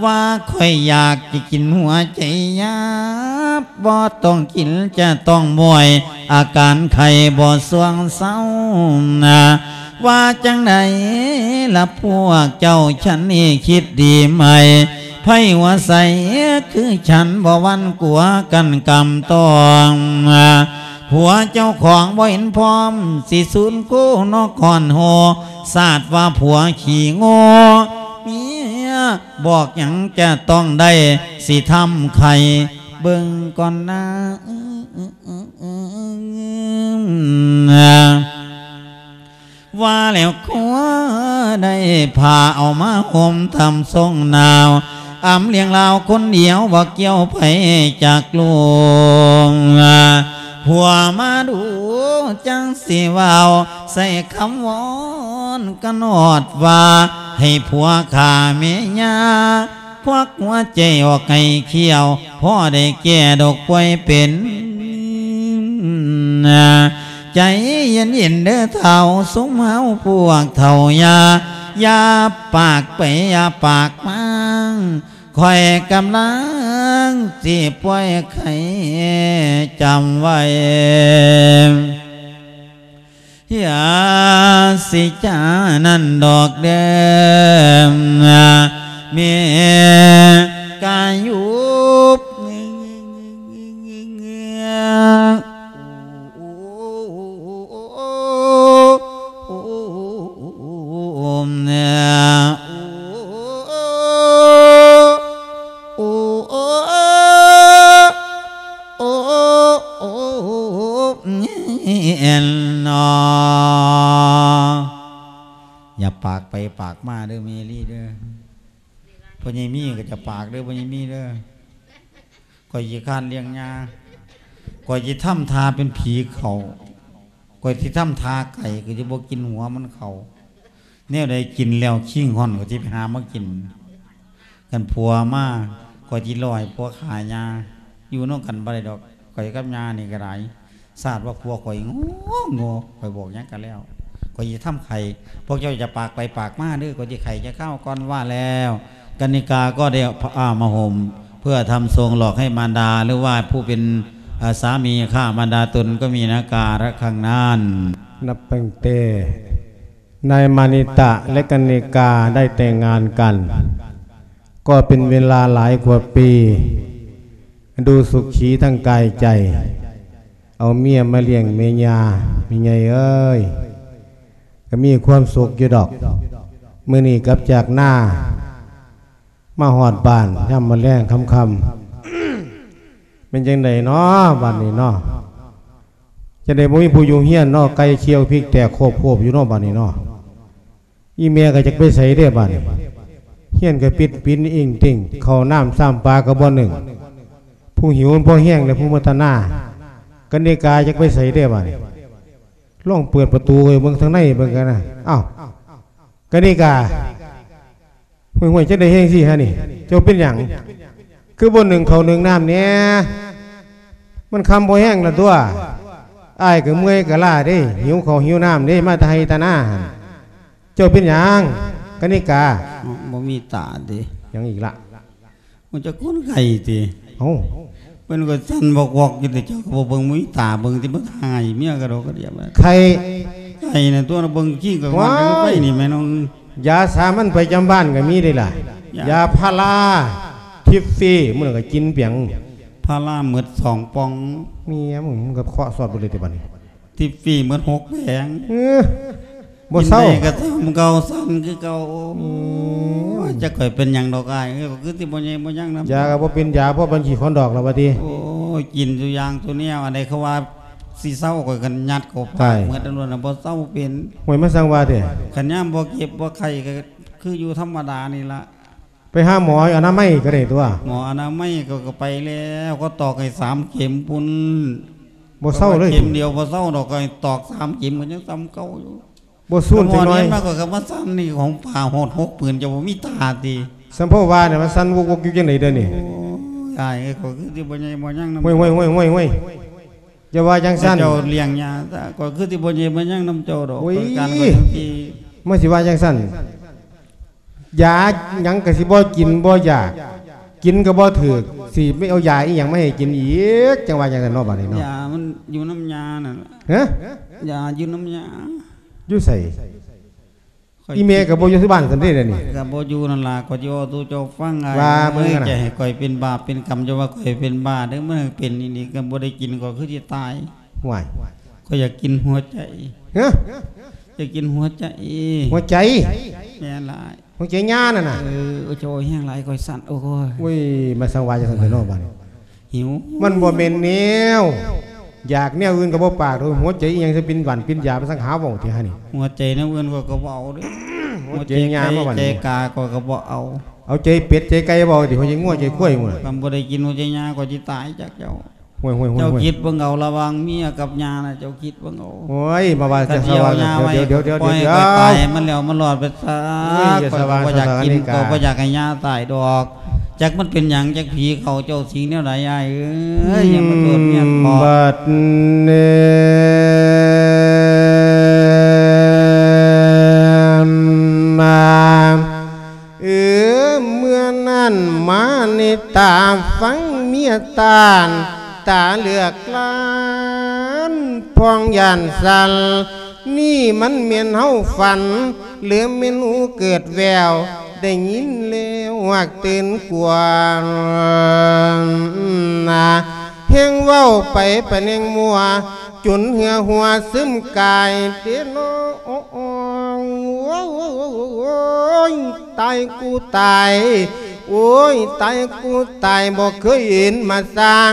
ວ່າຂ້ອຍຢາກຈະກິນຫົວໃຈຍາບ ບໍ່ຕ້ອງກິນຈະຕ້ອງມ້ວຍ ອາການໄຂ້ບໍ່ຊ່ວງເຊົານາ ວ່າຈັ່ງໃດລະພວກເຈົ້າ ສັນນີ້ຄິດດີໄໝ ໃຜຫົວໃສຄືສັນ ບໍ່ຫວັ່ນກົວກັນກຳຕ້ອງນາ ຜົວເຈົ້າຂອງບໍ່ເຫັນພ້ອມ ຊິສູນຄູ່ນອກກ່ອນໂຮ ສາດວ່າຜົວຂີ້ໂງ່ ເມຍບອກຫຍັງຈະຕ້ອງໄດ້ ຊິທຳໄຂ່ເບິ່ງກ່ອນນາ. ວ່າແລ້ວຄົວໄດ້ຜ້າເອົາມາຫົ່ມທຳຊົງໜາວ ອຳລຽງລາວຄົນດຽວບໍ່ກ່ຽວໃຜຈັກລູກ ຜົວມາດູຈັ່ງຊິເວົ້າ ໃສ່ຄຳວອນກັນຮອດວ່າ ໃຫ້ຜົວຂ້າແມ່ຍ່າ ຄວັກຫົວໃຈອອກໃຫ້ຂຽວ ພໍໄດ້ແກ້ດອກປ່ວຍເປັນ. ໃຈເຢັນໆເດີເຖົ້າ ຊຸມເຮົາພວກເຖົ້າຢ່າ ຢ່າປາກໄປ ຢ່າປາກມາ ຂ້ອຍກຳລັງຊິປ່ວຍໄຂ້ ຈຳໄວ້. ຢ່າຊິຈ້ານັ້ນດອກເດີ ແມ່ກາຍຸບ. ໂອ້ ໂອ້ ໂອ້ ໂອ້ ແມ່ນເນາະ. ຢ່າປາກໄປປາກມາເດີແມ່ລີເດີ. ພໍ່ໃຫຍ່ມີກໍຈະປາກເດີ ພໍ່ໃຫຍ່ມີເດີ. ຂ້ອຍຂີ້ຄ້ານລ້ຽງຍ່າ ຂ້ອຍຊິທຳທ່າເປັນຜີເຂົ້າ ຂ້ອຍຊິທຳທ່າໄກ່ ຂ້ອຍຊິບໍ່ກິນຫົວມັນເຂົ້າ. ແນວໃດກິນແລ້ວຄີງຮ່ອນ ຂ້ອຍຊິໄປຫາມາກິນ. ຄັນຜົວມາ ຂ້ອຍຊິເວົ້າໃຫ້ຜົວຂ້າຍ່າ ຢູ່ນຳກັນບໍ່ໄດ້ດອກ. ຂ້ອຍກັບຍ່ານີ້ກໍໄດ້ ຊາດວ່າຜົວຂ້ອຍໂງ່ ໂງ່ ຂ້ອຍບອກຫຍັງກໍແລ້ວ ຂ້ອຍຊິທຳໄຂ່. ພວກເຈົ້າຢ່າປາກໄປປາກມາເດີ ຂ້ອຍຊິໄຂ່ຈັກຄາວກ່ອນ. ວ່າແລ້ວ ກະນິກາກໍໄດ້ຜ້າມາຫົ່ມ ເພື່ອທຳຊົງຫຼອກໃຫ້ມານດາ ຫຼືວ່າຜູ້ເປັນ ເອີ ສາມີຂ້າມານດາຕົນກໍມີນາກາລະຄັ້ງນັ້ນ. ນັບຕັ້ງແຕ່ນາຍມານິຕະ ແລະ ກະນິກາໄດ້ແຕ່ງງານກັນ ກໍເປັນເວລາຫຼາຍກວ່າປີ ດູສຸຂີທັງກາຍໃຈ ເອົາເມຍມາລ້ຽງແມ່ຍ່າ. ແມ່ໃຫຍ່ເອີຍ ກໍມີຄວາມສຸກຢູ່ດອກ. ມື້ນີ້ກັບຈາກນາ ມາຮອດບ້ານຍາມມື້ແລງຄ່ຳໆ ແມ່ນຈັ່ງໃດເນາະບາດນີ້ເນາະ? ຈັ່ງໃດບໍ່ມີຜູ້ຢູ່ເຮືອນເນາະ? ໄກ່ຂຽວພິກແຕກໂຄບໆຢູ່ເນາະບາດນີ້ເນາະ. ອີແມ່ກໍຈັກໄປໃສເດ້ບາດນີ້? ເຮືອນກໍປິດປິນອິງຕິ່ງ ເຂົ້ານ້ຳຊ້ຳປາກໍບໍ່ໜຶ້ງ. ຜູ້ຫິວມັນພໍແຮງແລ້ວ ຜູ້ມາຕະໜາ ກະນິກາຈັກໄປໃສເດ້ບາດນີ້? ລອງເປີດປະຕູໃຫ້ເບິ່ງທາງໃນເບິ່ງກັນນະ. ອ້າວ ກະນິກາ ຫ້ວຍໆ ຈັ່ງໃດແຮງຊີ້ຫະນີ້? ເຈົ້າເປັນຫຍັງ? ຄືບໍ່ໜຶ້ງເຂົ້າໜຶ້ງນ້ຳແດ່? ມັນຄ່ຳພໍແຮງລະຕົວະ. ອ້າຍກໍເມື່ອຍກໍລ້າເດ້ ຫິວເຂົ້າຫິວນ້ຳເດ້ ມາແຕ່ໄຮ່ແຕ່ນາຫັ້ນ. ເຈົ້າເປັນຫຍັງ ກະນິກາ? ບໍ່ມີຕາຕິ? ຫຍັງອີກລະ? ມັນຈະຄົນໄຂ້ຕິ? ເອົ້າ ເພິ່ນກໍສັ່ນວອກໆຢູ່ຕິ ເຈົ້າກໍບໍ່ເບິ່ງ ມີຕາເບິ່ງຕິ ມັນຫາຍເມຍກະດອກກະດຽບ. ໄຂ້? ໄຂ້ນະຕົວະ ເບິ່ງຂີ້ກໍມັນໄປນີ້ແມ່ນ້ອງ. ຢາສາມັນປະຈຳບ້ານກໍມີເດ້ລະ ຢາ ຢາພາລາທິບຟີ ມື້ນັ້ນກໍກິນປຽງ ພາລາໝົດສອງປ່ອງ. ເມຍມຶງ ມຶງກໍເຄາະຊອດເບິດເລີຍຕິບາດນີ້. ທິບຟີໝົດຫົກແຜງ. ເອີ ບໍ່ເຊົາ ກິນໄດ້ກໍຊຳເກົ່າ ສັ່ນຄືເກົ່າ. ໂອ້ຍ ອືມ ຈັກຂ້ອຍເປັນຫຍັງດອກອ້າຍເອີຍ ຂ້ອຍຄືຊິບໍ່ໃຫຍ່ບໍ່ຍັງນຳ. ຢາກໍບໍ່ເປັນຢາ ພໍບັນຂີ້ຄອນດອກແລ້ວວ່າຕິ? ໂອ້ຍ ກິນສູ່ຢ່າງສູ່ແນວ ອັນໃດເຂົາວ່າຊິເຊົາ ຂ້ອຍກໍຍັດເຂົ້າປາກໝົດ ອັນນັ້ນນະ ບໍ່ເຊົາເປັນ. ໂອ້ຍ ມາສັ່ງວ່າແທ້. ຄັນຍາມບໍ່ເຈັບບໍ່ໄຂ້ກໍຄືຢູ່ທຳມະດານີ້ລະ. ໄປຫາໝໍອະນາໄມກໍໄດ້ຕົວະ. ໝໍອະນາໄມກໍ ກໍໄປແລ້ວ ກໍຕອກໃຫ້ສາມເຂັມພຸ້ນ. ບໍ່ເຊົາເລີຍ ເຂັມດຽວບໍ່ເຊົາດອກ ກໍໃຫ້ຕອກສາມເຂັມ ກໍຍັງສ່ຳເກົ່າຢູ່. ບໍ່ສູນຈັກໜ້ອຍ. ມາກໍ ກໍມາສັ່ນນີ້ ຂອງຜ້າຫົດຫົກຜືນ ເຈົ້າບໍ່ມີຕາຕິ? ສຳເພາວ່ານີ້ ມາສັ່ນວົກໆຢູ່ຈັ່ງໃດເດີນີ້? ໂອ້ຍ ອ້າຍເອີຍ ຂ້ອຍຄືຊິບໍ່ໃຫຍ່ບໍ່ຍັງນຳ. ຫ້ວຍໆໆໆ ຢ່າວ່າຈັ່ງຊັ້ນ. ເຈົ້າລ້ຽງຍາຊະ ຂ້ອຍຄືຊິບໍ່ໃຫຍ່ບໍ່ຍັງນຳເຈົ້າດອກ. ໂອ້ຍ ການຂ້ອຍຈັ່ງຊີ້ ມາຊິວ່າຈັ່ງຊັ້ນ. ຢາຫຍັງກໍຊິບໍ່ກິນບໍ່ຢາກ ກິນກໍບໍ່ຖືກ ຊິໄປເອົາຢາອີ່ຫຍັງມາໃຫ້ກິນອີກ ຈັ່ງວ່າຈັ່ງຊັ້ນເນາະ ບາດນີ້ເນາະ. ຢາມັນຢູ່ນຳຍານັ້ນລະ. ຮະ? ຢາຢູ່ນຳຍາ. ຢູ່ໃສ? ອີ່ແມ່ກໍບໍ່ຢູ່ທີ່ບ້ານຊັ້ນເດ້ ດຽວນີ້. ກໍບໍ່ຢູ່ນັ້ນລະ ຂ້ອຍຊິເວົ້າສູ່ເຈົ້າຟັງ. ວ່າເບິ່ງນະ ຈະໃຫ້ຂ້ອຍເປັນບາບເປັນກຳ ເຈົ້າວ່າຂ້ອຍເປັນບ້າເດີ ມັນເປັນອີ່ນີ້ ກໍບໍ່ໄດ້ກິນ ຂ້ອຍຄືຊິຕາຍ. ຫ້ວຍ ຂ້ອຍຢາກກິນຫົວໃຈ. ຮະ? ຢາກກິນຫົວໃຈ. ຫົວໃຈ? ແມ່ນຫຼາຍ. ຫົວໃຈຍ່ານັ້ນນະ? ເອີ ໂອ້ຍ ແຮງຫຼາຍ ຂ້ອຍສັ່ນ. ໂອ້ຍ ໂອ້ຍ ມາສັງວ່າຈັ່ງຊັ້ນແທ້ເນາະບາດນີ້. ຫິວ. ມັນບໍ່ແມ່ນແນວ ຢາກແນວອື່ນກໍບໍ່ປາກດອກ. ຫົວໃຈອີ່ຫຍັງຊິປິ່ນຫວັນປິ່ນຢາ ມາສັງຫາເວົ້າແທ້ຫານີ້. ຫົວໃຈແນວອື່ນຂ້ອຍກໍເວົ້າເດ້. ຫົວໃຈຍ່າມາບາດນີ້ ໃຈກາຂ້ອຍກໍບໍ່ເອົາ. ເອົາໃຈເປັດໃຈໄກ່ເວົ້າຕິ ຫົວໃຈງົວໃຈຄວາຍພຸ້ນນະ. ຄັນບໍ່ໄດ້ກິນຫົວໃຈຍ່າ ຂ້ອຍຊິຕາຍຈັກເຈົ້າ. ໂອ້ຍ ໂອ້ຍ ໂອ້ຍ ເຈົ້າຄິດເບິ່ງເອົາ ລະຫວ່າງເມຍກັບຍ່ານະ ເຈົ້າຄິດເບິ່ງເອົາ. ໂອ້ຍ ມາວ່າ ຄັນຊິເອົາຍ່າໄວ້ ດຽວ ດຽວ ດຽວ ປ່ອຍໃຫ້ມັນແລ້ວມັນລອດໄປຊະ. ໂອ້ຍ ຢ່າສະຫວ່າງ ຂ້ອຍກໍບໍ່ຢາກກິນ ສະຫວ່າງ ກໍບໍ່ຢາກໃຫ້ຍ່າຕາຍດອກ. ຈັກມັນເປັນຫຍັງ ຈັກຜີເຂົ້າເຈົ້າ ສິ່ງແນວໃດອ້າຍເອີຍ ຢ່າມາໂທດເມຍເຖາະ. ບັດນີ້ມາ ເອີ ເມື່ອນັ້ນມານິຕາ ຟັງເມຍຕານ ຕາເລືອກລ້ານ ພອງຢ້ານສັ່ນ. ນີ້ມັນແມ່ນເຮົາຝັນ ຫຼືແມ່ນຫູເກີດແວ່ວ ໄດ້ຍິນແລ້ວຫວາກຕື່ນກວາ ນາ ແຮ່ງເວົ້າໄປປານແຮ່ງມົວ ຈົນເຫື່ອຫົວຊຶມກາຍເດເນາະ. ໂອ້ຍ ຕາຍກູຕາຍ ໂອ້ຍ ຕາຍກູຕາຍ ບໍ່ເຄີຍເຫັນມາສ້າງ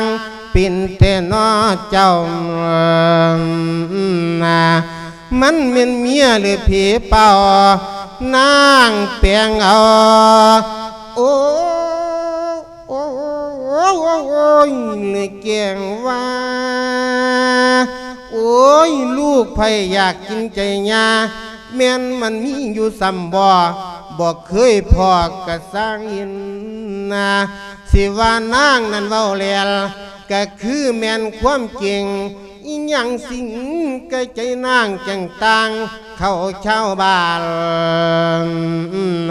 ເປັນແທ້ເນາະເຈົ້າ ນາ ມັນແມ່ນເມຍຫຼືຜີປ່າວ ນາງແປງເອົາ. ໂອ້ ໂອ້ຍ ແກ້ງວ່າ ໂອ້ຍ ລູກໃຜຢາກກິນໃຈຍ່າ ແມ່ນມັນມີຢູ່ສ່ຳບໍ່ ບໍ່ເຄີຍພໍ້ກະຊ່າງເຫັນນາ. ຊິວ່ານາງນັ້ນເວົ້າແຫຼ້ວ ກະຄືແມ່ນຄວາມຈິງ ອີ່ຫຍັງສິ່ງກະໃຈນາງຈັ່ງຕ່າງເຂົ້າຊາວບ້ານ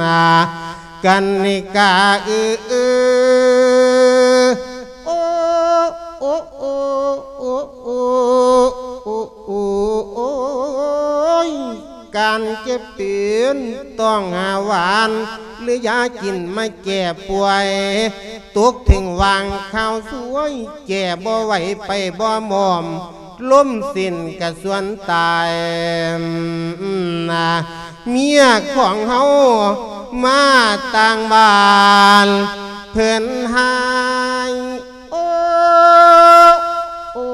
ນາ. ກັນນິກາເອີ ໂອ້ ໂອ້ ໂອ້ ໂອ້ ໂອ້ ໂອ້ຍ ການເຈັບເປັນຕ້ອງຫາຫວານ ຫຼືຢາກິນມາແກ້ປ່ວຍ ຕົກເຖິງຫວ່າງຄາວຊວຍ ແກ້ບໍ່ໄຫວໄປບໍ່ໝອມ ລົມສິ້ນກະຊວນຕາຍນາ. ເມຍຂອງເຮົາມາຕ່າງບ້ານ ເພິ່ນຫາຍ ໂອ້ ໂອ້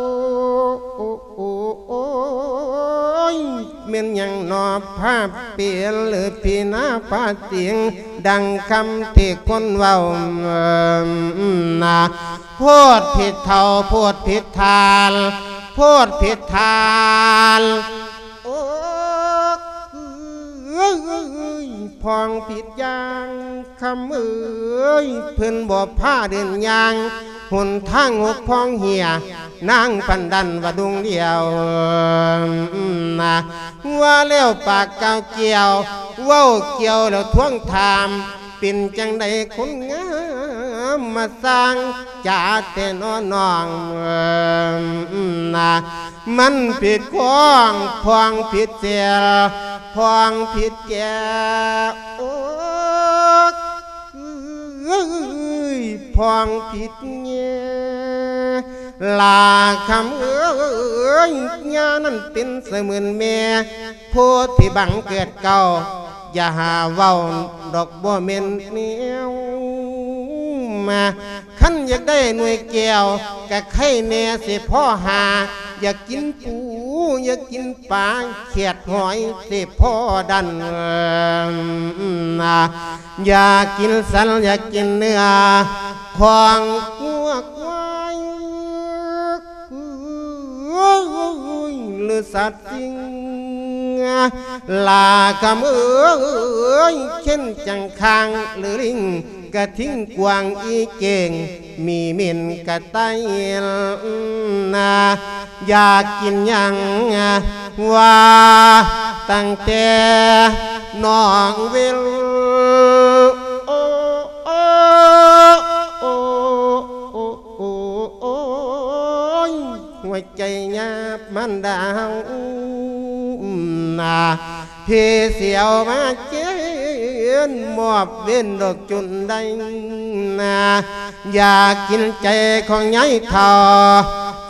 ໂອ້ ໂອ້ ໂອ້ຍ ແມ່ນຫຍັງໜໍພາເປ່ນ ຫຼືຜີນາພາສິງ ດັ່ງຄຳທີ່ຄົນເວົ້ານາ. ໂພດຜິດເຖົ້າ ໂພດຜິດທ່ານ ໂພດຜິດທ່ານ ໂອ້ ເອີຍ ພອງຜິດຢ່າງ ຄຳເອີຍ ເພິ່ນບໍ່ພາເດີນຍ່າງ ຫົນທາງຫົກພອງເຫຍ ນາງປານນັ້ນວ່າດົງດຽວນາ. ວ່າແລ້ວປາກກ່າວກ່ຽວ ເວົ້າກ່ຽວແລ້ວທວງຖາມ ເປັນຈັ່ງໃດຄົນງາມ ມາສ້າງຈາແຕ່ນ້ອນ້ອງນາ. ມັນຜິດຂອງ ພອງຜິດແຈວ ພອງຜິດແຈວ ໂອ້ ເອີຍ ພອງຜິດແຈວ ຫຼ້າຄຳເອີຍ ຍ່ານັ້ນເປັນສະເໝືອນແມ່ ໂພດທີ່ບັງເກີດເກົ່າ ຢ່າຫາເວົ້າດອກບໍ່ແມ່ນແນວມາ. ຄັນຢາກໄດ້ໜ່ວຍແກ້ວ ກະໄຄແນ່ຊິພໍຫາ ຢາກກິນປູ ຢາກກິນປາ ແຄດຫອຍຊິພໍດັນນາ. ຢາກກິນສັນ ຢາກກິນເນື້ອ ຂອງງົວຄວາຍ ຫຼືສັດສິ່ງ ຫຼ້າຄຳເອີຍ ເຊັ່ນຈັງຄາງ ຫຼືລິງ ກະທິງກວາງອີເກງ ມີເໝັນກະໄຕນາ. ຢາກກິນຫຍັງວ່າຕັ້ງແຕ່ນ້ອງເວນ ໂອ ໂອ ໂອ ໂອ ໂອ ໂອຍ ຫົວໃຈຍາບມັນດາວນາ ເພສຽວມາເຈນ ມອບເວນດອກຈົນໄດ້ນາ. ຢາກກິນໃຈຂອງຍາຍເຖົ້າ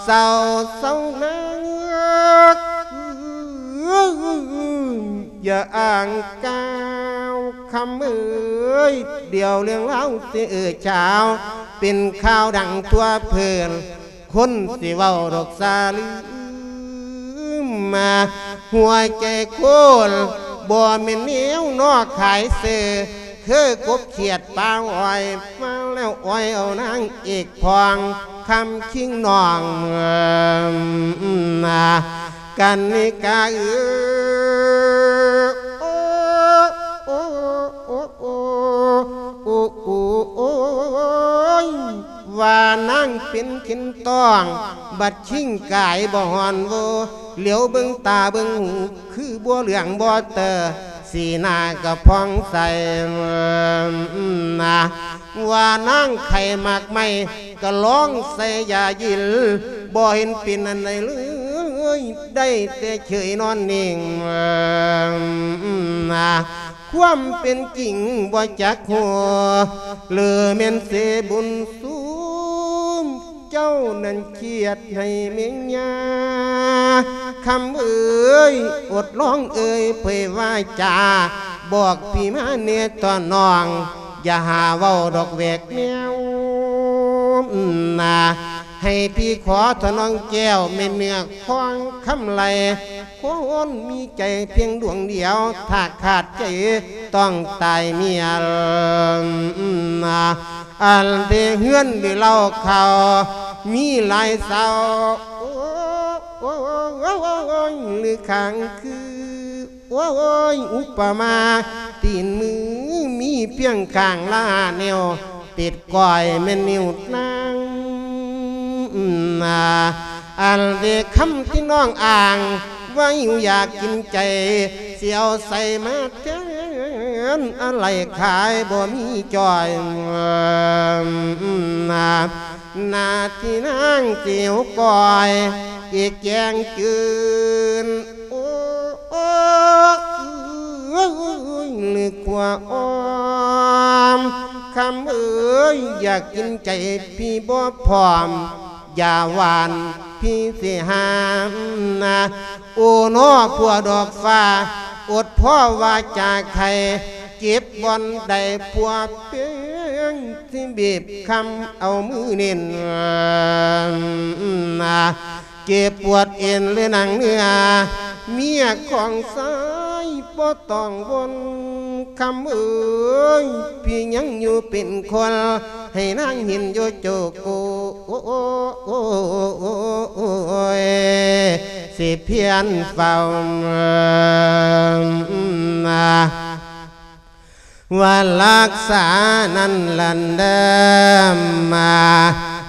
ເຊົາ ເຊົານາ ຢ່າອ້າງກ່າວຄຳເອີຍ ດຽວເລື່ອງລາວຊິເອີ່ເຊົ້າ ເປັນຂ່າວດັງທົ່ວພື້ນ ຄົນຊິເວົ້າດອກສາລືມມາ ຫົວໃຈຄົນບໍ່ແມ່ນແນວນອກຂາຍເສື້ອ ຄືກົບຂຽດປ່າອ້ອຍ ມາແລ້ວອ້ອຍເອົານາງເອກພອງ ຄຳຄິງນ້ອງນາ ກັນນິກາເອີຍ ໂອ້ ໂອ້ ໂອ້ ໂອ້ ໂອ້ ໂອ້ ໂອ້ຍ ວ່ານາງເປັນເຂັນຕ້ອງ ບັດຄິງກາຍບໍ່ຮ້ອນໂວ ຫຼຽວເບິ່ງຕາເບິ່ງຫູ ຄືບໍ່ເຫຼືອງບໍ່ເຕີ ສີໜ້າກະຜ່ອງໃສນາ ວ່ານາງໄຂ້ໝາກໄມ້ກະລອງໃສ່ຢາຢິນ ບໍ່ເຫັນເປັນອັນໃດເລີຍ ໄດ້ແຕ່ເຊີຍນອນນິ່ງນາ ຄວາມເປັນຈິງບໍ່ຈັກຮູ້ ຫຼືແມ່ນເສບຸນສູງ ເຈົ້ານັ້ນຄຽດໃຫ້ແມ່ຍ່າ ຄຳເອີຍ ອົດລອງເອີຍເຜີຍວາຈາ ບອກພີ່ມາແດ່ຕໍ່ນ້ອງ ຢ່າຫາເວົ້າດອກແວກແນວນາ ໃຫ້ພີ່ຂໍເຖາະນ້ອງແກ້ວ ແມ່ເນື້ອຂອງຄຳໄລ ຄົນມີໃຈພຽງດວງດຽວ ຖ້າຂາດໃຈຕ້ອງຕາຍເມຍນາ ອັນເດເຮືອນເດເລົ້າເຂົ້າ ມີຫຼາຍເສົາ ໂອ້ຍ ຫຼືຂ້າງຄື ໂອ້ຍ ອຸປະມາ ຕີນມືມີພຽງຂ້າງລະຫ້ານິ້ວ ຕິດກ້ອຍແມ່ນນິ້ວນາງນາ ອັນເດຄຳທີ່ນ້ອງອ້າງ ວ່າຫິວຢາກກິນໃຈ ຊິເອົາໃສມາແທນ ອາໄລຂາຍບໍ່ມີຈ່ອຍນາ ໜ້າທີ່ນາງຊິຫິວກ້ອຍ ອີກແກງຈືນ ໂອ້ຍ ຫຼືຂົ້ວອ້ອມ ຄຳເອີຍ ຢາກກິນໃຈພີ່ບໍ່ພ້ອມ ຢ່າຫວານ ພີ່ຊິຫ້າມນາ ໂອນໍ ຜົວດອກຟ້າ ອົດພໍວາຈາໄຄ ເຈັບບ່ອນໃດຜົວເປັນ ຊິບີບຄຳເອົາມືເນັ້ນນາ ເຈັບປວດເອັນ ຫຼືໜັງເນື້ອ ເມຍຂອງຊາຍບໍ່ຕ້ອງວົນ ຄຳເອີຍ ພີ່ຍັງຢູ່ເປັນຄົນ ໃຫ້ນາງເຫັນຢູ່ໂຈໂກ ໂອ້ຍ ຊິພຽນເຝົ້າ ວ່າລັກສານັ້ນລັນເດີມາ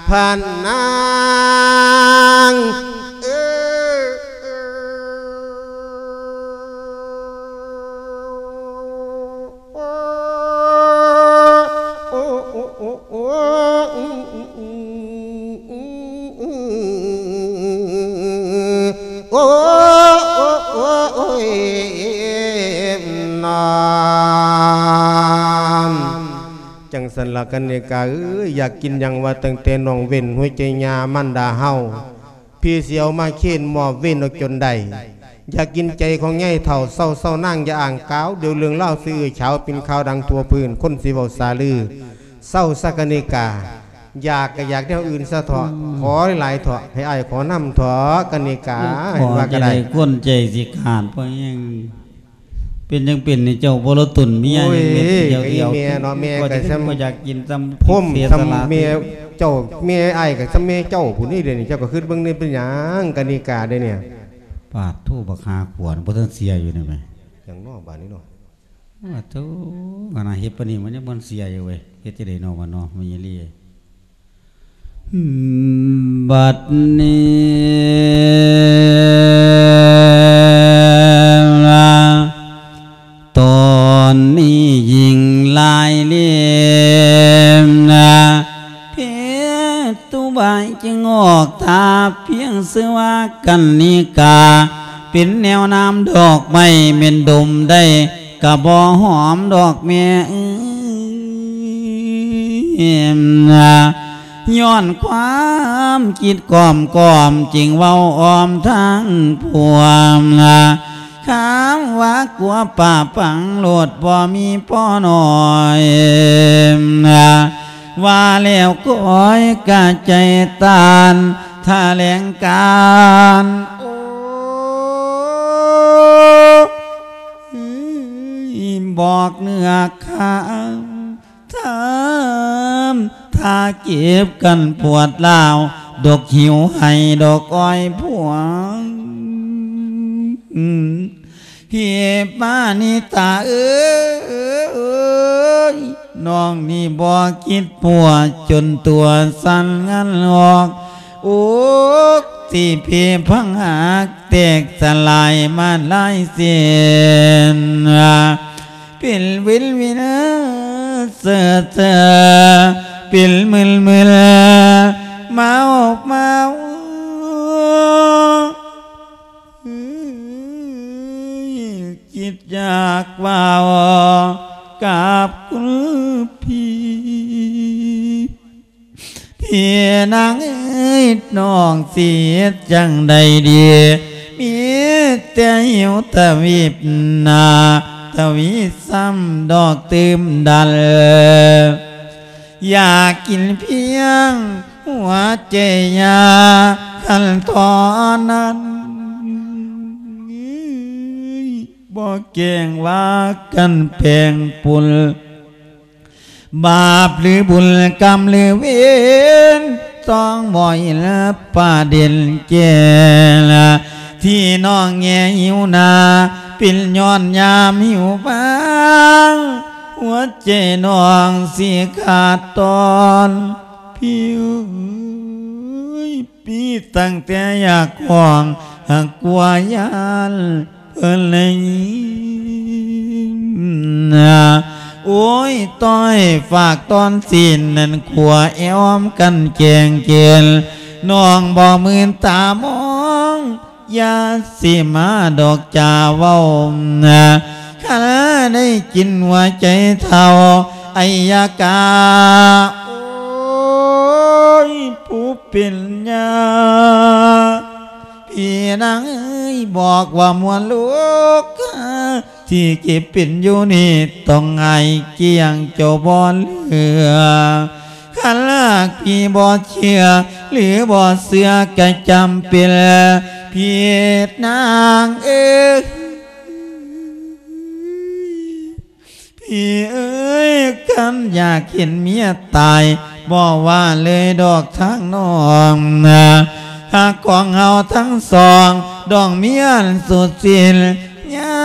ພະນາງເອີ ໂອ້ ໂອ້ ໂອ້ ໂອ້ ໂອ້ ໂອ້ ໂອ້ ໂອ້ຍ ນອນ ຈັ່ງຊັ້ນລະກັນເນກາເອີຍ ຢາກກິນຫຍັງວ່າຕັ້ງແຕ່ນ້ອງເວັ້ນຫົວໃຈຍ່າມານດາເຮົາ ພີ່ຊິເອົາມາເຄນມອບເວັນເອົາຈົນໄດ້ ຢາກກິນໃຈຂອງຍາຍເຖົ້າ ເຊົາໆນາງຢ່າອ້າງກ່າວ ດຽວເລື່ອງລາວຊິເອື້ອຍເຊົ້າ ເປັນຂ່າວດັງທົ່ວພື້ນ ຄົນຊິເວົ້າສາລື ເຊົາຊະກະນິກາ ຢາກກະຢາກແນວອື່ນຊະເຖາະ ອືມ ຂໍຫຼາຍໆເຖາະ ໃຫ້ອ້າຍຂໍນຳເຖາະກະນິກາ ເຫັນວ່າກະໄດ້ ຂໍຈັ່ງໃດຄົນໃຈຊິຂາດ ເພາະຫຍັງ ເປັນຫຍັງເປັນນີ້ ເຈົ້າບໍ່ລະຕົນເມຍ ໂອ້ຍ ຍັງເປັນ ກະອີແມ່ເນາະ ແມ່ກະຊ່ຳ ກໍຢາກກິນຊ່ຳ ພົມ ເສຍສະຫຼະ ຊ່ຳແມ່ເຈົ້າ ແມ່ອ້າຍກະຊ່ຳແມ່ເຈົ້າພຸ້ນນີ້ ດຽວນີ້ເຈົ້າກະຄຶດເບິ່ງນີ້ ເປັນຫຍັງກະນິກາເດ້ນີ້ ປາດໂທ ບັກຫາຂວານ ບໍ່ທັນເສຍຢູ່ນີ້ແມະ ຫຍັງເນາະບາດນີ້ເນາະ ໂອ້ໂທ ຂະໜາດເຮັດປານນີ້ມັນຍັງບໍ່ທັນເສຍຢູ່ເວີຍ ເຮັດຈັ່ງໃດເນາະ ບາດເນາະ ແມ່ຍາລີ ບັດນີ້ ຕອນນີ້ຍິ່ງຫຼາຍເລມນາ ເພຕຸບາຍຈຶ່ງອອກທ່າ ພຽງຊື່ວ່າກັນນິກາ ເປັນແນວນ້ຳດອກໄມ້ ແມ່ນດົມໄດ້ກະບໍ່ຫອມດອກແມ່ເອີຍນາ ຍ້ອນຄວາມຄິດກ້ອມໆ ຈຶ່ງເວົ້າອ້ອມທາງພວມນະ ຄຳວ່າກົວປາປັງໂລດ ບໍ່ມີພໍໜ້ອຍນະ ວ່າແລ້ວກ້ອຍກະໃຈຕານຖະແຫຼງການ ໂອ້ ບອກເນື້ອຄາວ ທຳທ່າເຈັບກັນປວດຮ້າວ ດົກຫິວໃຫ້ດອກອ້ອຍພວງ ເພປານິຕາເອີຍ ນ້ອງນີ້ບໍ່ຄິດປົວ ຈົນຕົວສັ່ນງັນອອກ ອົກທີ່ເພພັງຫັກ ແຕກສະຫຼາຍມາຫຼາຍເສັ້ນ ເປັນວິນວິນເຊີເຊີ ເປັນມຶນມຶນ ເມົາເມົາ ຄິດຢາກເວົ້າກັບຄຸນພີ່ ພີ່ນາງເອີຍ ນ້ອງຊິເຮັດຈັ່ງໃດດີ ມີແຕ່ຫິວທະວີບໜ້າ ທະວີບຊ້ຳດອກຕື່ມດັນ ຢາກກິນພຽງຫົວໃຈຍາ ຄັນຕອນນັ້ນ ບໍ່ແກ້ງວ່າກັນແປງປຸນ ບາບຫຼືບຸນ ກຳຫຼືເວນ ຕ້ອງບໍ່ເຫັນປະເດັນແກ່ລະ ທີ່ນ້ອງແງຫິວໜ້າ ເປັນຍ້ອນຍາມຫິວບາງ ຫົວໃຈນ້ອງຊິຂາດຕອນ ພີ່ເອີຍ ມີຕັ້ງແຕ່ຢາກຮ້ອງ ຫາກກົວຢ້ານ ເພິ່ນໄດ້ຍິນ ໂອ້ຍ ຕ້ອຍຝາກຕອນຊີ້ນນັ້ນ ຂົວແອມກັນແກງເກນ ນ້ອງບໍ່ມື່ນຕາມອງ ຢ່າຊິມາດອກຈາເວົ້າ ຄັນໄດ້ກິນຫົວໃຈເຖົ້າໄອຍະກາ ໂອ້ຍ ຜູ້ເປັນຍ່າ ພີ່ນາງເອີຍ ບອກວ່າມວນລູກ ທີ່ເຈັບເປັນຢູ່ນີ້ ຕ້ອງຫາຍກ້ຽງເຈົ້າບໍ່ເຫຼືອ ຄັນຫາກພີ່ບໍ່ເຊື່ອ ຫຼືບໍ່ເຊື່ອກະຈຳເປັນ ພີ່ນາງເອີຍ ພີ່ເອີຍ ຄັນຢາກເຫັນເມຍຕາຍ ບໍ່ວ່າເລີຍດອກທາງນ້ອງນະ ຫາກຂອງເຮົາທັງສອງ ດອງເມຍອັນສຸດສິ້ນ ຍາ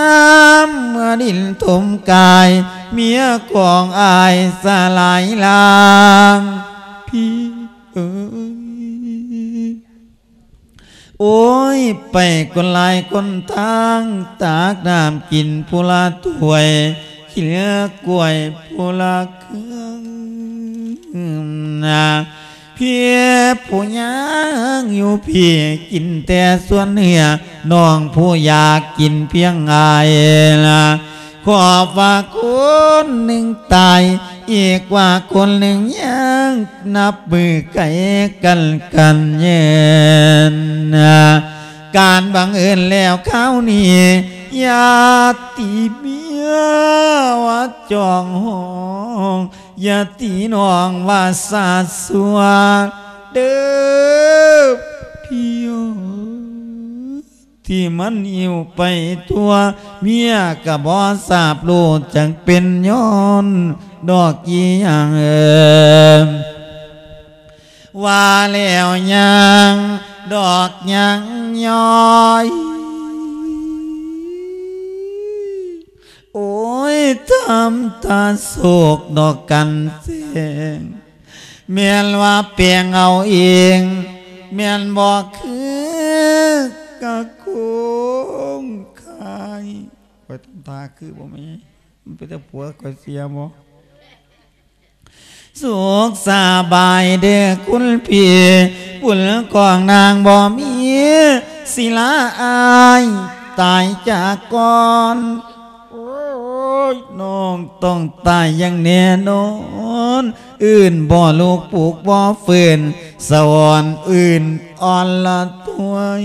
ມເມື່ອດິນຖົມກາຍ ເມຍຂອງອ້າຍສະຫຼາຍລາງ ພີ່ເອີຍ ໂອ້ຍ ໄປຄົນຫຼາຍຄົນທາງ ຕັກນ້ຳກິນຜູ້ລະຖ້ວຍ ກິນກ້ວຍຜູ້ລະເຄືອນນະ ພີ່ຜູ້ຍ່າງຢູ່ພີ້ ກິນແຕ່ສ່ວນເນື້ອ ນ້ອງຜູ້ຢາກກິນພຽງອ້າຍລະ ຂອບພະຄຸນໜຶ່ງຕາຍ ອີກວ່າຄົນໜຶ່ງຍັງ ນັບມື້ໄກກັນກັນເຍີນ ການບັງເອີນແລ້ວຄາວນີ້ ຢ່າຕີເມຍວ່າຈອງຫ້ອງ ຢ່າຕີນ້ອງວ່າສາດຊົ່ວເດີ ພີ່ເອີຍ ທີ່ມັນຫິ້ວໄປທົ່ວ ເມຍກະບໍ່ຊາບຮູ້ ຈັກເປັນຍ້ອນດອກອີ່ຫຍັງ ວ່າແລ້ວຍັງດອກຍັງຍ້ອຍ ໂອ້ຍ ທຳຕາໂສກດອກກັນແສງ ແມ່ນວ່າແປງເອົາເອງ ແມ່ນບໍ່ຄືກະຄົງຄາຍ ຂ້ອຍທຳທ່າຄືບໍ່ແມ່ນ ມັນເປັນແຕ່ຜົວຂ້ອຍເສຍບໍ່? ສຸກສະບາຍເດີຄຸນພີ່ ບຸນຂອງນາງບໍ່ມີ ສິລາອ້າຍຕາຍຈາກກ່ອນ ໂອ້ ຍ ນ້ອງຕ້ອງຕາຍຢ່າງແນ່ນອນ ອື່ນບໍ່ລຸກ ປຸກບໍ່ຟື້ນ ສະຫວອນອື່ນອ່ອນລະຖວຍ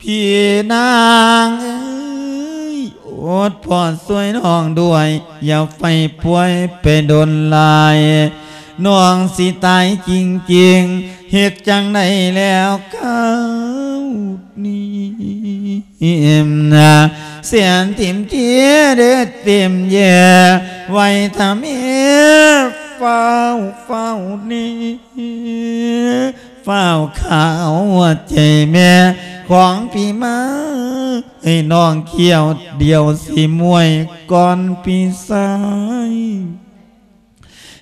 ພີ່ນາງເອີຍ ໂອດພໍ່ຊ່ວຍນ້ອງດ້ວຍ ຢ່າໄຟປ່ວຍໄປດົນຫຼາຍ ນ້ອງຊິຕາຍຈິງໆ ເຮັດຈັ່ງໃດແລ້ວຄາວນີ້ ແສນຖິ້ມເທເດັດເຕັມແຍ່ ໄວຖ້າແມ່ ຟ້າວ ຟ້າວນີ້ ຟ້າວຂາວຫົວໃຈແມ່ຂອງພີ່ມາ ໃຫ້ນ້ອງຂ້ຽວດຽວຊິມວຍກ່ອນພີ່ຊາຍ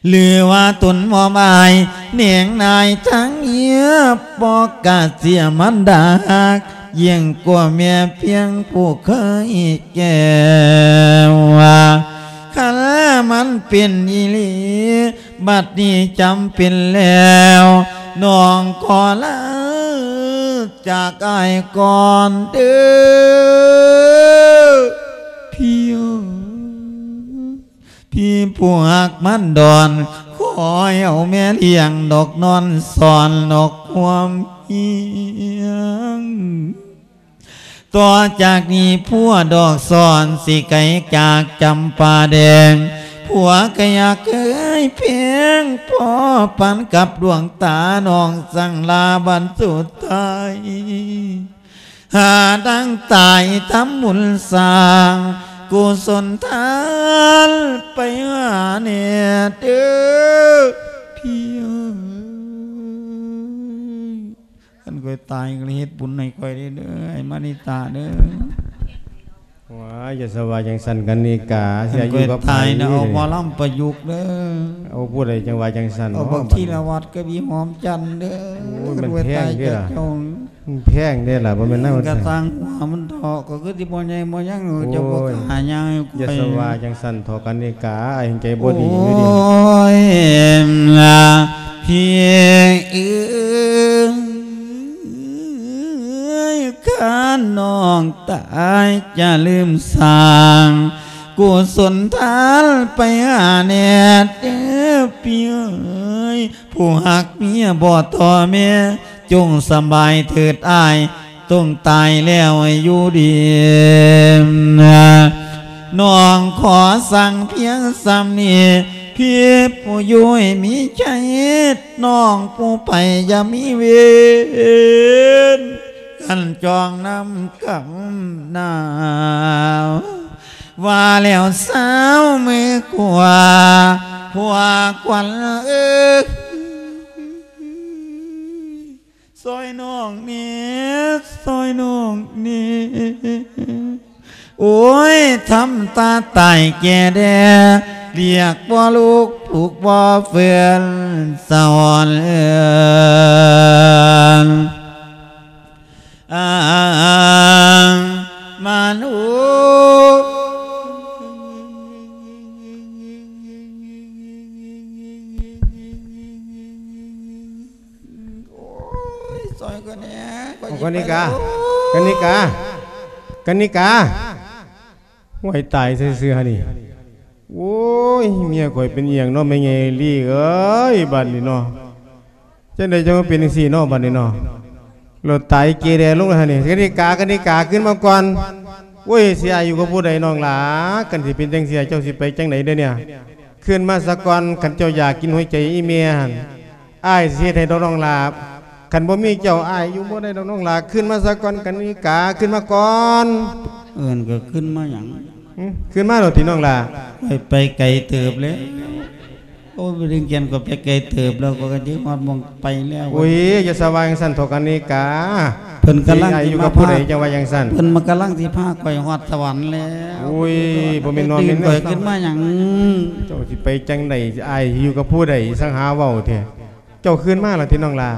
ຫຼືວ່າຕົນມອບອາຍແນງນາຍທາງເມຍ ບໍ່ກະເສຍມານດາຮັກ ຍິ່ງກວ່າແມ່ພຽງຜູ້ເຄີຍແກ້ວ ຄັນມັນເປັນອີ່ຫຼີ ບັດນີ້ຈຳເປັນແລ້ວ ນ້ອງຂໍລາຈາກອ້າຍກ່ອນເດີ້ ພີ່ເອີຍ ພີ່ຜູ້ຮັກມານດອນ ຂໍໃຫ້ເອົາແມ່ລ້ຽງດອກນອນສອນດອກຄວາມຮຽງ ຕໍ່ຈາກນີ້ຜົວດອກສອນ ຊິໄກຈາກຈຳປາແດງ ຜົວກະຢາກເຄີຍແພງ ພໍປານກັບດວງຕາ ນ້ອງສັ່ງລາບັດສຸດທ້າຍ ຫາທາງຕາຍທຳບຸນສ້າງ ກຸສົນທານໄປຫາແນ່ເດີ້ ພີ່ເອີຍ. ຄັນຂ້ອຍຕາຍກໍເຮັດບຸນໃຫ້ຂ້ອຍເດີ້ ອ້າຍມະນິຕາເດີ້. ວ້າຍ ຢ່າສະວ່າຈັ່ງຊັ້ນກັນນິກາ ຊິຢູ່ກັບໃຜ? ຄັນຂ້ອຍຕາຍນະ ເອົາໝໍລຳປະຍຸກເດີ້. ເອົາຜູ້ໃດຈັ່ງວ່າຈັ່ງຊັ້ນ? ເອົາບັກທີລະວັດກັບອີ່ຫອມຈັນເດີ້. ໂອ້ຍ ມັນແພງເດ້ລະ. ມັນແພງເດ້ລະ ບໍ່ແມ່ນນະ. ກະຊ່າງຫົວມັນເຖາະ ກໍຄືຊິບໍ່ໃຫຍ່ບໍ່ຫຍັງ ເຈົ້າບໍ່ຫາຍາໃຫ້ຂ້ອຍ. ຢ່າສະວ່າຈັ່ງຊັ້ນເຖາະກັນນິກາ ອ້າຍໃຈບໍ່ດີຢູ່ເດ. ໂອ້ຍ ພີ່ເອີຍ ຄັນນ້ອງຕາຍຈະລືມສ້າງ ກຸສົນທານໄປຫາແນ່ເດີ້ ພີ່ເອີຍ. ຜູ້ຮັກເມຍບໍ່ຕໍ່ແມ່ ຈົ່ງສະບາຍເຖີດອ້າຍ ຕ້ອງຕາຍແລ້ວໃຫ້ຢູ່ດີ. ນ້ອງຂໍສັ່ງພຽງສ່ຳນີ້ ພີ່ຜູ້ຢູ່ໃຫ້ມີໄຈ ນ້ອງຜູ້ໄປຢ່າມີເວນ ກັນຈອງນຳກຳໜາວ ວ່າແລ້ວສາວມືຂວາ ຜົວຂວັນເອີຍ. ຊ່ອຍນ້ອງແດ່ ຊ່ອຍນ້ອງແດ່. ໂອ້ຍ ທຳຕາຕາຍແກ່ແດ່ ລຽກບໍ່ລຸກ ປຸກບໍ່ຟື້ນ ສະຫວອນເອີນ ອາ ມານຸ ໂອ້ຍ ຊ່ອຍຂ້ອຍແດ່ ຂ້ອຍ ເອົາ ຊິ ກະນິກາ ໄປແລ້ວ ກະນິກາ ກະນິກາ ຫ້ວຍ ຕາຍຊື່ໆຫັ້ນນີ້. ໂອ້ຍ ເມຍຂ້ອຍເປັນອີ່ຫຍັງເນາະ ແມ່ໃຫຍ່ລີເອີຍ ບາດນີ້ເນາະ ຈັ່ງໃດຈັ່ງມາເປັນຈັ່ງຊີ້ເນາະ ບາດນີ້ເນາະ. ໂລດ ຕາຍເກແດລົງແລ້ວຫັ້ນນີ້. ກະນິກາ ກະນິກາ ຄືນມາກ່ອນ. ໂອ້ຍ ຊິອ້າຍຢູ່ກັບຜູ້ໃດນ້ອງຫຼ້າ? ຄັນຊິເປັນຈັ່ງຊີ້ ເຈົ້າຊິໄປຈັ່ງໃດເດນີ້? ຄືນມາສາກ່ອນ ຄັນເຈົ້າຢາກກິນຫົວໃຈອີ່ແມ່ຫັ້ນ ອ້າຍຊິເຮັດໃຫ້ດອກນ້ອງຫຼ້າ. ຄັນບໍ່ມີເຈົ້າ ອ້າຍຢູ່ບໍ່ໄດ້ດອກນ້ອງຫຼ້າ. ຄືນມາສາກ່ອນ ກະນິກາ ຄືນມາກ່ອນ. ເອີ້ນກໍຄືນມາຫຍັງ? ຫຶ? ຄືນມາໂລດຕິນ້ອງຫຼ້າ. ຂ້ອຍໄປໄກເຕີບແລ້ວ. ໂອ້ຍ ໄປດຶງແກນກໍໄປໄກເຕີບແລ້ວ ກໍ ກໍຊິຮອດໝ່ອງໄປແລ້ວ. ໂອ້ຍ ຢ່າສະວ່າຈັ່ງຊັ້ນເຖາະ ກະນິກາ. ເພິ່ນກຳລັງ ຊິຢູ່ກັບຜູ້ໃດຈັ່ງວ່າຈັ່ງຊັ້ນ? ເພິ່ນມາກຳລັງຊິພາຂ້ອຍຮອດສະຫວັນແລ້ວ. ໂອ້ຍ ບໍ່ແມ່ນນ້ອຍແມ່ນ ດຶງຂ້ອຍຂຶ້ນມາຫຍັງ? ເຈົ້າຊິໄປຈັ່ງໃດ? ອ້າຍຢູ່ກັບຜູ້ໃດ? ຊ່າງຫາເວົ້າແທ້. ເຈົ້າຄືນມາແລ້ວຕິນ້ອງຫຼ້າ?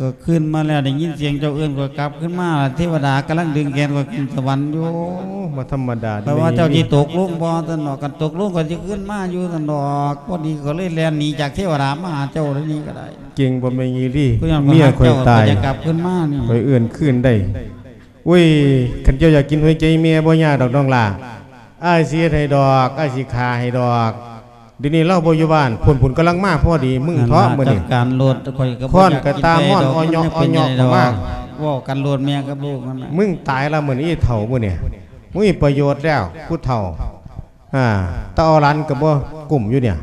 ກໍຄືນມາແລ້ວ ໄດ້ຍິນສຽງເຈົ້າເອີ້ນຂ້ອຍກັບຄືນມາ. ເທວະດາກຳລັງດຶງແຂນຂ້ອຍຂຶ້ນສະຫວັນຢູ່. ໂອ້ ບໍ່ທຳມະດາເດ້. ແປວ່າເຈົ້າຊິຕົກລົງບໍ່? ຊັ້ນດອກ ຄັນຕົກລົງຂ້ອຍຊິຄືນມາຢູ່ຊັ້ນດອກ. ພໍດີຂ້ອຍເລີຍແລ່ນໜີຈາກເທວະດາມາຫາເຈົ້າເດນີ້ກໍໄດ້. ເກັ່ງບໍ່ແມ່ນອີ່ຫຼີ. ເມຍຂ້ອຍຕາຍ ຂ້ອຍຢາກກັບຄືນມານີ້ ຂ້ອຍເອີ້ນຄືນໄດ້. ໂອ້ຍ ຄັນເຈົ້າຢາກກິນຫົວໃຈແມ່ ບໍ່ຍາກດອກນ້ອງຫຼ້າ. ອ້າຍຊິເຮັດໃຫ້ດອກ, ອ້າຍຊິຂ້າໃຫ້ດອກ. ດຽວນີ້ລາວບໍ່ຢູ່ບ້ານ, ພຸ້ນໆກຳລັງມາພໍດີ. ມຶງເຖາະມື້ນີ້ ຈັດການໂລດ, ຂ້ອຍກໍບໍ່ ຄ້ອນກໍຕາມ່ອນ ຢາກກິນໄປດອກ ອອຍເຍາະ ມັນຍັງເປັນ ອອຍເຍາະ ຫຍັງແດ່ດອກ ເຂົ້າມາ. ເວົ້າກັນໂລດ ແມ່ກັບລູກນັ້ນນະ. ມຶງຕາຍລະມື້ນີ້ ອີ່ເຖົ້າມື້ນີ້, ບໍ່ມີປະໂຫຍດແລ້ວ ຜູ້ເຖົ້າ. ອ່າ ຕາເອົາຫຼານກໍບໍ່ກຸ້ມຢູ່ນີ້.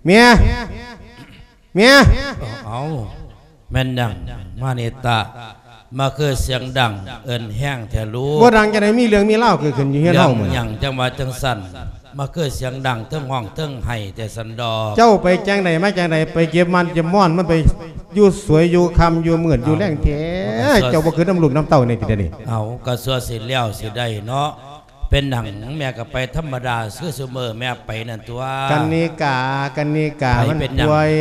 ເມຍ ເມຍ. ເອົາ ແມ່ນຫຍັງມານິຕະ ມາຄືສຽງດັງເອີ້ນແຮງແທ້ລູກ? ບໍ່ດັງຈັ່ງໃດ, ມີເລື່ອງມີລາວເກີດຂຶ້ນຢູ່ເຮືອນເຮົາມື້ນີ້. ເລື່ອງຫຍັງຈັ່ງວ່າຈັ່ງຊັ້ນ? ມາຄືສຽງດັງເທິງຮ້ອງເທິງໄຫ້ແທ້ຊັ້ນດອກ. ເຈົ້າໄປຈັ່ງໃດມາຈັ່ງໃດ? ໄປເກັບມັນເກັບມ່ອນ ມັນໄປຢູ່ສວຍຢູ່ຄ່ຳຢູ່ມືດຢູ່ແລງແທ້. ເອົ້າ ເຈົ້າບໍ່ຄິດນຳລູກນຳເຕົ້າແດ່ຕິດຽວນີ້? ເອົາ ກໍຊົ່ວຊິແລ້ວຊິໄດ້ເນາະ. ເປັນຫຍັງ? ແມ່ກໍໄປທຳມະດາຄືຊຸມື້ແມ່ໄປນັ້ນຕົວະ. ກັນນິກາ ກັນນິກາ ໃຜ ມັນເປັນຫຍັງ? ປ່ວຍ.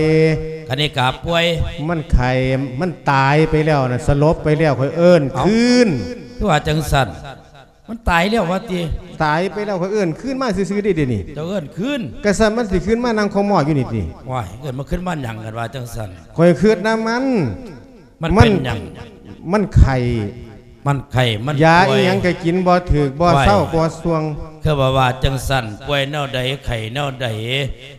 ກັນນິກາປ່ວຍ? ມັນໄຂ້ ມັນຕາຍໄປແລ້ວນະ, ສະຫຼົບໄປແລ້ວ ຂ້ອຍເອີ້ນ ເອົ້າ ຄືນ. ຄືວ່າຈັ່ງຊັ້ນ? ມັນຕາຍແລ້ວວ່າຕິ? ຕາຍໄປແລ້ວ ຂ້ອຍເອີ້ນຄືນມາຊື່ໆເດ້ ດຽວນີ້. ເຈົ້າເອີ້ນຄືນ? ກະຊັ້ນມັນຊິຄືນມານັ່ງຄໍໝໍ້ຢູ່ນີ້ຕິ? ວ້າຍ ເອີ້ນມາຄືນມາຫຍັງ ຄັນວ່າຈັ່ງຊັ້ນ? ຂ້ອຍຄິດນຳມັນ. ມັນ ມັນເປັນຫຍັງ? ມັນໄຂ້ ມັນໄຂ້ ມັນ ຢາອີ່ຫຍັງກໍກິນບໍ່ຖືກ ບໍ່ເຊົາ ໂອ້ຍ ບໍ່ສ່ວງ. ຄືວ່າ ວ່າຈັ່ງຊັ້ນ ປ່ວຍແນວໃດ ໄຂ້ແນວໃດ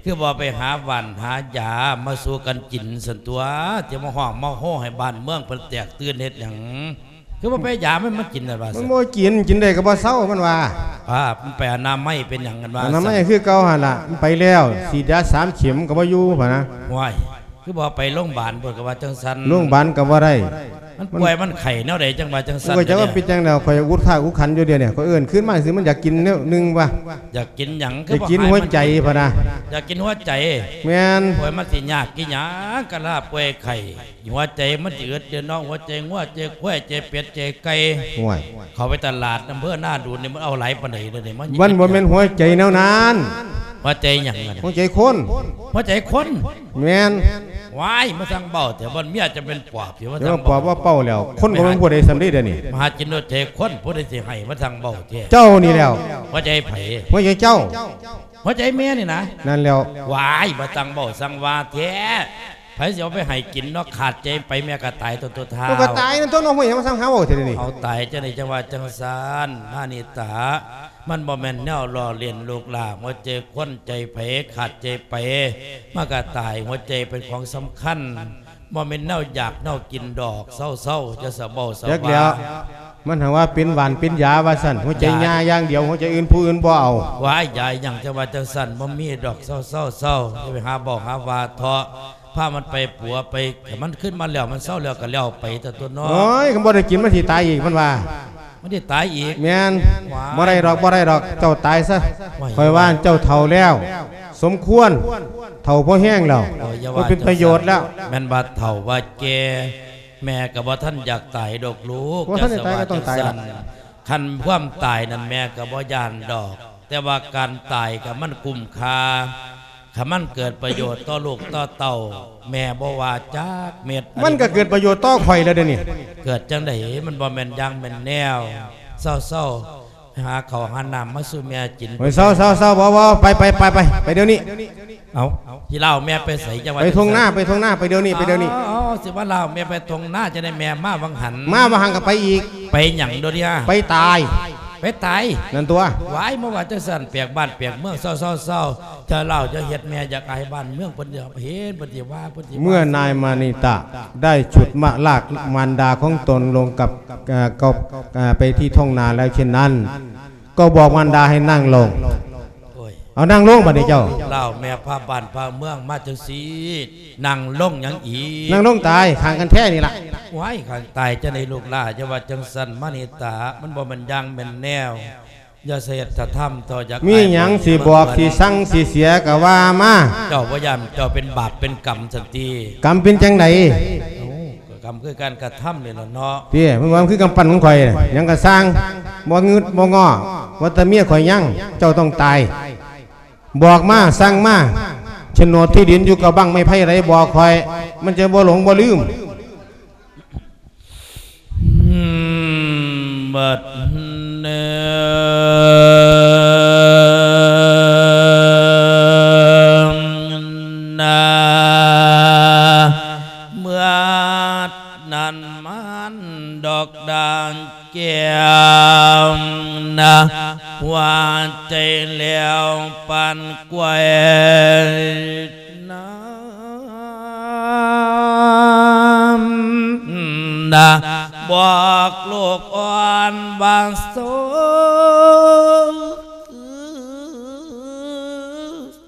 ຄືບໍ່ໄປຫາຫວ່ານຫາຢາມາສູ່ກັນກິນຊັ້ນຕົວະ. ຈະມາຮ້ອງມາໂຮໃຫ້ບ້ານເມືອງເພິ່ນແຕກຕື່ນເຮັດຫຍັງ? ຄືບໍ່ໄປຢາມັນມາກິນນັ້ນວ່າ ມັນບໍ່ກິນ ກິນໄດ້ກໍບໍ່ເຊົາ ມັນວ່າ. ປ້າ ມັນໄປອະນາໄມເປັນຫຍັງກັນວ່າ? ອະນາໄມຄືເກົ່າຫັ້ນລະ ມັນໄປແລ້ວ ສີດຢາສາມເຂັມກໍບໍ່ຢູ່ ພະນະ. ໂອ້ຍ ຄືບໍ່ໄປໂລງບານພຸ້ນ ກໍວ່າຈັ່ງຊັ້ນ. ໂລງບານກໍບໍ່ໄດ້ ມັນ ມັນປ່ວຍມັນໄຂ້ແນວໃດຈັ່ງວ່າຈັ່ງຊັ້ນ? ຂ້ອຍຈັກວ່າເປັນຈັ່ງໃດ ຂ້ອຍອຸດຄາກອຸດຂັນຢູ່ດຽວນີ້ ຂ້ອຍເອີ້ນຄືນມາຊື່ ມັນຢາກກິນແນວໜຶ່ງວ່າ. ຢາກກິນຫຍັງ? ຢາກກິນຫົວໃຈ ພະນະ. ຢາກກິນຫົວໃຈ? ແມ່ນ. ໂອ້ຍ ມັນຊິຍາກອີ່ຫຍັງ ກະລາປ່ວຍໄຂ້ ຫົວໃຈມັນຊິອຶດຢູ່ເນາະ ຫົວໃຈງົວ ໃຈຄວາຍ ໃຈເປັດ ໃຈໄກ່. ໂອ້ຍ ເຂົ້າໄປຕະຫຼາດອຳເພີນາດູນນີ້ ມັນເອົາຫຼາຍປານໃດເດນີ້? ມັນ ມັນບໍ່ແມ່ນຫົວໃຈແນວນັ້ນ. ຫົວໃຈຫຍັງ? ຫົວໃຈຄົນ. ຫົວໃຈຄົນ? ແມ່ນ. ວ້າຍ ມາສັ່ງເວົ້າແທ້ ບໍ່ແມ່ນເມຍຈະເປັນປອບ ຊິມາສັ່ງເວົ້າ. ເວົ້າປອບເວົ້າເປົ້າແລ້ວ ຄົນບໍ່ແມ່ນຜູ້ໃດສ່ຳເດດຽວນີ້. ມາຫາກິນຫົວໃຈຄົນ ຜູ້ໃດຊິໃຫ້ມາສັ່ງເວົ້າແທ້? ເຈົ້ານີ້ແລ້ວ. ຫົວໃຈໃຜ? ຫົວໃຈເຈົ້າ. ຫົວໃຈແມ່ນີ້ນະ? ນັ້ນແລ້ວ. ວ້າຍ ມາສັ່ງເວົ້າສັ່ງວ່າແທ້. ໃຜຊິເອົາໄປໃຫ້ກິນເນາະ ຂາດໃຈໄປແມ່ກໍຕາຍຕົວ ຕົວທ້າວ. ກໍຕາຍນັ້ນຕົວະເນາະ ຫ້ວຍ ມາສັ່ງຫາເວົ້າແທ້ນີ້. ເອົາ ຕາຍຈັ່ງໃດຈັ່ງວ່າຈັ່ງຊັ້ນ ມານິຕາ ມັນບໍ່ແມ່ນແນວລໍ້ຫຼິ້ນລູກຫຼ້າ ຫົວໃຈຄົນໃຈໃຜຂາດໃຈໄປ ມັນກໍຕາຍ. ຫົວໃຈເປັນຂອງສຳຄັນ ບໍ່ແມ່ນແນວຢາກແນວກິນດອກ. ເຊົາໆ ຢ່າສະເບົາສະຫວາ. ຈັກແລ້ວ ມັນຫາວ່າເປັນຫວານເປັນຢາວ່າຊັ້ນ ຫົວໃຈ ຢາ ຍ່າຢ່າງດຽວ ຫົວໃຈອື່ນຜູ້ອື່ນບໍ່ເອົາ. ວ້າຍ ຢາຫຍັງຈັ່ງວ່າຈັ່ງຊັ້ນ ບໍ່ມີດອກ. ເຊົາໆໆ ຢ່າໄປຫາເວົ້າຫາວ່າເທາະ ພາມັນໄປປົວໄປ ຄັນມັນຂຶ້ນມາແລ້ວ ມັນເຊົາແລ້ວກໍແລ້ວໄປຕົວະເນາະ. ໂອ້ຍ ຄັນບໍ່ໄດ້ກິນມັນຊິຕາຍອີກ ມັນວ່າ. ມັນຊິຕາຍອີກ? ແມ່ນ. ວ້າຍ ບໍ່ໄດ້ດອກ ບໍ່ໄດ້ດອກ ເຈົ້າຕາຍຊະ. ວ້າຍ ຂ້ອຍວ່າເຈົ້າເຖົ້າແລ້ວ ສົມຄວນ ເຖົ້າພໍແຮງແລ້ວ ໂອ້ຍ ຢ່າວ່າ ບໍ່ເປັນປະໂຫຍດແລ້ວ. ແມ່ນວ່າເຖົ້າວ່າແກ່ ແມ່ກໍບໍ່ທັນຢາກຕາຍດອກລູກ. ບໍ່ທັນໄດ້ຕາຍກໍຕ້ອງຕາຍລະ. ຄັນຄວາມຕາຍນັ້ນແມ່ກໍບໍ່ຢ້ານດອກ ແຕ່ວ່າການຕາຍກໍມັນຄຸ້ມຄ່າ ຄັນມັນເກີດປະໂຫຍດຕໍ່ລູກຕໍ່ເຕົ້າ ແມ່ບໍ່ວ່າຈັກເມັດ. ມັນກໍເກີດປະໂຫຍດຕໍ່ຂ້ອຍແລ້ວເດນີ້. ເກີດຈັ່ງໃດ? ມັນບໍ່ແມ່ນຢ່າງແມ່ນແນວ. ເຊົາໆ ຫາເຂົ້າຫານ້ຳມາສູ່ແມ່ກິນ. ໂອ້ຍ ເຊົາໆໆ ບໍ່ໆ ໄປໆໆໆ ໄປດຽວນີ້. ເອົ້າ ຊິລາວແມ່ໄປໃສ? ຈັ່ງວ່າ ໄປທົ່ງນາ ໄປທົ່ງນາ ໄປດຽວນີ້ ໄປດຽວນີ້. ເອົ້າ ຊິວ່າລາວແມ່ໄປທົ່ງນາ ຈັ່ງໃດແມ່ມາຫວ່າງຫັ້ນ? ມາຫວ່າງຫັ້ນກໍໄປອີກ. ໄປຫຍັງໂດນຍາ? ໄປຕາຍ. ໄປຕາຍ? ນັ້ນຕົວະ. ຫວາຍ ມາວ່າຈັ່ງຊັ້ນ ແປກບ້ານແປກເມືອງ. ເຊົາໆໆ ເຈົ້າລາວຢ່າເຮັດແມ່ຢາກອາຍບ້ານເມືອງ ເພິ່ນຊິເຫັນ ເພິ່ນຊິວ່າ ເພິ່ນຊິວ່າ. ເມື່ອນາຍມານິຕະໄດ້ຊຸດມະລາກມານດາຂອງຕົນລົງກັບ ເອີ ກັບ ເອີ ໄປທີ່ທົ່ງນາແລ້ວເຊັ່ນນັ້ນ ກໍບອກມານດາໃຫ້ນັ່ງລົງ. ໂອ້ຍ ເອົານັ່ງລົງບາດນີ້ເຈົ້າ. ລາວແມ່ພາບ້ານພາເມືອງມາຈັ່ງຊີ້ ນັ່ງລົງຫຍັງອີກ? ນັ່ງລົງຕາຍ ຂ້າງກັນແທ້ນີ້ລະ. ຫວາຍ ຂ້າງຕາຍຈັ່ງໃດລູກຫຼ້າ ຢ່າວ່າຈັ່ງຊັ້ນມານິຕາ ມັນບໍ່ແມ່ນຢ່າງແມ່ນແນວ. ຢ່າສະເຮັດສະທຳຕໍ່ ຢາກ ມີຫຍັງຊິບອກ ຊິສັ່ງ ຊິເສຍກໍວ່າມາ. ເຈົ້າບໍ່ຢ້ານເຈົ້າເປັນບາບເປັນກຳຊັ້ນຕິ? ກຳເປັນຈັ່ງໃດ? ເອົ້າ ກໍກຳຄືການກະທຳນີ້ລະເນາະ. ຕິ ມັນວ່າມັນຄືກຳປັ່ນຂອງຂ້ອຍ ຫຍັງກໍຊ່າງ ບໍ່ງຶດບໍ່ງໍ້ ວ່າແຕ່ເມຍຂ້ອຍຍັງ ເຈົ້າຕ້ອງຕາຍ. ບອກມາ ສັ່ງມາ ໂສນດທີ່ດິນຢູ່ກັບບັ້ງໄມ້ໄຜ່ໃດ ບອກຂ້ອຍ ມັນຈະບໍ່ຫຼົງບໍ່ລືມ. ອືມ ບັດເນີນນາ ເມື່ອນັ້ນມານດອກດ່າງ ແກ້ວນະ ວ່າໃຈແລ້ວປານກ້ວຍນ້ຳ ບອກລູກອ່ອນວ່າ ໂຊ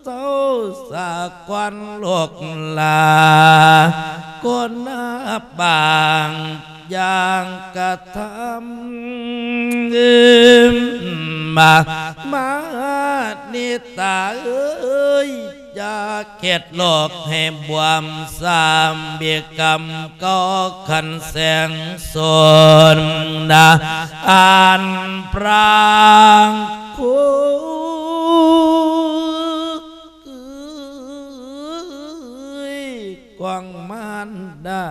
ເຊົາສາກ່ອນລູກຫຼ້າ ຄົນນາບາງຢ່າງກະທຳ ມາ ມານິຕາເອີຍ ຢ່າເຮັດໂລກໃຫ້ບວມ ສາມບິກຳເກົ່າຄັນແສງໂສນນາ ອັນປາງຄຸ ຂອງມານດາ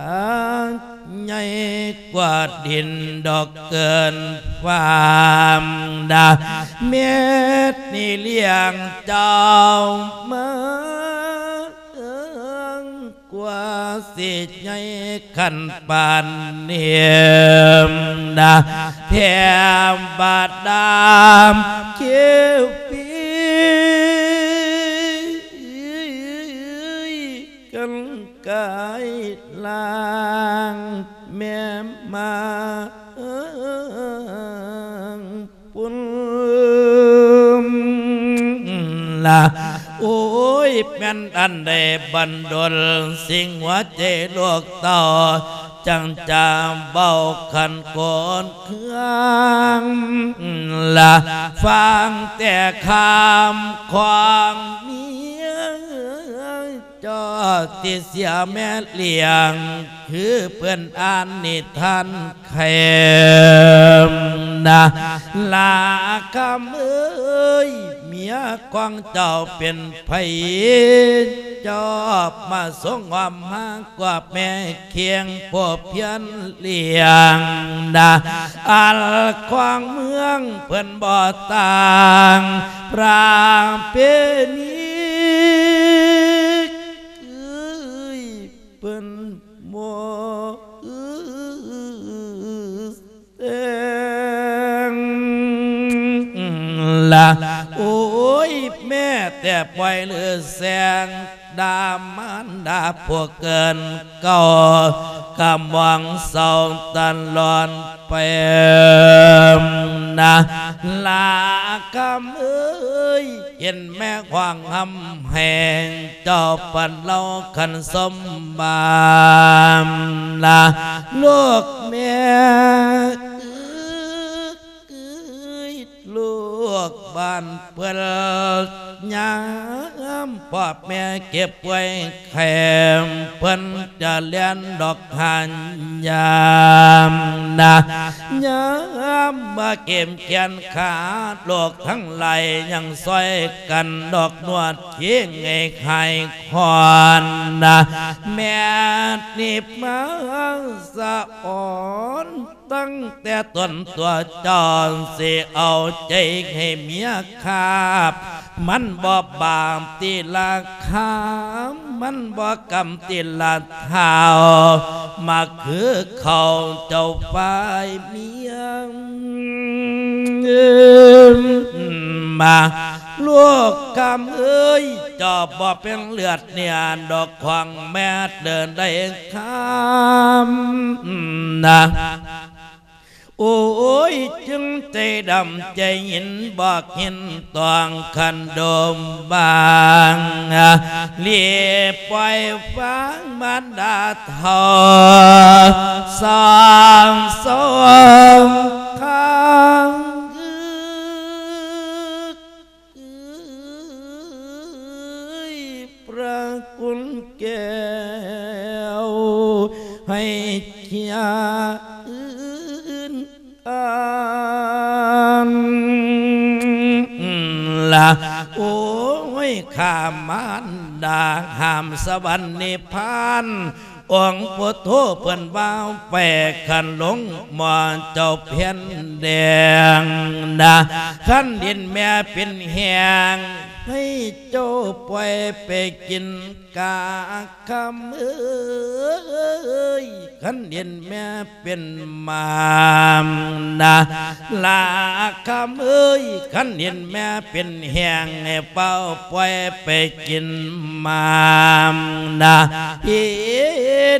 ໃຫຍ່ກວ່າດິນດອກເກີນຟ້າມດາ ແມ່ນີ້ລ້ຽງເຈົ້າມາ ກວ່າຊິໃຫຍ່ຄັນປານນີ້ນາ ແຖມບາດດາມຄິວປີ ກັນກາຍລ່າງແມ່ມາ ປຸນລະ ໂອ້ຍ ແມ່ນອັນໃດບັນດົນ ສິ່ງຫົວໃຈລູກເຕົ້າ ຈັ່ງຈະເວົ້າຂັນໂກນເຄືອງລະ ຟັງແຕ່ຄຳຂອງເມຍ ເຈົ້າທີ່ເສຍແມ່ລ້ຽງ ຄືເພິ່ນອ່ານນິທານແຄມນະ ລາຄຳເອີຍ ເມຍຂອງເຈົ້າເປັນໃຜ ເຈົ້າມາສົງຫອມມາກວາດແມ່ຄຽງຜູ້ພຽນລ້ຽງນະ ອັນຂອງເມືອງເພິ່ນບໍ່ຕ່າງ ປະເພນີ ເອີຍ ເພິ່ນບໍ່ແສງລະ ໂອ້ຍ ແມ້ແຕ່ປ່ອຍຫຼືແສງ ດາມານດາຜູ້ເກີນເກົ່າ ກະມອງເສົ້າຕະຫຼອດ ແປມນະ ລາຄຳເອີຍ ເຫັນແມ່ຮ້ອງຮຳແຮງ ເຈົ້າປັນເລົ່າຄັນສົມບານນະ ລູກແມ່ເອີຍ ລູກບ້ານເພິ່ນຍາມພໍ່ແມ່ເຈັບປ່ວຍ ແຄມເພິ່ນຈະແລ່ນດອກຫາຍາມນະ ຍາມມາເກັບແຂນຂາ ໂລກທັງຫຼາຍຍັງຊ່ອຍກັນດອກນວດເຄງໃຫ້ຄາຍຄອນນະ ແມ່ນິບມາສະອອນ ຕັ້ງແຕ່ຕົນຕົວເຈົ້າ ຊິເອົາໃຈໃຫ້ເມຍຄາບ ມັນບໍ່ບາບຕິລະຄາ ມັນບໍ່ກຳຕິລະທ້າວ ມາຄືເຂົ້າເຈົ້າຝ່າຍເມຍ ມາ ລູກຄຳເອີຍ ເຈົ້າບໍ່ເປັນເລືອດເນື້ອດອກຂອງແມ່ເດີນໄດ້ຄຳນະ ໂອ້ຍ ຈຶ່ງໃຈດຳໃຈຍິນ ບໍ່ເຫັນຕ້ອງຄັນດົມບາງ ລີບປ່ອຍຟັງມານດາເຖົ້າ ສອງສອງຄາງ ເອີຍ ພະຄຸນແກ້ວ ໃຫ້ເຄຍອື່ນອ່ານລະ ໂອ້ຍ ຂ້າມານດາຫ້າມສະຫວັນນິບພານ ອົງພຸດໂທເພິ່ນວ່າແປຂັນລົງໝໍ້ເຈົ້າແຜ່ນແດງນະ ຄັນດິນແມ່ເປັນແຫ້ງ ໃຫ້ເຈົ້າປ່ອຍໄປກິນກາຄຳເອີຍ ຄັນເຫັນແມ່ເປັນໝານະ ລາຄຳເອີຍ ຄັນເຫັນແມ່ເປັນແຫ້ງ ໃຫ້ເຝົ້າປ່ອຍໄປກິນໝານະ ເຫັ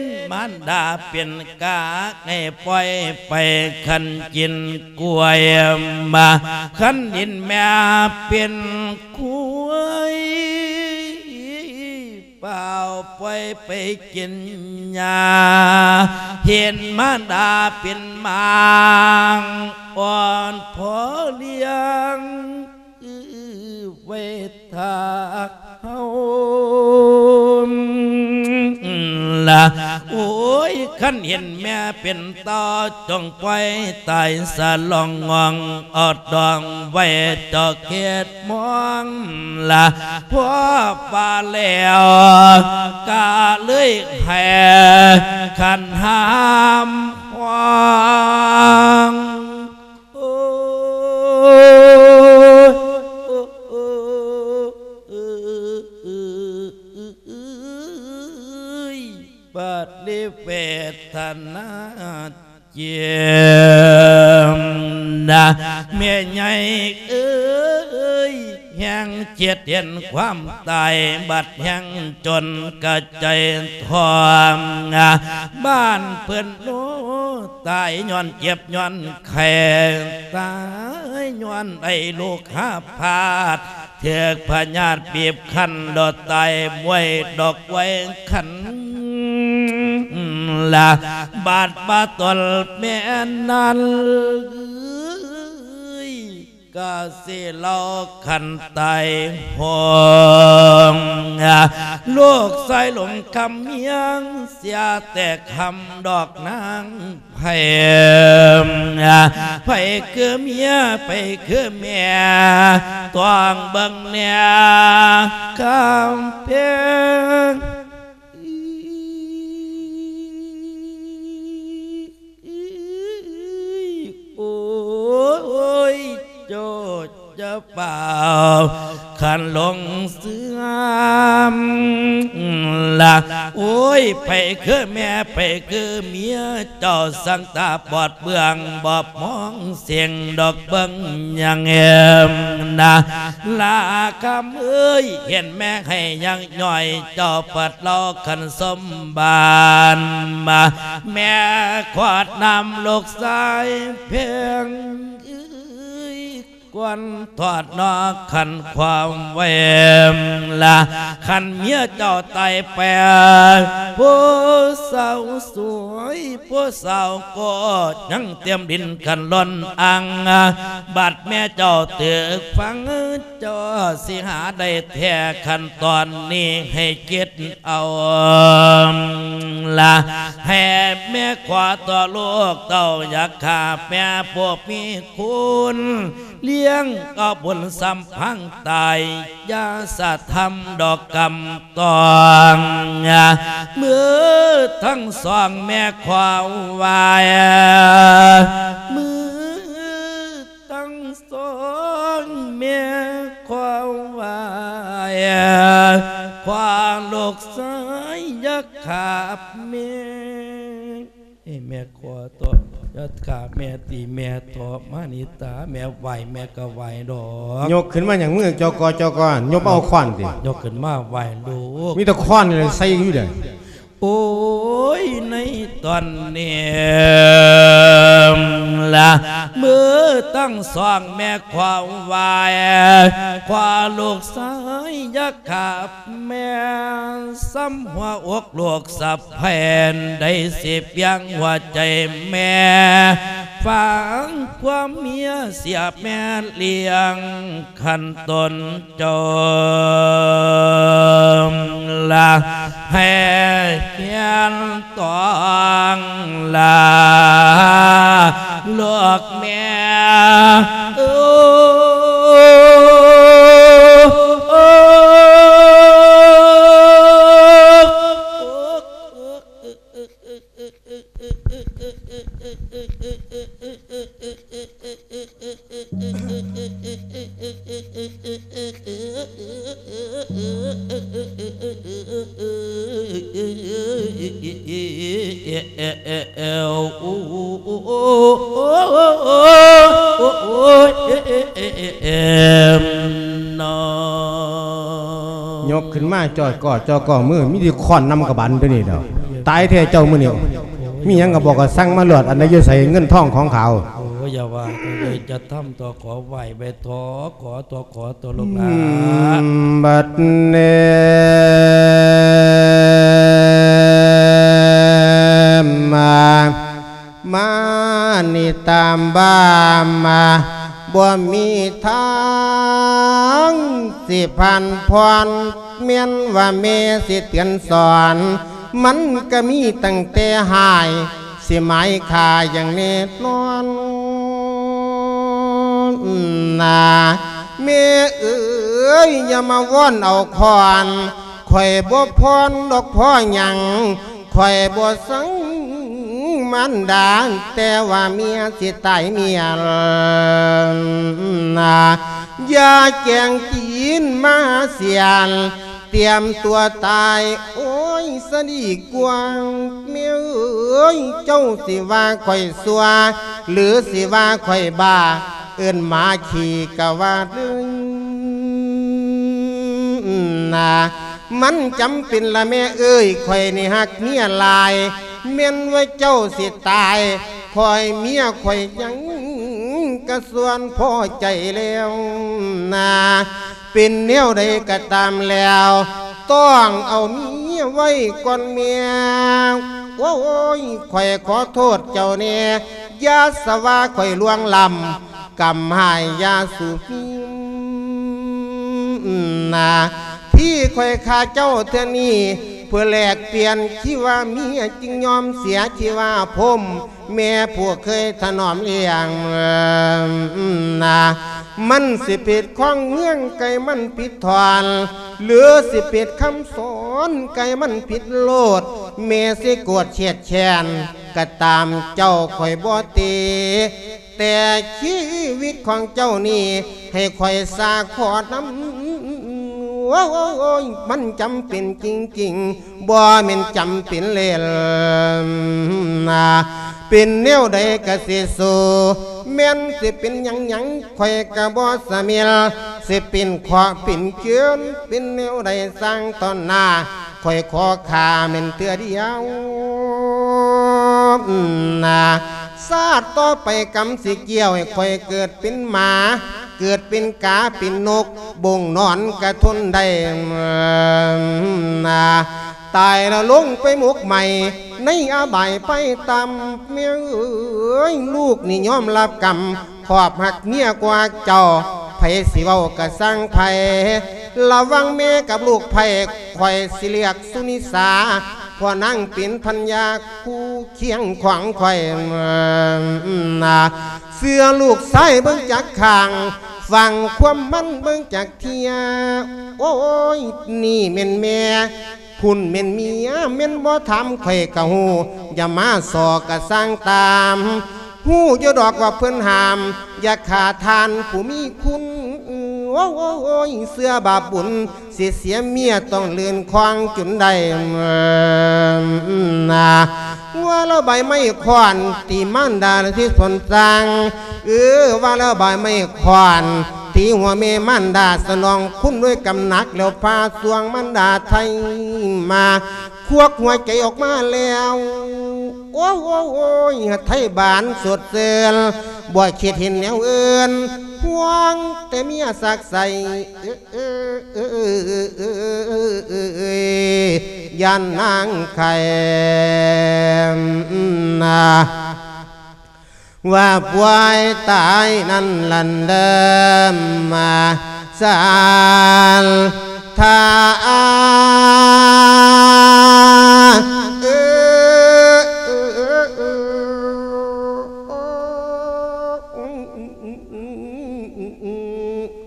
ນມານດາເປັນກາ ໃຫ້ປ່ອຍໄປຄັນກິນກ້ວຍມາ ຄັນເຫັນແມ່ເປັນຄວາຍ ເຝົ້າປ່ອຍໄປກິນຫຍ້າ ເຫັນມານດາເປັນໝາງ ອ່ອນພໍລ້ຽງ ອື ໄວ້ຖ້າເຮົາລະ ໂອ້ຍ ຄັນເຫັນແມ່ເປັນຕໍ່ ຈົ່ງປ່ອຍຕາຍສະຫຼອງງອງ ເອົາດອງໄວ້ເຈົ້າເຂດ ມອງລະ ພໍວ່າແລ້ວກະເລີຍໃຫ້ຂັນຫ້າມຮ້ອງ ໂອ້ຍ ບາດເລີຍເວທະນາ ເຈັບນະ ແມ່ໃຫຍ່ເອີຍ ແຮງເຈັບເຫັນຄວາມຕາຍ ບັດແຮງຈົນກະໃຈທ້ອງ ບ້ານເພິ່ນໂນ ຕາຍຍ້ອນເຈັບຍ້ອນໄຂ້ ຕາຍຍ້ອນໄດ້ລູກຫາພາດ ຖືກພະຍາດບີບຄັນ ດອກຕາຍມວຍດອກໄວ້ຄັນລະ ບາດບາຕົນແມ່ນັ້ນ ກະຊິເລົ່າຄັນຕາຍໂຫງ ລູກຊາຍຫຼົງຄຳເມຍ ເສຍແຕ່ຄຳດອກນາງ ໃຜ ໃຜຄືເມຍ ໃຜຄືແມ່ ຕ້ອງເບິ່ງແນ່ຄຳເພັງ ໂອ້ຍ ເຈົ້າ ຢ່າຟ້າວຄັນຫຼົງເຊື່ອມລະ ໂອ້ຍ ໃຜຄືແມ່ ໃຜຄືເມຍ ເຈົ້າຊ່າງຕາບອດເບື້ອງ ບໍ່ມອງສິ່ງດອກເບິ່ງຫຍັງແອມນະ ລາຄຳເອີຍ ເຫັນແມ່ໃຫ້ຍັງຍ່ອຍ ເຈົ້າປັດເລົ່າຄັນສົມບານມາ ແມ່ຂວາດນ້ຳລູກຊາຍເພັງເອີຍ ກວນທອດນອກຂັນຄວາມເວມລະ ຄັນເມຍເຈົ້າຕາຍໄປ ຜູ້ສາວສວຍ ຜູ້ສາວກໍຍັງຕຽມດິນຄັນລ້ອນອັ່ງ ບາດແມ່ເຈົ້າຖືກຝັງ ເຈົ້າຊິຫາໄດ້ແທ້ ຂັ້ນຕອນນີ້ໃຫ້ຄິດເອົາລະ ໃຫ້ແມ່ຂໍຕໍ່ລູກເຕົ້າ ຢ່າຂ້າແມ່ຜູ້ມີຄຸນ ລ້ຽງເອົາບຸນສຳພັງຕາຍ ຢ່າສະທຳດອກກຳຕອງ ມືທັງສອງແມ່ຂໍໄຫວ້ ມືທັງສອງແມ່ຂໍໄຫວ້ ຂໍລູກຊາຍຢ່າຂ້າແມ່ ເອີ ແມ່ຂໍເຖາະ ຢ່າຂ້າແມ່ ຕີແມ່ເຖາະ ມານີ້ຕາ ແມ່ໄຫວ້ ແມ່ກໍໄຫວ້ດອກ. ຍົກຂຶ້ນມາຫຍັງ ມືຈອກອ ຈອກອ ຍົກມາເອົາຄ້ອນຕິ? ຍົກຂຶ້ນມາໄຫວ້ລູກ ມີແຕ່ຄ້ອນນີ້ແຫຼະໃສ່ຢູ່ເດ້. ໂອ້ຍ ໃນຕອນນີ້ລະ ມືທັງສອງແມ່ຂໍໄຫວ້ ຂໍລູກຊາຍຢ່າຂ້າ ແມ່ ສ່ຳຫົວອົກລູກສະໃພ້ ໄດ້ຊິພຽງຫົວໃຈແມ່ ຟັງຄວາມເມຍເສຍແມ່ລ້ຽງ ຄັນຕົນເຈົ້າລະ ໃຫ້ຂຽນຕ້ອງລາລູກແມ່ ໂອ້. ຍົກຂຶ້ນມາຈ່ອຍກໍຈ່ອຍກໍ ມືມີແຕ່ຄ້ອນນຳກະບານຕົວນີ້ແຫຼ້ວ. ຕາຍແທ້ເຈົ້າມື້ນີ້ ມີຫຍັງກໍບອກກໍສັ່ງມາໂລດ ອັນໃດຢູ່ໃສເງິນທອງຂອງເຂົາ. ໂອ້ ຢ່າວ່າເລີຍ ຈະທຳຕົວ ຂໍໄຫວ້ໄວ້ ຂໍ ຂໍຕົວ ຂໍຕົວລູກຫຼານ. ບັດນີ້ມາ ມານີ້ຕາມບ້າມາ ບໍ່ມີທາງຊິຜ່ານຜ່ອນ ແມ່ນວ່າແມ່ຊິເຕືອນສອນ ມັນກະມີຕັ້ງແຕ່ຮ້າຍ ຊິໝາຍຂ້າຢ່າງແນ່ນອນນາ. ແມ່ເອີຍ ຢ່າມາວອນເອົາຄອນ ຂ້ອຍບໍ່ຜ່ອນດອກພໍຫຍັງ ຂ້ອຍບໍ່ສັງມານດາ ແຕ່ວ່າເມຍຊິຕາຍເມຍນາ. ຢ່າແກງຕີນມາສຽນ ຕຽມຕົວຕາຍ ໂອ້ຍ ສະດີກວ່າງ. ແມ່ເອີຍ ເຈົ້າຊິວ່າຂ້ອຍຊົ່ວ ຫຼື ຊິວ່າຂ້ອຍບ້າ ເອີ້ນໝາຂີ້ກະວ່າເລີຍນາ. ມັນຈຳເປັນລະແມ່ເອີຍ ຂ້ອຍນີ້ຮັກເມຍຫຼາຍ ແມ່ນວ່າເຈົ້າຊິຕາຍ ຂ້ອຍເມຍຂ້ອຍຍັງກະສ່ວນພໍໃຈແລ້ວນາ. ເປັນແນວໃດກະຕາມແລ້ວ ຕ້ອງເອົາເມຍໄວ້ກ່ອນແມ່. ໂອ້ຍ ຂ້ອຍຂໍໂທດເຈົ້າແດ່ ຢ່າສະວ່າຂ້ອຍລ່ວງລ້ຳ ກຳຮ້າຍຢ່າສູ່ມີນາ. ທີ່ຂ້ອຍຂ້າເຈົ້າເທື່ອນີ້ ເພື່ອແລກປ່ຽນຊີວາເມຍ ຈຶ່ງຍອມເສຍຊີວາພົມ ແມ່ຜູ້ເຄີຍຖະໜອມລ້ຽງນາ. ມັນຊິຜິດຂອງເມືອງ ໃກ້ມັນຜິດທ່ອນ ຫຼື ຊິຜິດຄຳສອນ ໃກ້ມັນຜິດໂລດ. ແມ່ຊິໂກດຄຽດແຄ້ນ ກະຕາມເຈົ້າຂ້ອຍບໍ່ຕິ ແຕ່ຊີວິດຂອງເຈົ້ານີ້ ໃຫ້ຂ້ອຍສາຂໍນຳ. ໂອ້ຍ ມັນຈຳເປັນຈິງໆ ບໍ່ແມ່ນຈຳເປັນເລ່ນນາ. ເປັນແນວໃດກະຊິສູ້ ແມ່ນຊິເປັນຫຍັງຫຍັງ ຂ້ອຍກະບໍ່ສະເໝັນ ຊິເປັນເຄາະເປັນເກີນ ເປັນແນວໃດຊ່າງຕອນໜ້າ ຂ້ອຍຂໍຂ້າແມ່ນເທື່ອດຽວນາ. ຊາດຕໍ່ໄປກຳຊິກ່ຽວ ໃຫ້ຂ້ອຍເກີດເປັນໝາ ເກີດເປັນກາເປັນນົກ ບົງນອນກະທົນໄດ້ນາ. ຕາຍແລ້ວລົງໄປໝົກໄໝ້ໃນອະບາຍໄຟຕ່ຳ. ແມ່ເອີຍ ລູກນີ້ຍອມຮັບກຳ ຄອບຮັກເມຍກວ່າເຈົ້າ ໃຜຊິເວົ້າກະຊ່າງໃຜ ລະຫວ່າງແມ່ກັບລູກໃຜ ຂ້ອຍຊິເລືອກສຸນິສາ ເພາະນາງເປັນພັນຍາຄູ່ຄຽງຂອງຂ້ອຍນາ. ເຊື່ອລູກຊາຍເບິ່ງຈັກຂ້າງ ຟັງຄວາມມັນເບິ່ງຈັກເທື່ອ. ໂອ້ຍ ນີ້ແມ່ນແມ່ ພຸ້ນແມ່ນເມຍ ແມ່ນບໍ່ຖາມຂ້ອຍກະຮູ້ ຢ່າມາສໍ້ກະຊ່າງຕາມ ຮູ້ຢູ່ດອກວ່າເພິ່ນຫ້າມ ຢ່າຂ້າທ່ານຜູ້ມີຄຸນ. ໂອ້ຍ ເຊື່ອບາບບຸນ ຊິເສຍເມຍຕ້ອງລື່ນຄອງຈົນໄດ້ນາ. ວ່າແລ້ວໃບໄມ້ຄ້ອນ ຕີມານດາທີ່ສົນສ້າງ ເອີ ວ່າແລ້ວໃບໄມ້ຄ້ອນ ຕີຫົວແມ່ມານດາ ສະໜອງຄຸນດ້ວຍກຳໜັກ ແລ້ວພາຊ່ວງມານດາໄທມາ ຄວັກຫົວໃຈອອກມາແລ້ວ. ໂອ້ຍ ໄທບານສົດຊື່ນ ບໍ່ຄິດເຫັນແນວອື່ນ ຫ່ວງແຕ່ເມຍສັກໃສ່ ເອີ ເອີ ເອີ ເອີ ຢ້ານນາງໄຂ້ນາ. ວ່າປ່ວຍຕາຍນັ້ນຫັ້ນເດີມາ ສານທາ ເອີ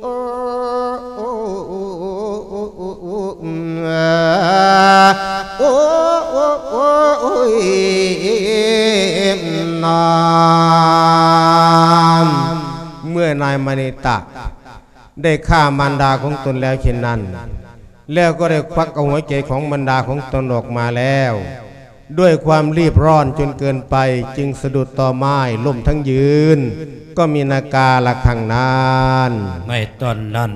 ໂອ້ ໂອ້ ໂອ້ ໂອ້ ໂອ້ຍ ນອນ. ເມື່ອນາຍມະນິຕະໄດ້ຂ້າມານດາຂອງຕົນແລ້ວເຊັ່ນນັ້ນ ແລ້ວກໍໄດ້ຄວັກເອົາຫົວໃຈຂອງມານດາຂອງຕົນອອກມາແລ້ວ ດ້ວຍຄວາມຣີບຮ້ອນຈົນເກີນໄປ ຈຶ່ງສະດຸດຕໍໄມ້ລົ້ມທັງຢືນ ກໍມີນາກາລະຄັ້ງນັ້ນ. ໃນຕອນນັ້ນ